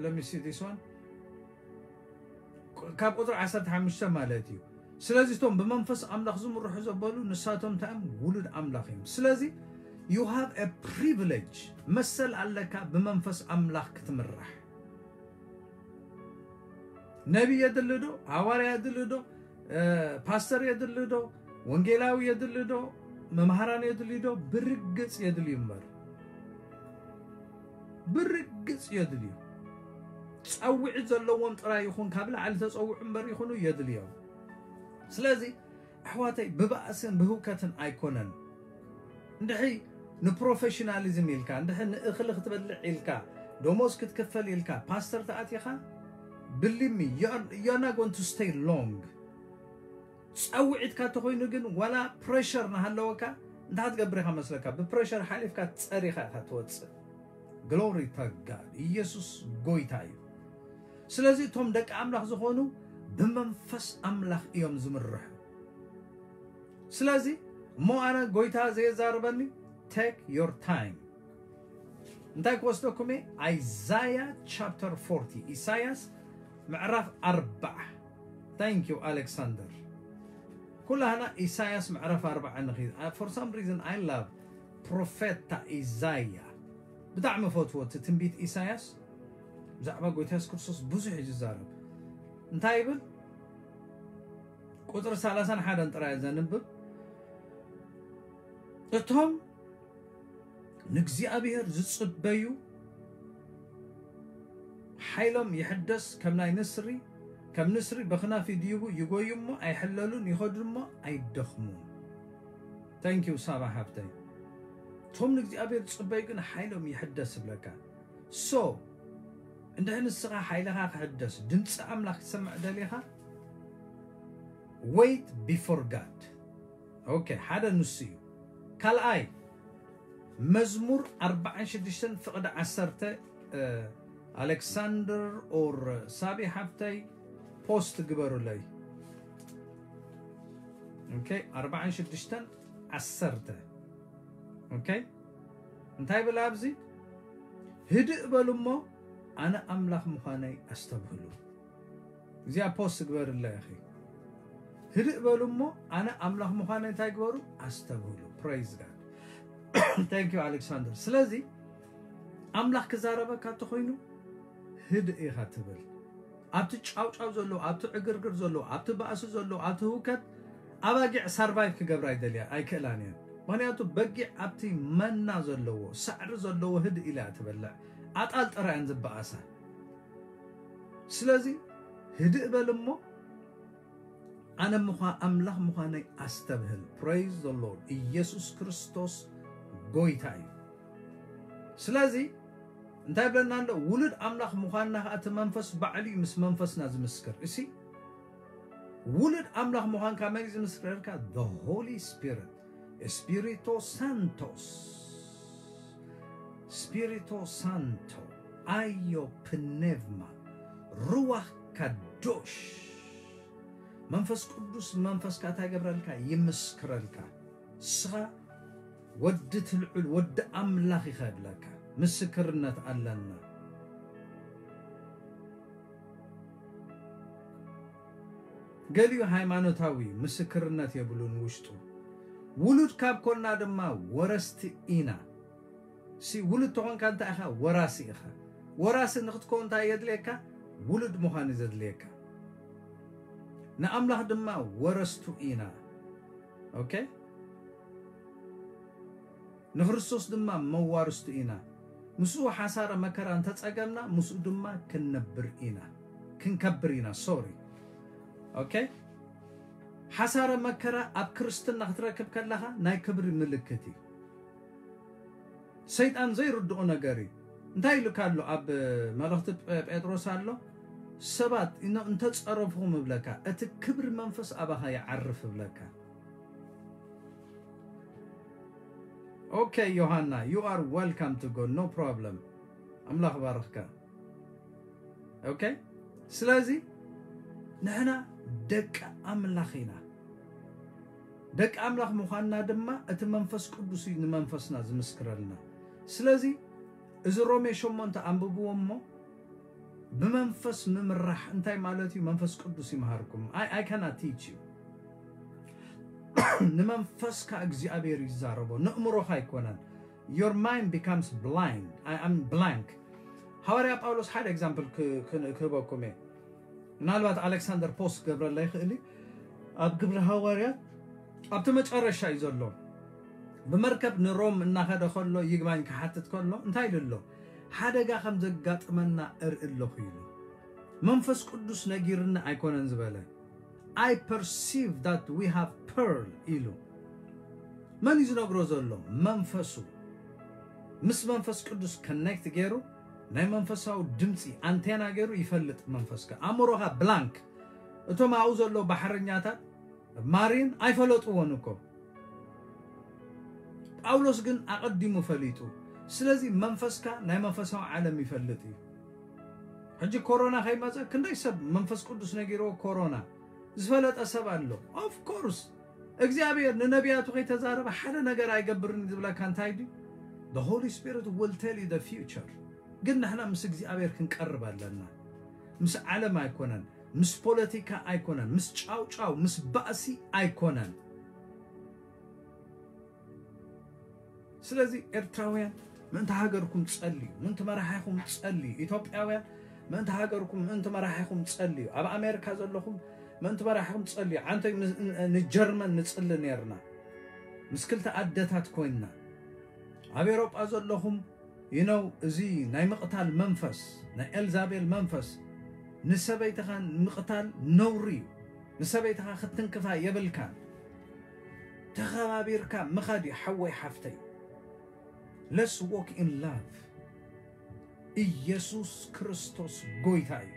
let me see this one። ካብ ቁፅሪ ዓሰርተ ሓሙሽተ ማለት እዩ። ስለዚ እቶም ብመንፈስ ኣምላኽ ዝምርሑ ዘበሉ ንሳቶም እንታይ እዮም? ውሉድ ኣምላኽ እዮም። ስለዚ you have a privilege፣ መሰል ኣለካ ብመንፈስ ኣምላኽ ክትምራሕ። ነቢይ የድሊ ዶ? ሃዋርያ የድሊ ዶ? እ፣ ፓስተር የድሊ ዶ? ወንጌላዊ የድሊ ዶ? መምሃራን የድሊ ዶ? ብርግጽ የድልዩ እምበር፣ ብርግጽ የድልዩ። ጸውዒት ዘለዎም ጥራይ ይኹን፣ ካብ ላዕሊ ተጸውዑ እምበር ይኹኑ የድልዮም። ስለዚ ኣሕዋተይ ብባእስን ብህውከትን ኣይኮነን። እንድሕሪ ንፕሮፌሽናሊዝም ኢልካ፣ እንድሕሪ ንእኽሊ ክትበልዕ ኢልካ፣ ደሞዝ ክትክፈል ኢልካ ፓስተር ተኣቲኻ፣ believe me, you're not going to stay long። ጸውዒትካ ተኾይኑ ግን ዋላ ፕሬሸር እናሃለወካ እንታይ ክትገብር ኢኻ መስለካ? ብፕሬሸር ሓሊፍካ ጸሪኻ ኢኻ ትወጽእ። ግሎሪ ቱ ጋድ። ኢየሱስ ጎይታ እዩ። ስለዚ እቶም ደቂ ኣምላኽ ዝኾኑ ብመንፈስ ኣምላኽ እዮም ዝምርሑ። ስለዚ እሞ ኣነ ጎይታ ዘየዛርበኒ take your time። እንታይ ክወስደኩም እየ? Isaiah chapter forty፣ ኢሳያስ ምዕራፍ ኣርባዓ። Thank you ኣሌክሳንደር። ኩላህና ኢሳያስ ምዕራፍ ኣርባዓ ንኺድ። For some reason I love ፕሮፌታ ኢሳያ፣ ብጣዕሚ ፈትዎ። እቲ ትንቢት ኢሳያስ ብዛዕባ ጎይታ የሱስ ክርስቶስ ብዙሕ እዩ ዝዛረብ። እንታይ ይብል? ቁፅሪ ሰላሳን ሓደን ጥራይ ዘንብብ። እቶም ንእግዚኣብሔር ዝጽበዩ ሓይሎም ይሕደስ፣ ከም ናይ ንስሪ፣ ከም ንስሪ ብኽናፍ ይድይቡ፣ ይጎዩ እሞ ኣይሕለሉን፣ ይኸዱ እሞ ኣይደኽሙን። Thank you ሳባ ሓብተይ። እቶም ንእግዚኣብሔር ዝጽበዩ ግን ሓይሎም ይሕደስ ይብለካ። So እንድሕር ንስኻ ሓይልኻ ክሕደስ፣ ድምፂ ኣምላኽ ክትሰምዕ ደሊኻ፣ wait before God። ኦኬ፣ ሓደ ንሱ እዩ። ካልኣይ፣ መዝሙር ኣርባዓን ሽዱሽተን ፍቕዲ ዓሰርተ፣ ኣሌክሳንደር ኦር ሳቢ ሓብተይ ፖስት ግበሩለይ። ኦኬ፣ ኣርባዓን ሽዱሽተን ዓሰርተ። ኦኬ፣ እንታይ ብላ ኣብዚ? ህድእ በሉ እሞ ኣነ ኣምላኽ ምዃነይ ኣስተብህሉ። እዚኣ ፖስት ግበርላ ኢኺ። ህድእ በሉ እሞ ኣነ ኣምላኽ ምዃነይ እንታይ ግበሩ? ኣስተብህሉ። Praise God። Thank you ኣሌክሳንደር። ስለዚ ኣምላኽ ክዛረበካ እንተኾይኑ ህድእ ኢኻ ትብል። ኣብቲ ጫውጫው ዘሎ፣ ኣብቲ ዕግርግር ዘሎ፣ ኣብቲ ባእሲ ዘሎ፣ ኣብቲ ህውከት ኣባጊዕ ሳርቫይቭ ክገብራ ኣይደልያ ኣይክእላን እየን። ምኽንያቱ በጊዕ ኣብቲ መና ዘለዎ፣ ሳዕሪ ዘለዎ ህድእ ኢላ እያ ትበልዕ። ኣጣል ጥራይ እየን ዝበኣሳ። ስለዚ ህድእ በል እሞ ኣነ ምዃ ኣምላኽ ምዃነይ ኣስተብህል። Praise the Lord። ኢየሱስ ክርስቶስ ጎይታ እዩ። ስለዚ እንታይ ብለና ኣሎ? ውሉድ ኣምላኽ ምዃንና ከዓ እቲ መንፈስ ባዕሉ እዩ ምስ መንፈስና ዝምስክር። እሲ ውሉድ ኣምላኽ ምዃንካ መን እዩ ዝምስክረልካ? The Holy Spirit። ስፒሪቶ ሳንቶስ፣ ስፒሪቶ ሳንቶ፣ ኣዮ ፕኔቭማ፣ ሩዋኽ ካዶሽ። መንፈስ ቅዱስ ንመንፈስካ እንታይ ገብረልካ? ይምስክረልካ። ንስኻ ወዲ ትልዑል፣ ወዲ ኣምላኽ ኢኻ ይብለካ። ምስክርነት ኣለና። ገሊኡ ሃይማኖታዊ ምስክርነት የብሉን ውሽጡ። ውሉድ ካብ ኮና ድማ ወረስቲ ኢና። ሲ ውሉድ ተኾንካ እንታይ ኢኻ? ወራሲ ኢኻ። ወራሲ ንኽትከውን እንታይ የድልየካ? ውሉድ ምዃን እዩ ዘድልየካ። ንኣምላኽ ድማ ወረስቱ ኢና። ኦኬ? ንክርስቶስ ድማ መዋርስቱ ኢና። ምስኡ ሓሳረ መከራ እንተጸገምና፣ ምስኡ ድማ ክንነብር ኢና። ክንከብር ኢና፣ ሶሪ። ኦኬ? ሓሳረ መከራ ኣብ ክርስትና ክትረክብ ከለኻ ናይ ክብሪ ምልክት እዩ። ሰይጣን ዘይርድኦ ነገር እዩ። እንታይ ኢሉካ ኣሎ ኣብ መልእኽቲ ጴ-፣ ጴጥሮስ ኣሎ? ሰባት እኖ እንተጸረፍኹም እብለካ፣ እቲ ክብሪ መንፈስ ኣባኻ ይዓርፍ እብለካ። ኦኬ ዮሃና፣ you are welcome to go፣ no problem። ኣምላኽ ባርኽካ። ኦኬ፣ ስለዚ ንሕና ደቂ ኣምላኽ ኢና። ደቂ ኣምላኽ ምዃንና ድማ እቲ መንፈስ ቅዱስ እዩ ንመንፈስና ዝምስክረልና። ስለዚ እዚ ሮሜ ሸሞንተ ኣንብብዎ እሞ፣ ብመንፈስ ምምራሕ እንታይ ማለት እዩ? መንፈስ ቅዱስ ይምሃርኩም። I, I cannot teach you። ንመንፈስካ እግዚኣብሔር ይዛረቦ፣ ንእምሮኻ ኣይኮነን። Your mind becomes blind። I am blank። ሃዋርያ ጳውሎስ ሓደ ኤግዛምፕል ክ-፣ ክ-፣ ክህበኩም እየ። ምናልባት ኣሌክሳንደር ፖስት ክገብረላ ይኽእል እዩ። ኣብ ግብሪ ሃዋርያት ኣብቲ መጨረሻ እዩ ዘሎ። ብመርከብ ንሮም እናኸደ ከሎ ይግባኝ ክሓትት ከሎ እንታይ ኢሉ ኣሎ? ሓደጋ ከም ዘጋጥመና እርኢ ኣለኹ ኢሉ። መንፈስ ቅዱስ ነጊርኒ ኣይኮነን ዝበለ። I perceive that we have pearl ኢሉ። መን እዩ ዝነግሮ ዘሎ? መንፈሱ። ምስ መንፈስ ቅዱስ ኮኔክት ገይሩ ናይ መንፈሳዊ ድምፂ ኣንቴና ገይሩ ይፈልጥ መንፈስካ። ኣእምሮኻ ብላንክ። እቶም ኣብኡ ዘለዉ ባሕረኛታት ማሪን ኣይፈለጥዎን እኮ። ጳውሎስ ግን ኣቐዲሙ ፈሊጡ። ስለዚ መንፈስካ ናይ መንፈሳዊ ዓለም ይፈልጥ እዩ። ሕጂ ኮሮና ከይመፀ ክንደይ ሰብ መንፈስ ቅዱስ ነጊርዎ ኮሮና ዝፈለጠ ሰብ ኣሎ። ኦፍ ኮርስ እግዚኣብሔር ንነቢያቱ ከይተዛረበ ሓደ ነገር ኣይገብርን ዝብለካ እንታይ ድዩ? The Holy Spirit will tell you the future. ግን ንሕና ምስ እግዚኣብሔር ክንቀርብ ኣለና። ምስ ዓለም ኣይኮነን፣ ምስ ፖለቲካ ኣይኮነን፣ ምስ ጫውጫው ምስ ባእሲ ኣይኮነን። ስለዚ ኤርትራውያን ምእንቲ ሃገርኩም ጸልዩ፣ ምእንቲ መራሒኹም ጸልዩ። ኢትዮጵያውያን ምእንቲ ሃገርኩም፣ ምእንቲ መራሒኹም ጸልዩ። ኣብ ኣሜሪካ ዘለኹም ምእንቲ መራሒኹም ጸልዩ። ዓንተይ ን- ን- ንጀርመን ንጽሊ ነርና፣ ምስ ክልተ ኣደታት ኮይንና። ኣብ ኤውሮጳ ዘለኹም ይነው፣ እዚ ናይ ምቕታል መንፈስ፣ ናይ ኤልዛቤል መንፈስ፣ ንሰበይትኻ ምቕታል ነውሪ እዩ። ንሰበይትኻ ክትንክፋ የብልካን። ተኸባቢርካ ምኻድ እዩ። ሓወይ ሓፍተይ፣ let's walk in love። ኢየሱስ ክርስቶስ ጎይታ እዩ።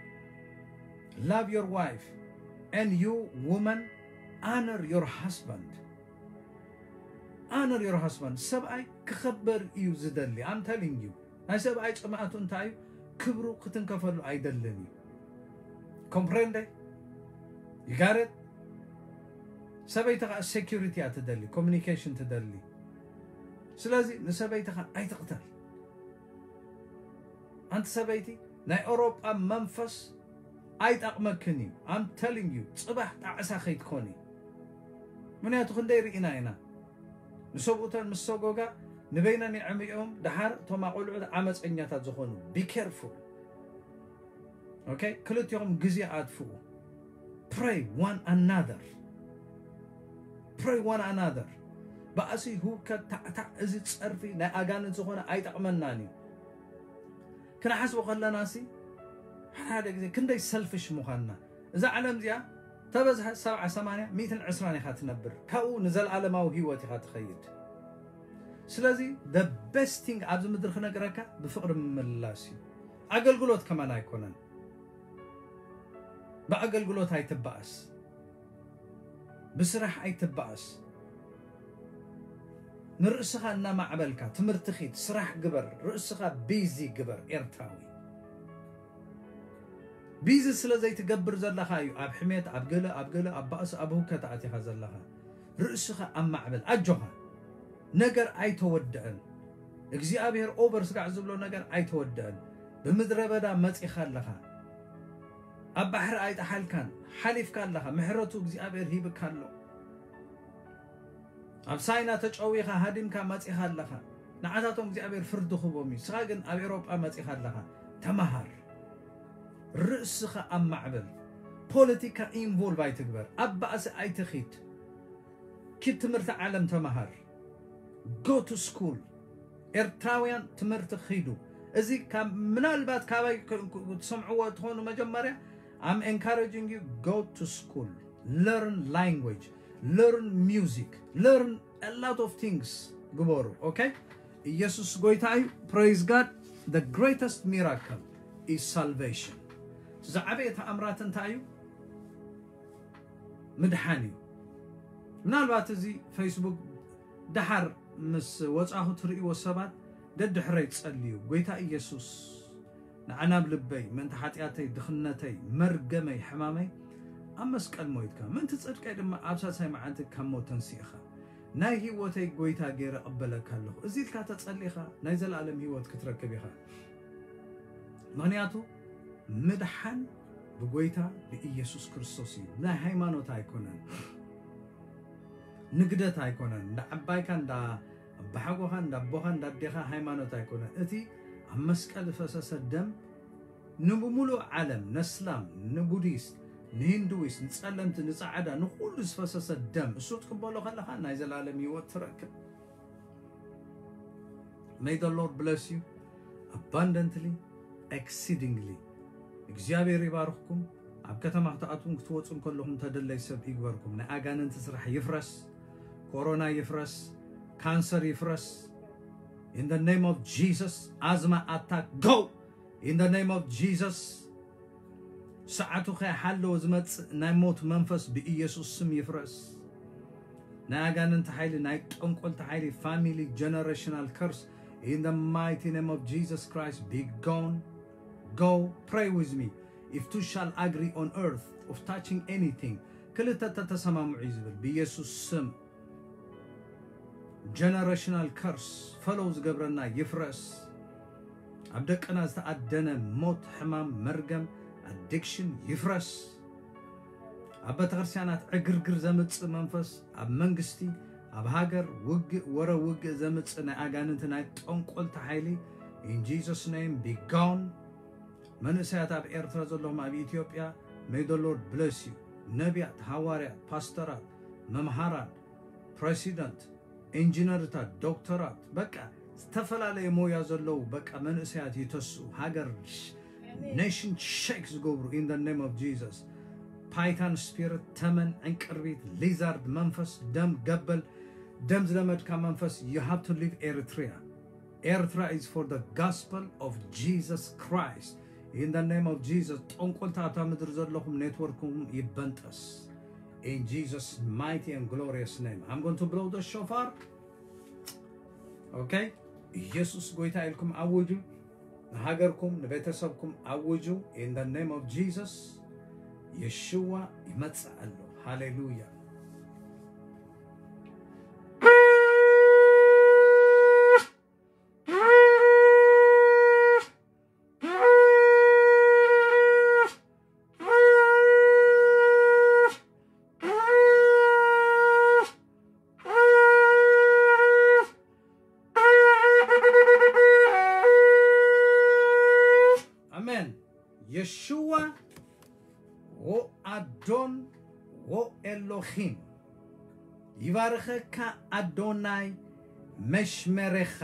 Love your wife, and you woman, honor your husband. Honor your husband. ሰብኣይ ክኸበር እዩ ዝደሊ። I'm telling you፣ ናይ ሰብኣይ ጽምኣቱ እንታይ እዩ? ክብሩ ክትንከፈሉ ኣይደልን እዩ። Comprende? You got it? ሰበይቲ ከዓ security እያ ትደሊ፣ communication ትደሊ። ስለዚ ንሰበይትኻ ኣይትቕተል። ኣንቲ ሰበይቲ፣ ናይ ኤውሮጳ መንፈስ ኣይጠቕመክን እዩ። I'm telling you፣ ጽባሕ ጣዕሳ ከይትኮኒ። ምክንያቱ ክንደይ ርኢና ኢና። ንሰብኡተን ምስ ሰጎጋ ንበይነን የዕምኦም፣ ደሓር እቶም ኣቆልዑት ዓመፀኛታት ዝኾኑ። Be careful። Okay? ክልቲኦም ግዜ ኣጥፍኡ። Pray one another። Pray one another። ባእሲ፣ ህውከት፣ ታዕታዕ፣ እዚ ጸርፊ ናይ ኣጋንንት ዝኾነ ኣይጠቕመናን እዩ። ክንሓስቦ ከለና ሲ፣ ሓደ ሓደ ግዜ ክንደይ ሰልፍሽ ምዃንና። እዛ ዓለም እዚኣ ተበዝሐ ሰብዓ፣ ሰማንያ፣ ሚእትን ዕስራን ኢኻ ትነብር። ካብኡ ንዘለኣለማዊ ህይወት ኢኻ ትኸይድ። ስለዚ the best thing ኣብዚ ምድሪ ክነግረካ ብፍቕሪ ምምላስ እዩ። ኣገልግሎት ከማን ኣይኮነን። ብኣገልግሎት ኣይትበኣስ፣ ብስራሕ ኣይትበኣስ። ንርእስኻ እናማዕበልካ ትምህርቲ ኺድ፣ ስራሕ ግበር፣ ርእስኻ ቢዚ ግበር። ኤርትራዊ ቢዚ ስለ ዘይትገብር ዘለኻ እዩ ኣብ ሕሜት፣ ኣብ ገለ፣ ኣብ ገለ፣ ኣብ ባእሲ፣ ኣብ ህውከት ኣቲኻ ዘለኻ። ርእስኻ ኣማዕብል፣ ኣጆኻ። ነገር ኣይተወድአን። እግዚኣብሔር ኦቨር ስጋዕ ዝብሎ ነገር ኣይተወድአን። ብምድረ በዳ መጺኻ ኣለኻ። ኣብ ባሕሪ ኣይጠሓልካን፣ ሓሊፍካ ኣለኻ። ምሕረቱ እግዚኣብሔር ሂብካ ኣሎ። ኣብ ሳይና ተጨዊኻ ሃዲምካ መጺኻ ኣለኻ። ንዓታቶም እግዚኣብሔር ፍርዲ ክቦም እዩ። ንስኻ ግን ኣብ ኤውሮጳ መጺኻ ኣለኻ። ተመሃር። ርእስኻ ኣማዕብል። ፖለቲካ ኢንቮልቭ ኣይትግበር። ኣብ ባእሲ ኣይትኺድ። ኪድ ትምህርቲ ዓለም ተመሃር። Go to school። ኤርትራውያን ትምህርቲ ኺዱ። እዚ ካብ፣ ምናልባት ካባይ ክ- ክ- ክትሰምዕዎ ትኾኑ መጀመርያ፣ I'm encouraging you, go to school, learn language, learn music, learn a lot of things ግበሩ። Okay? ኢየሱስ ጎይታ እዩ። Praise God. The greatest miracle is salvation። ዝዓበየ ተኣምራት እንታይ እዩ? ምድሓን እዩ። ምናልባት እዚ ፌስቡክ ደሓር ምስ ወጻኹ ትርእይዎ ሰባት ደድሕረይ ጸልዩ። ጎይታ ኢየሱስ፣ ንዓና ኣብ ልበይ፣ ምእንቲ ሓጢኣተይ፣ ድኽነተይ፣ መርገመይ፣ ሕማመይ ኣብ መስቀል ሞይትካ፣ ምእንቲ ጽድቀይ ድማ ኣብ ሳልሳይ መዓልቲ ካብ ሞት ተንሲእኻ፣ ናይ ህይወተይ ጎይታ ገይረ እቕበለካ ኣለኹ። እዚ ኢልካ ተጸሊኻ ናይ ዘለኣለም ህይወት ክትረክብ ኢኻ። ምኽንያቱ ምድሓን ብጎይታ ብኢየሱስ ክርስቶስ እዩ። ናይ ሃይማኖት ኣይኮነን፣ ንግደት ኣይኮነን፣ እንዳ ዓባይካ፣ እንዳ ኣባሓጎኻ፣ እንዳ ኣቦኻ፣ እንዳ ኣዴኻ ሃይማኖት ኣይኮነን። እቲ ኣብ መስቀል ዝፈሰሰ ደም ንብሙሉእ ዓለም፣ ነስላም፣ ንቡዲስት፣ ንሂንዱዊስት፣ ንጸለምቲ፣ ንጻዕዳ፣ ንኹሉ ዝፈሰሰ ደም እሱ ትቅበሎ ከለኻ ናይ ዘላለም ህይወት ትረክብ። May the Lord bless you abundantly, exceedingly። እግዚኣብሔር ይባርኽኩም። ኣብ ከተማ ክትኣትዉን ክትወፁን ከለኹም ተደለይ ሰብ ይግበርኩም። ናይ ኣጋንንቲ ስራሕ ይፍረስ፣ ኮሮና ይፍረስ፣ ካንሰር ይፍረስ። In the name of Jesus, ኣዝማ ኣታክ፣ go! In the name of Jesus። ሰዓቱ ከይሓለወ ዝመጽእ ናይ ሞት መንፈስ ብኢየሱስ ስም ይፍረስ። ናይ ኣጋንንቲ ሓይሊ፣ ናይ ጠንቆልቲ ሓይሊ፣ family generational curse, in the mighty name of Jesus Christ, be gone. Go, pray with me. If two shall agree on earth of touching anything, ክልተ ተተሰማምዑ እዩ ዝብል ብኢየሱስ ስም። generational curse follow ዝገብረና ይፍረስ። ኣብ ደቅና ዝተኣደነ ሞት፣ ሕማም፣ መርገም፣ addiction ይፍረስ። ኣብ ቤተክርስትያናት ዕግርግር ዘምጽእ መንፈስ፣ ኣብ መንግስቲ፣ ኣብ ሃገር ውግእ፣ ወረ ውግእ ዘምጽእ ናይ ኣጋንንቲ ናይ ጠንቆልቲ ሓይሊ in Jesus name be gone። መንእሰያት ኣብ ኤርትራ ዘለኹም ኣብ ኢትዮጵያ may the Lord bless you። ነቢያት፣ ሃዋርያት፣ ፓስተራት፣ መምሃራን፣ ፕሬሲደንት፣ ኢንጂነርታት፣ ዶክተራት፣ በቃ ዝተፈላለየ ሞያ ዘለዉ በቃ መንእሰያት ይተስኡ። ሃገር nation shake ዝገብሩ in the name of Jesus። Python spirit፣ ተመን፣ ዕንቅርቢት፣ lizard መንፈስ፣ ደም ገበል፣ ደም ዝለመድካ መንፈስ you have to leave Eritrea። Eritrea is for the gospel of Jesus Christ። In the name of Jesus፣ ጠንቆልታ ኣብታ ምድሪ ዘለኹም ኔትወርክኩም ይበንጠስ። In Jesus mighty and glorious name I'm going to blow the shofar። Okay? ኢየሱስ ጎይታ ኢልኩም ኣውጁ። ንሃገርኩም ንቤተሰብኩም ኣውጁ። In the name of Jesus። የሽዋ ይመጽእ ኣሎ። ሃሌሉያ። ኣሜን። የሽዋ ወኣዶን ወኤሎኺም ይባርኸካ። ኣዶናይ መሽመሬኻ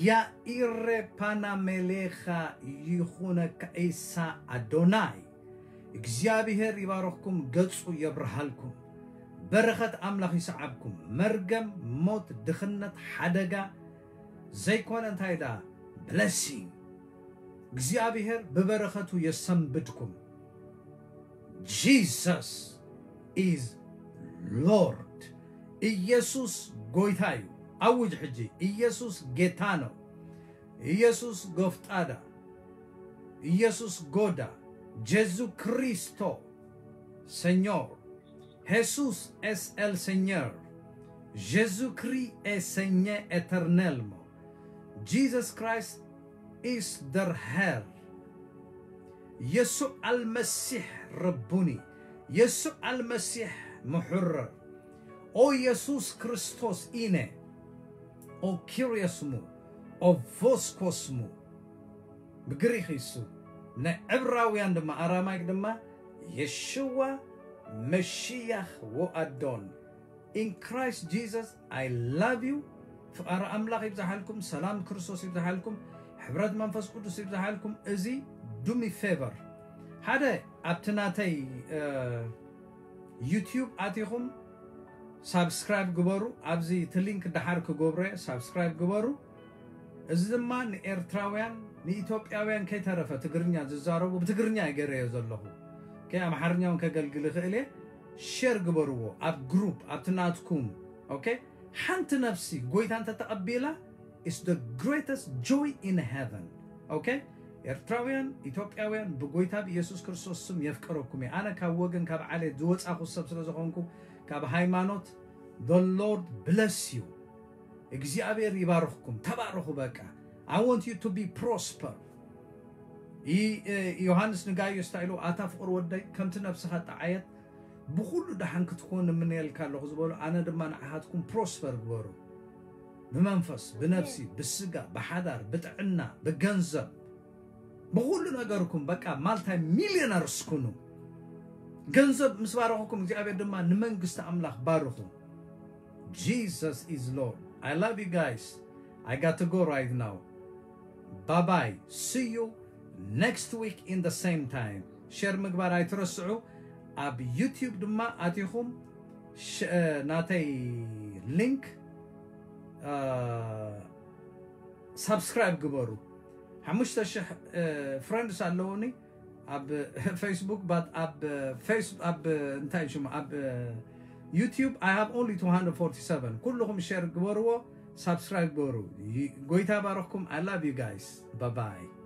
ያኢረ ፓናሜሌኻ ይኹነካ። ኢሳ ኣዶናይ እግዚኣብሔር ይባርኽኩም፣ ገጹ የብርሃልኩም፣ በረኸት ኣምላኽ ይስዓብኩም። መርገም፣ ሞት፣ ድኽነት፣ ሓደጋ ዘይኮነ እንታይ ደኣ blessing እግዚኣብሔር ብበረኸቱ የሰንብድኩም። Jesus is Lord። ኢየሱስ ጎይታ እዩ። ኣውጅ ሕጂ፣ ኢየሱስ ጌታ ነው። ኢየሱስ ጎፍጣዳ፣ ኢየሱስ ጎዳ፣ ጀሱ ክሪስቶ Señor። Jesus es el Señor. Jésus-Christ est Seigneur éternellement. Jesus Christ is the Herr. يسوع المسيح ربوني. يسوع المسيح محرر. ኦ የሱስ ክርስቶስ ኢነ ኦ ኪርዮስሙ ኦ ቮስኮስሙ ብግሪኽ ይሱ ናይ ዕብራውያን ድማ ኣራማይክ ድማ የሽዋ መሽያኽ ወኣዶን። In Christ Jesus I love you። ፍቓሪ ኣምላኽ ይብዝሓልኩም፣ ሰላም ክርስቶስ ይብዝሓልኩም፣ ሕብረት መንፈስ ቅዱስ ይብዝሓልኩም። እዚ ዱሚ ፌቨር ሓደ ኣብቲ ናተይ ዩቲዩብ ኣቲኹም ሳብስክራይብ ግበሩ። ኣብዚ እቲ ሊንክ ደሓር ክገብሮ ሳብስክራይብ ግበሩ። እዚ ድማ ንኤርትራውያን ንኢትዮጵያውያን ከይተረፈ ትግርኛ ዝዛረቡ ብትግርኛ እየ ገይረዮ ዘለኹ። ኦኬ፣ ኣምሓርኛ እውን ከገልግል ይኽእል እየ። ሼር ግበርዎ ኣብ ግሩፕ ኣብቲ ናትኩም። ኦኬ፣ ሓንቲ ነፍሲ ጎይታ እንተተቐቢላ is the greatest joy in heaven። ኦኬ፣ ኤርትራውያን ኢትዮጵያውያን ብጎይታ ብኢየሱስ ክርስቶስ ስም የፍቀረኩም እየ። ኣነ ካብ ወገን ካብ ዓሌት ዝወጻኹ ሰብ ስለ ዝኾንኩ ካብ ሃይማኖት the Lord bless you። እግዚኣብሔር ይባርኽኩም። ተባረኹ። በቃ I want you to be prosper። ይ- እ፣ ዮሃንስ ንጋይዮስ እንታይ ኢሉ? ኣታ ፍቕር ወደይ ከምቲ ነብስኻ ጠዓየት ብኹሉ ደሓን ክትኮን እምነየልካ ኣለኹ ዝበሉ ኣነ ድማ ንዓኻትኩም ፕሮስፐር ግበሩ። ብመንፈስ፣ ብነብሲ፣ ብስጋ፣ ብሓዳር፣ ብጥዕና፣ ብገንዘብ፣ ብኹሉ ነገርኩም በቃ ማልታይ ሚሊዮነርስ ኩኑ። ገንዘብ ምስ ባረኹኩም እግዚኣብሔር ድማ ንመንግስቲ ኣምላኽ ባርኹ። Jesus is Lord. I love you guys. I got to go right now. Bye bye. See you next week in the same time. ሼር ምግባር ኣይትረስዑ። ኣብ ዩቲዩብ ድማ ኣቲኹም ሽ- እ፣ ናተይ ሊንክ እ፣ ሳብስክራይብ ግበሩ። ሓሙሽተ ሽሕ ፍሬንድስ ኣለውኒ ኣብ ፌስቡክ ባት ኣብ ፌስ ኣብ እንታይ ሽሙ ኣብ ዩቲዩብ I have only two hundred forty-seven። ኩልኹም ሼር ግበርዎ፣ ሳብስክራይብ ግበሩ። ይ- ጎይታ ባረኽኩም። I love you guys. Bye bye.